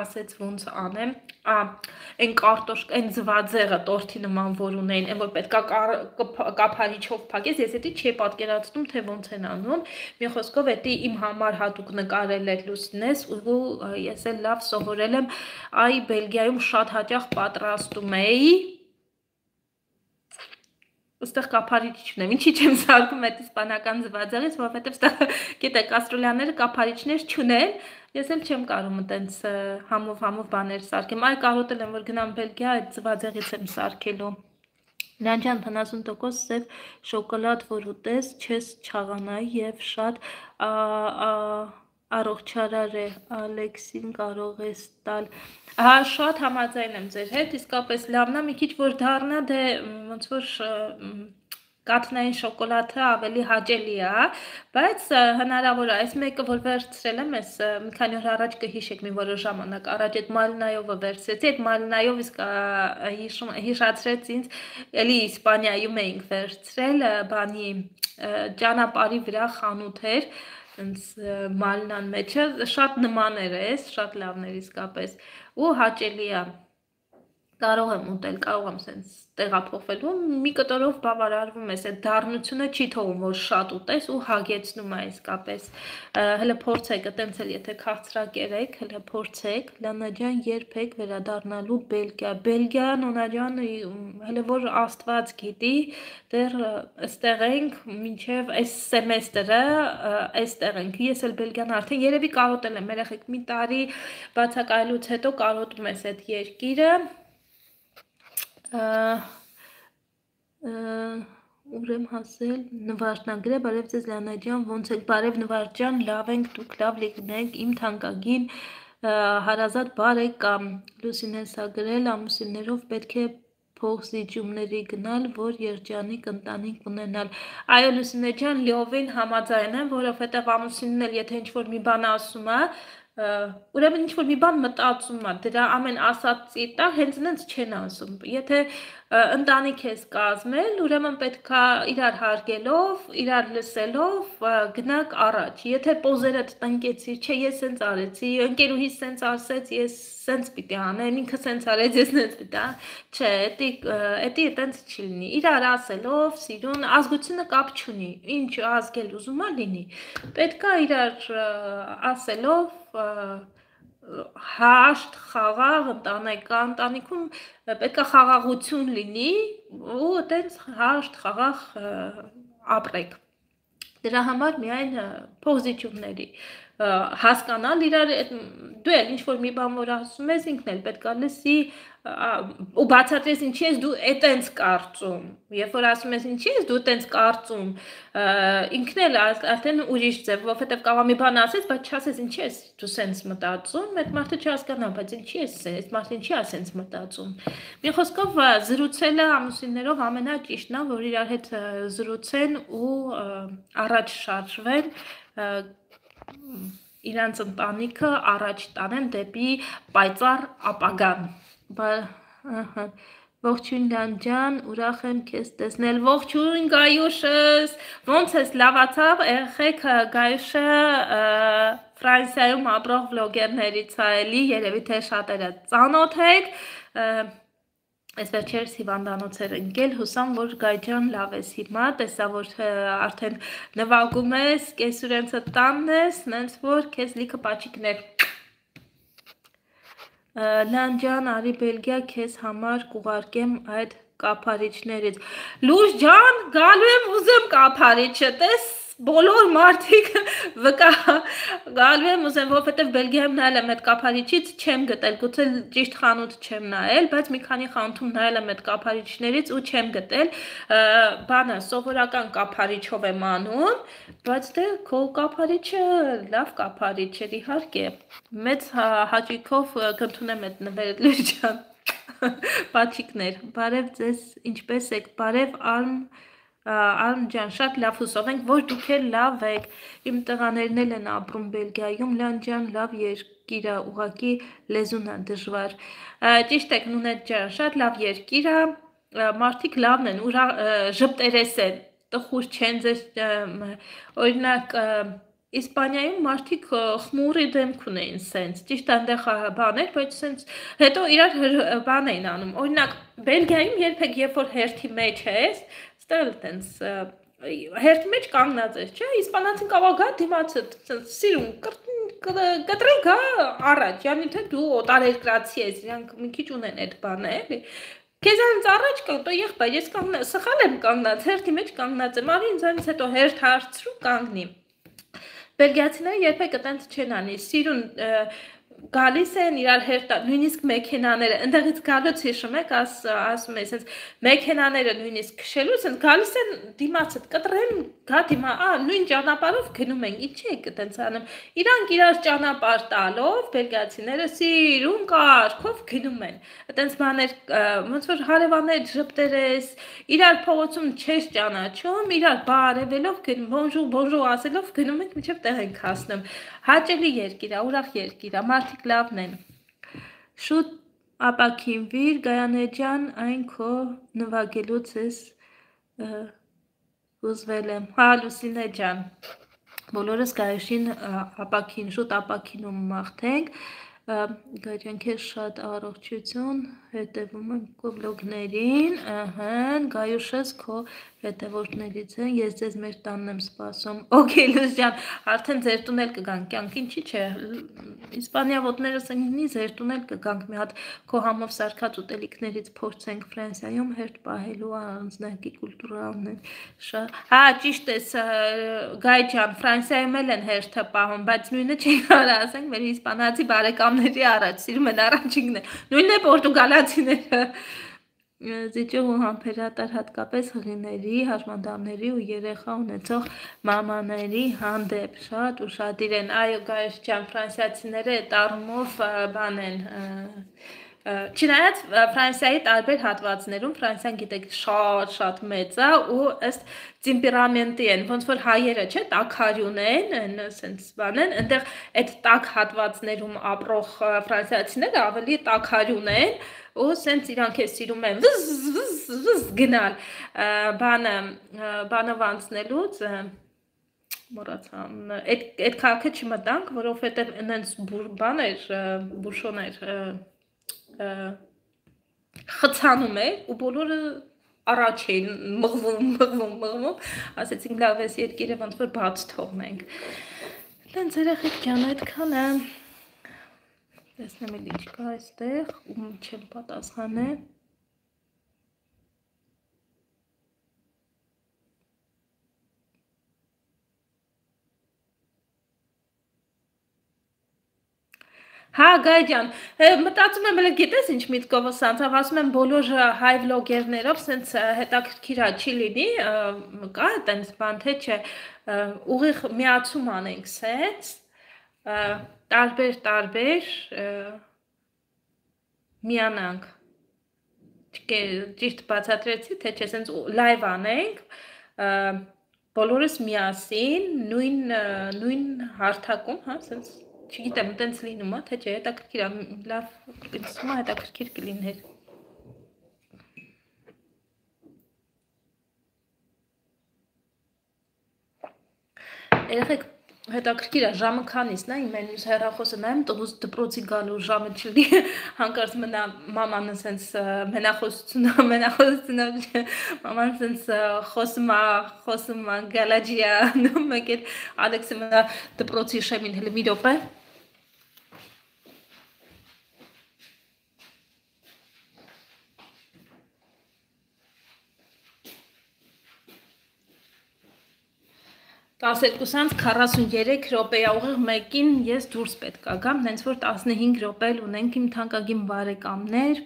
ասեց ոնց անեմ, այն կարտոշկա, այն ձվածեղը տորթի նման որ ունեին, այն որ պետքա կափարիչով փակես, ես էդի չի պատկերացնում, թե ոնց են անում, մի խոսքով էդի իմ համար հատուկ նկարել էր Լուսինես ու ես էլ լավ սովորել եմ, այ Բելգիայում շատ հաճախ պատրաստում էի, Ոստեղ կափարիչ չունեմ, ինչի չեմ սարքում այդ իսպանական ձվածեղից, որովհետև ստեղ գիտեք կաստրոլյաները կափարիչներ չունեն, ես էլ չեմ կարում այտենց համով բաներ սարքեմ, այ կարոտել եմ որ գնամ Բելգիա այդ ձվածեղից եմ սարքելու։ Լանջան 70% սև շոկոլադ որ ուտես չես չաղանայի եւ շատ առողջարար է Ալեքսին կարող ես տալ հա շատ համաձայն եմ ձեր հետ իսկապես լավն է մի քիչ որ դառնա դե ոնց որ կաթնային շոկոլադը ավելի հաճելի է, բայց հնարավոր է այս մեկը որ վերցրել եմ ես մի քանի օր առաջ կհիշեք մի որոշ ժամանակ առաջ այդ մալինայովը վերցրեցի, այդ մալինայով իսկ հիշացրեց ինձ էլի Իսպանիայում էինք վերցրել բանի ճանապարհի վրա խանութ էր մալնան մեջը շատ նմաներ է, շատ լավն էր իսկապես ու հաճելի է կարող եմ ուտել, կարող եմ սենց տեղափոխվելու, մի կտորով բավարարվում ես, այդ դառնությունը չի թողում, որ շատ ուտես ու հագեցնում է իսկապես, հլը փորձեք, տենց էլ եթե քաղցրակերեք, հլը փորձեք, Լանաջան երբեք վերադառնալու Բելգիա, Նոնաջան, հլը որ աստված գիտի, դեռ ստեղ ենք, մինչև այս սեմեստրը, այստեղ ենք, ես էլ Բելգիան արդեն երևի կարոտել եմ, երեխեք մի տարի բացակայելուց հետո կարոտում ես այդ երկիրը, ուր եմ հասել նվարդնագրե բարև ձեզ Լանա ջան ոնց եք բարև նվարդ ջան լավ ենք դուք լավ լինեք իմ թանկագին հարազատ բարեկամ Լուսինես ա գրել ամուսիններով պետք է փոխզիջումների գնալ որ երջանիկ ընտանիք ունենալ այո Լուսինե ջան լիովին համաձայն եմ որովհետև ամուսինն էլ եթե ինչ-որ մի բան ասում է ուրեմն ինչ-որ մի բան մտածում է, դրա ամեն ասածի տա հենց նենց չեն ասում, եթե ընտանիք ես կազմել, ուրեմն պետքա իրար հարգելով, իրար լսելով գնաք առաջ, եթե պոզերդ տնկեցիր, չէ ես սենց արեցի, ընկերուհիս սենց ասեց, ես սենց պիտի անեմ, ինքը սենց արեց, ես նենց պիտի չէ, էդի տենց չի լինի, իրար ասելով, սիրուն, ազգությունը կապ չունի, ինչ ազգել ուզում է լինի, պետքա իրար ասելով հաշտ, խաղաղ, ընտանիքում պետք է խաղաղություն լինի ու տենց հաշտ, խաղաղ ապրեք։ Դրա համար միայն փոխզիջումների հասկանալ իրար դու էլ ինչ-որ մի բան որ ասում ես ինքն էլ պետք է լսի ու բացատրես ինչի ես դու այտենց կարծում երբ որ ասում ես ինչի ես դու այտենց կարծում ինքն էլ արդեն ուրիշ ձև որովհետև կարող մի բան ասես բայց չասես ինչի ես դու սենց մտածում այդ մարդը չհասկանա բայց ինչի ես այդ մարդը ինչի է սենց մտածում մի խոսքով զրուցելը ամուսիններով ամենաճիշտն է որ իրար հետ զրուցեն ու առաջ շարժվեն իրանց ընտանիքը առաջ տանեն դեպի պայծառ ապագան ողջույն Լանջան, ուրախ եմ քեզ տեսնել, ողջույն Գայուշս, ոնց ես լավացավ, երեխեք Գայուշը Ֆրանսիայում ապրող վլոգերներից է էլի, երևի թե շատերը ծանոթ եք, Այս վերջերս հիվանդանոց էր ընկել, հուսամ, որ Գայջան լավ ես հիմա, տեսա, որ արդեն նվագում ես, կեսուրենցը տանն ես, նենց որ կեզ լիքը պաչիկներ Լանջան, արի Բելգիա, կեզ համար կուղարկեմ այդ կապարիչներից Լուշ ջան, գալու եմ ուզեմ կապարիչը, տես բոլոր մարդիկ վկա գալու եմ ուզեմ, որովհետև Բելգիայում նայել եմ այդ կափարիչից չեմ գտել, գուցե ճիշտ խանութ չեմ նայել, բայց մի քանի խանութում նայել եմ այդ կափարիչներից ու չեմ գտել, բանը սովորական կափարիչով եմ անում, բայց դե քո կափարիչը լավ կափարիչ էր իհարկե, մեծ հաճույքով կընդունեմ այդ նվերը Լուրջան Պաչիկներ, բարև ձեզ, ինչպես եք, բարև Արմ ջան, շատ լավ հուսով ենք, որ դուք էլ լավ եք, իմ տղաներն էլ են ապրում Բելգիայում, Լան ջան, լավ երկիր է, ուղղակի լեզուն է դժվար, ճիշտ եք Նունետ ջան, շատ լավ երկիր է, մարդիկ լավն են, ժպտերես են, տխուր չեն ձեզ, օրինակ, Իսպանիայում մարդիկ խմուրի դեմք ունեին սենց, ճիշտ այնտեղ բաներ, բայց սենց հետո իրար բան էին անում, օրինակ Բելգիայում երբեք երբ որ հերթի մեջ ես, ստել տենց հերթի մեջ կանգնած ես, չէ, իսպանացին կարող գա դիմացը սիրուն կտրի գա առաջ, յանի թե դու օտարերկրացի ես, իրանք մի քիչ ունեն այդ բանը, էլի Քեզանից առաջ կա, տո եղբայր, ես սխալ եմ կանգնած, հերթի մեջ կանգնած եմ, արի ինձանից հետո հերթ հարցրու կանգնի Բելգիացիները երբեք այտենց չեն անի, սիրուն գալիս են իրար հերթ, նույնիսկ մեքենաները, ընդեղից գալուց հիշում եք, ասում է, սենց մեքենաները նույնիսկ քշելուց են, գալիս են դիմացդ, կտրեն, գա դիմա, նույն ճանապարհով գնում են, ինչի եք այտենց անում, իրանք իրար ճանապարհ տալով, բելգիացիները սիրուն կարգով գնում են, այտենց բաներ, ոնց որ հարևաններ ժպտերես, իրար փողոցում չես ճանաչում, իրար բարևելով գնում, բոնժուր ասելով գնում եք մինչև տեղ ենք հասնում, հաճելի երկիր է, ուրախ երկիր է, մարդիկ լավն են, շուտ ապաքինվիր, Գայանե ջան, այն քո նվագելուց ես ուզվել եմ, հա Լուսինե ջան, բոլորս գայշին շուտ ապաքինում մաղթենք, Գաջան քեզ շատ առողջություն, հետևում եմ քո վլոգներին, Գայուշս քո հետևորդներից են, ես ձեզ մեր տանն եմ սպասում, օքեյ Լուս ջան, արդեն ձեր տուն էլ կգանք, կյանք ինչի՞ չէ, Իսպանիա ոտներս ընկնի, ձեր տուն էլ կգանք, մի հատ քո համով սարքած ուտելիքներից փորձենք Ֆրանսիայում հերթ պահելու առանձնակի կուլտուրալն են, հա ճիշտ ես Գայ ջան, Ֆրանսիայում էլ են հերթը պահում, բայց նույնը չի կարա ասենք մեր իսպանացի բարեկամների առաջ, սիրում են առաջինն է, նույնն է պորտուգալացիները, զիջող ու համբերատար հատկապես հղիների, հաշմանդամների ու երեխա ունեցող մամաների հանդեպ շատ ուշադիր են, այո Գայս ջան, ֆրանսիացիները այդ առումով բան են, չնայած Ֆրանսիայի տարբեր հատվածներում Ֆրանսիան գիտեք շատ մեծ է ու ըստ տեմպերամենտի են, ոնց որ հայերը չէ, տաքարյուն են, սենց բան են, այնտեղ այդ տաք հատվածներում ապրող ֆրանսիացիները ավելի տաքարյուն են ու սենց իրանք է սիրում են վզ գնալ, բանով անցնելուց մոռացա, այդ քաղաքը չմտանք, որովհետև այնց բան էր, բուշոն էր խցանում էր ու բոլորը առաջ էին մղվում, ասեցինք լավ ես երկիրը ոնց որ բաց թողնենք, տենց երեխեք ջան այդքան է, տեսնեմ էլ ինչ կա այստեղ, ում չեմ պատասխանել, Հա Գայ ջան, մտածում եմ հələ գիտես ինչ միտքովս անցավ, ասում եմ բոլոր հայ վլոգերներով սենց հետաքրքիր չի լինի, կա այտենց բան թե չէ, ուղիղ միացում անենք սենց, տարբեր միանանք, ճիշտ բացատրեցի, թե չէ սենց լայվ անենք, բոլորս միասին, նույն հարթակում, հա, սենց Չգիտեմ, տենց լինում է, թե չէ, հետաքրքիր է, լավ կգցում է, հետաքրքիր կլիներ։ Երեխեք, հետաքրքիր է, ժամը քանիսն է, իմ մենյուս հեռախոսը նայեմ, տղուց դպրոցի գալու ժամը չլի, հանկարծ մնա մաման սենց մենախոսությունը, մաման սենց խոսում է, գալաջիա, մեկ էլ Ալեքսը մնա դպրոցի շեմին, հելի մի րոպե, Տասերկուսանց 43 րոպեա ուղիղ մեկին ես դուրս պետք է գամ, հենց որ 15 րոպե ունենք իմ թանկագին բարեկամներ։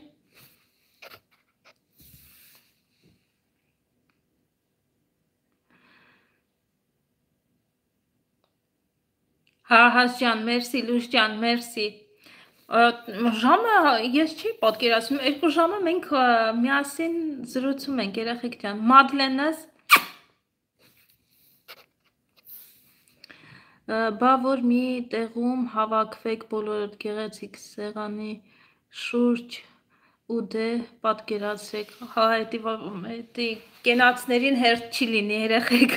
Հա, Հաս ջան, մերսի, Լուս ջան, մերսի։ Ժամը ես չի պատկերացնում, 2 ժամը մենք միասին զրուցում ենք, երեխեք ջան։ Մադլենս բա որ մի տեղում հավաքվեք բոլորդ գեղեցիկ սեղանի շուրջ ու դե պատկերացրեք, հա էդի կենացներին հերթ չի լինի երեխեք։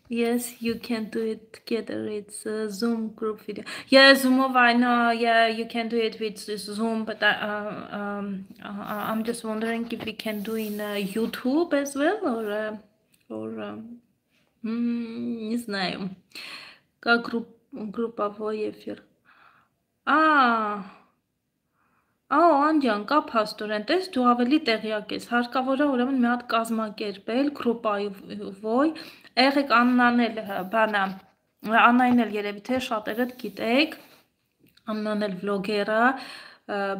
Yes, you can do it together. It's a Zoom group video. Yeah, Zoomov, I know. Yeah, you can do it with Zoom, but I'm just wondering if we can do in YouTube as well, or не знаю. Как групповой эфир. Անջան, կա փաստորեն, տես դու ավելի տեղյակ ես, հարկավոր է ուրեմն մի հատ կազմակերպել գրուպայով, եղեք Աննան էլ բանա, Աննային էլ երևի թե շատերդ գիտեք, Աննան էլ վլոգեր է,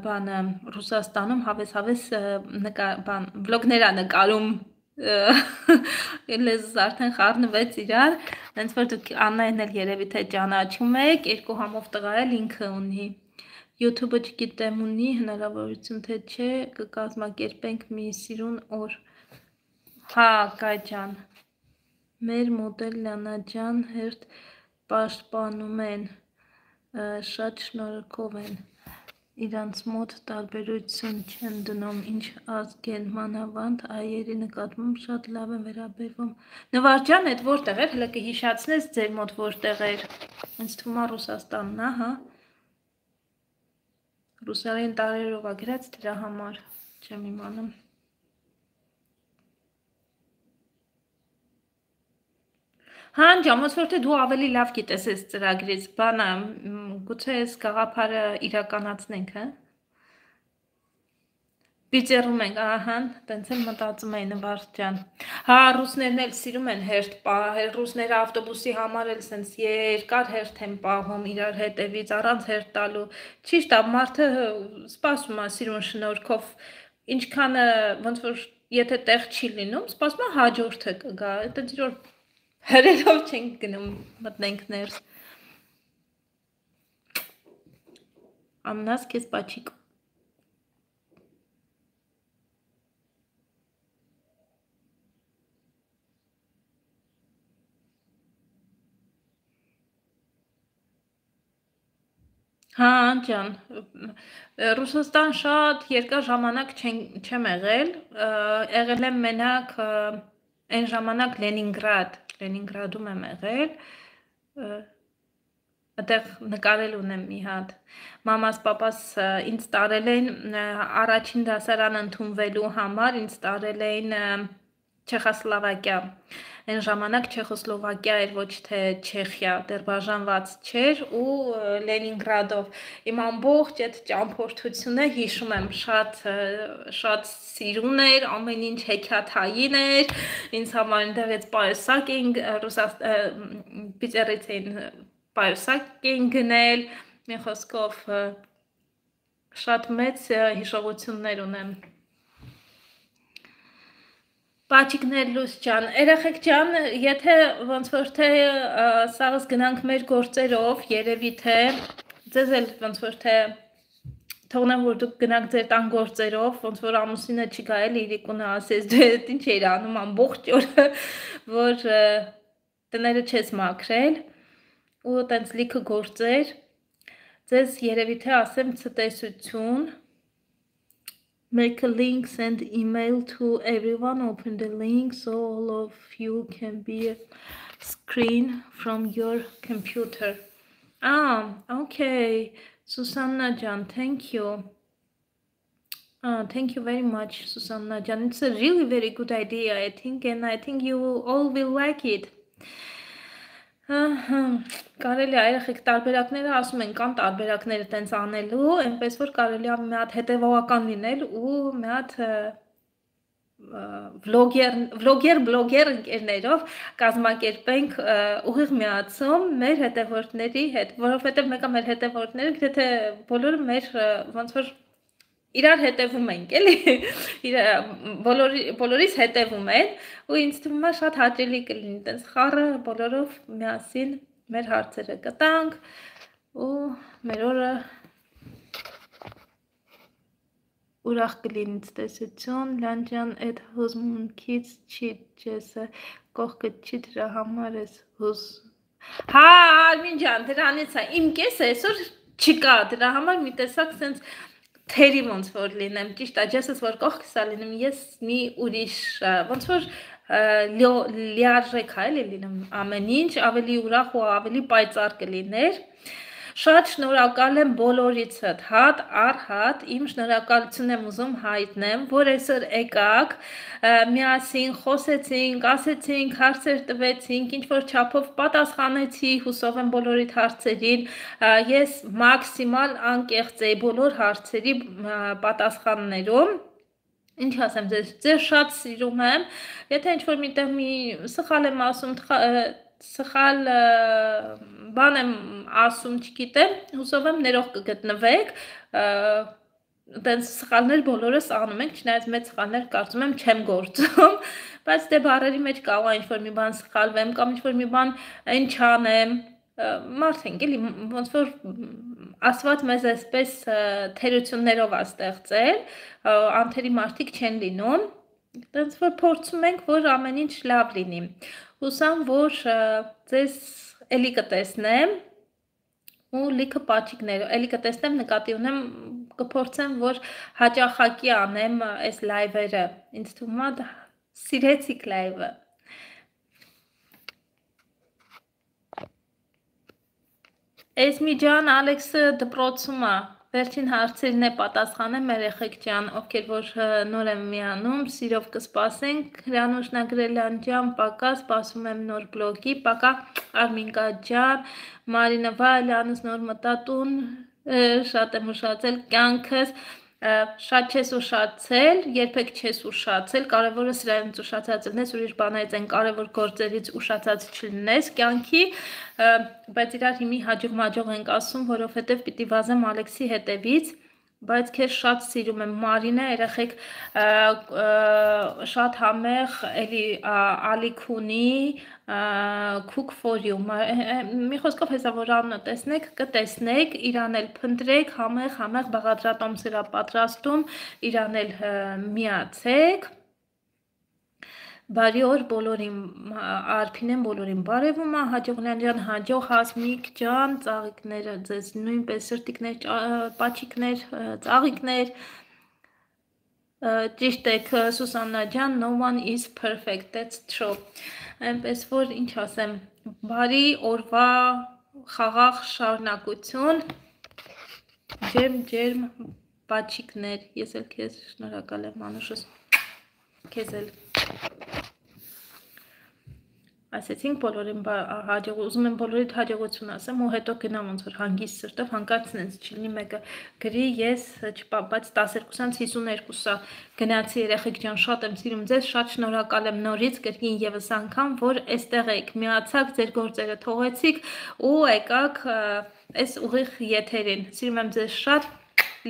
բանը Ռուսաստանում հավես վլոգներ է նկարում, լեզուս արդեն խառնվեց իրար, հենց որ դուք Աննային էլ երևի թե ճանաչում եք, 2 համով տղա էլ ինքը ունի YouTube-ը չգիտեմ ունի հնարավորություն թե չէ կկազմակերպենք մի սիրուն օր հա Կայ ջան մեր մոդել Լյանա ջան հերթ պաշտպանում են շատ շնորհքով են իրանց մոտ տարբերություն չեն դնում ինչ ազգ են մանավանդ այերի նկատմամբ շատ լավ են վերաբերվում Նվար ջան այդ որտեղ էր հələ կհիշացնես ձեր մոտ որտեղ էր ինձ թվում է Ռուսաստանն է հա Ռուսերեն տարերով է գրած դրա համար չեմ իմանում Հա ջամոց որ թե դու ավելի լավ գիտես այս ծրագրից բանը գուցե այս գաղափարը իրականացնենք հա Վիճերում ենք ահա տենց էլ մտածում էին Նվար ջան Հա ռուսներն էլ սիրում են հերթ պահել ռուսները ավտոբուսի համար էլ սենց երկար հերթ են պահում իրար հետևից առանց հերթ տալու ճիշտ է մարդը սպասում է սիրուն շնորհքով ինչքան ոնց որ եթե տեղ չի լինում սպասում է հաջորդը կգա այդպես որ հրելով չենք գնում մտնենք ներս Աննաս քեզ պաչիկ Հա ջան Ռուսաստան շատ երկար ժամանակ չեմ եղել եմ մենակ այն ժամանակ Լենինգրադում եմ եղել այդտեղ նկարել ունեմ մի հատ մամաս պապաս ինձ տարել են առաջին դասարան ընդունվելու համար ինձ տարել էին Չեխոսլովակիա Այն ժամանակ Չեխոսլովակիա էր ոչ թե Չեխիա, դեռ բաժանված չէր ու Լենինգրադով իմ ամբողջ այդ ճամփորդությունը հիշում եմ շատ սիրուն էր, ամեն ինչ հեքիաթային էր, ինձ համար այնտեղից պայուսակ էին Պիտերից էին պայուսակ էին գնել, մի խոսքով շատ մեծ հիշողություններ ունեմ Պաչիկներ լույս ջան, երեխեք ջան, եթե ոնց որ թե սաղս գնանք մեր գործերով, երևի թե ձեզ էլ ոնց որ թե թողնեմ որ դուք գնաք ձեր տան գործերով, ոնց որ ամուսինը չի գա էլի իրիկունը ասես դու այդ ինչ էիր անում ամբողջ օրը, որ տները չես մաքրել ու տենց լիքը գործեր, ձեզ երևի թե ասեմ ցտեսություն Make a link, send email to everyone, open the link so all of you can be a screen from your computer. Okay. Susanna Jan, thank you. Thank you very much, Susanna Jan. It's a really very good idea, I think, and I think you all will like it. Կարելի է երեխեք տարբերակները ասում են կան տարբերակները տենց անելու, այնպես որ կարելի է մի հատ հետևողական լինել ու մի հատ վլոգեր ընկերներով կազմակերպենք ուղիղ միացում մեր հետևորդների հետ, որովհետև մեկը մեր հետևորդները գրեթե բոլորը մեր ոնց որ իրար հետևում ենք, էլի, բոլորիս հետևում են, ու ինձ թվում է շատ հաճելի կլինի, տենց խառը բոլորով միասին մեր հարցերը կտանք, ու մեր օրը ուրախ կլինի տեսություն, լանջան այդ հուզմունքից չի ջեսը, կողքը չի դրա համար ես հուզ։ Հա, Արմին ջան, դրանից է, իմ կեսը այսօր չկա, դրա համար մի տեսակ սենց թերի ոնց որ լինեմ, ճիշտ է, ջեսս որ կողքս է լինում, ես մի ուրիշ, ոնց որ լիարժեք է լինում ամեն ինչ, ավելի ուրախ ու ավելի պայծառ կլիներ։ Շատ շնորհակալ եմ բոլորիցդ, հատ առ հատ, իմ շնորհակալություն եմ ուզում հայտնեմ, որ այսօր եկաք, միասին խոսեցինք, ասեցինք, հարցեր տվեցինք, ինչ որ չափով պատասխանեցի, հուսով եմ բոլորիդ հարցերին, ես մաքսիմալ անկեղծ էի բոլոր հարցերի պատասխաններում։ Ինչ ասեմ, ձեզ շատ սիրում եմ, եթե ինչ-որ միտեղ մի սխալ եմ ասում, սխալ բան եմ ասում, չգիտեմ, հուսով եմ ներող կգտնվեք, տենց սխալներ բոլորս անում ենք, չնայած մեծ սխալներ կարծում եմ չեմ գործում, բայց դե բառերի մեջ կարող է ինչ-որ մի բան սխալվեմ, կամ ինչ-որ մի բան այն չանեմ, մարդ ենք էլի, ոնց որ ասված մեզ այսպես թերություններով է ստեղծել, անթերի մարդիկ չեն լինում, տենց որ փորձում ենք, որ ամեն ինչ լավ լինի, հուսամ, որ ձեզ էլի կտեսնեմ ու լիքը պատիքներ, էլի կտեսնեմ, նկատի ունեմ, կփորձեմ, որ հաճախակի անեմ այս լայվերը, ինձ թվում է սիրեցիք լայվը։ Էսմի ջան, Ալեքսը դպրոցում է, վերջին հարցերին է պատասխանեմ, երեխեք ջան, ովքեր որ նոր եմ միանում, սիրով կսպասենք, Հրանուշ Նագրելյան ջան, պակա, սպասում եմ նոր բլոգի, պակա Արմինկա ջան, Մարինա Վալյանս նոր մտատուն, շատ եմ ուշացել, կյանքս, շատ չես ուշացել, երբեք չես ուշացել, կարևորը սրանից ուշացած լինես, ուրիշ բաներից են կարևոր գործերից ուշացած չլինես կյանքի, բայց իրար հիմի հաջող ենք ասում, որովհետև պիտի վազեմ Ալեքսի հետևից, բայց քեզ շատ սիրում եմ Մարինա, երեխեք շատ համեղ էլի ալիք ունի, cook for you, մի խոսքով հեսա որ անունը տեսնեք, կտեսնեք, իրան էլ փնտրեք, համեղ բաղադրատոմ սրա պատրաստում, իրան էլ միացեք, բարի օր բոլորին, Արփինեն բոլորին բարևում է, Հաջողլյան ջան, հաջող Հասմիկ ջան, ծաղիկները ձեզ նույնպես սրտիկներ, պաչիկներ, ծաղիկներ, ճիշտ եք Սուսաննա ջան, no one is perfect, that's true, այնպես որ ինչ ասեմ, բարի օրվա խաղաղ շարունակություն, ջերմ պաչիկներ, ես էլ քեզ շնորհակալ եմ Մանուշս, քեզ էլ ասեցինք բոլորին ուզում եմ բոլորիդ հաջողություն ասեմ ու հետո գնամ ոնց որ հանգիստ սրտով հանկարծ նենց չլինի մեկը գրի ես բայց 12-ից 52-ը գնացի երեխեք ջան շատ եմ սիրում ձեզ շատ շնորհակալ եմ նորից կրկին եւս անգամ որ այստեղ եք միացաք ձեր գործերը թողեցիք ու եկաք այս ուղիղ եթերին սիրում եմ ձեզ շատ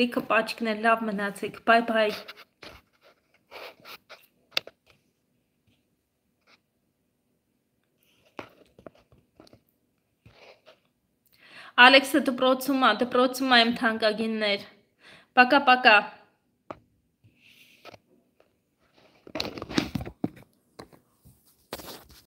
լիքը պաչիկներ լավ մնացեք բայ Ալեքսը դպրոցում է իմ թանկագիններ, պակա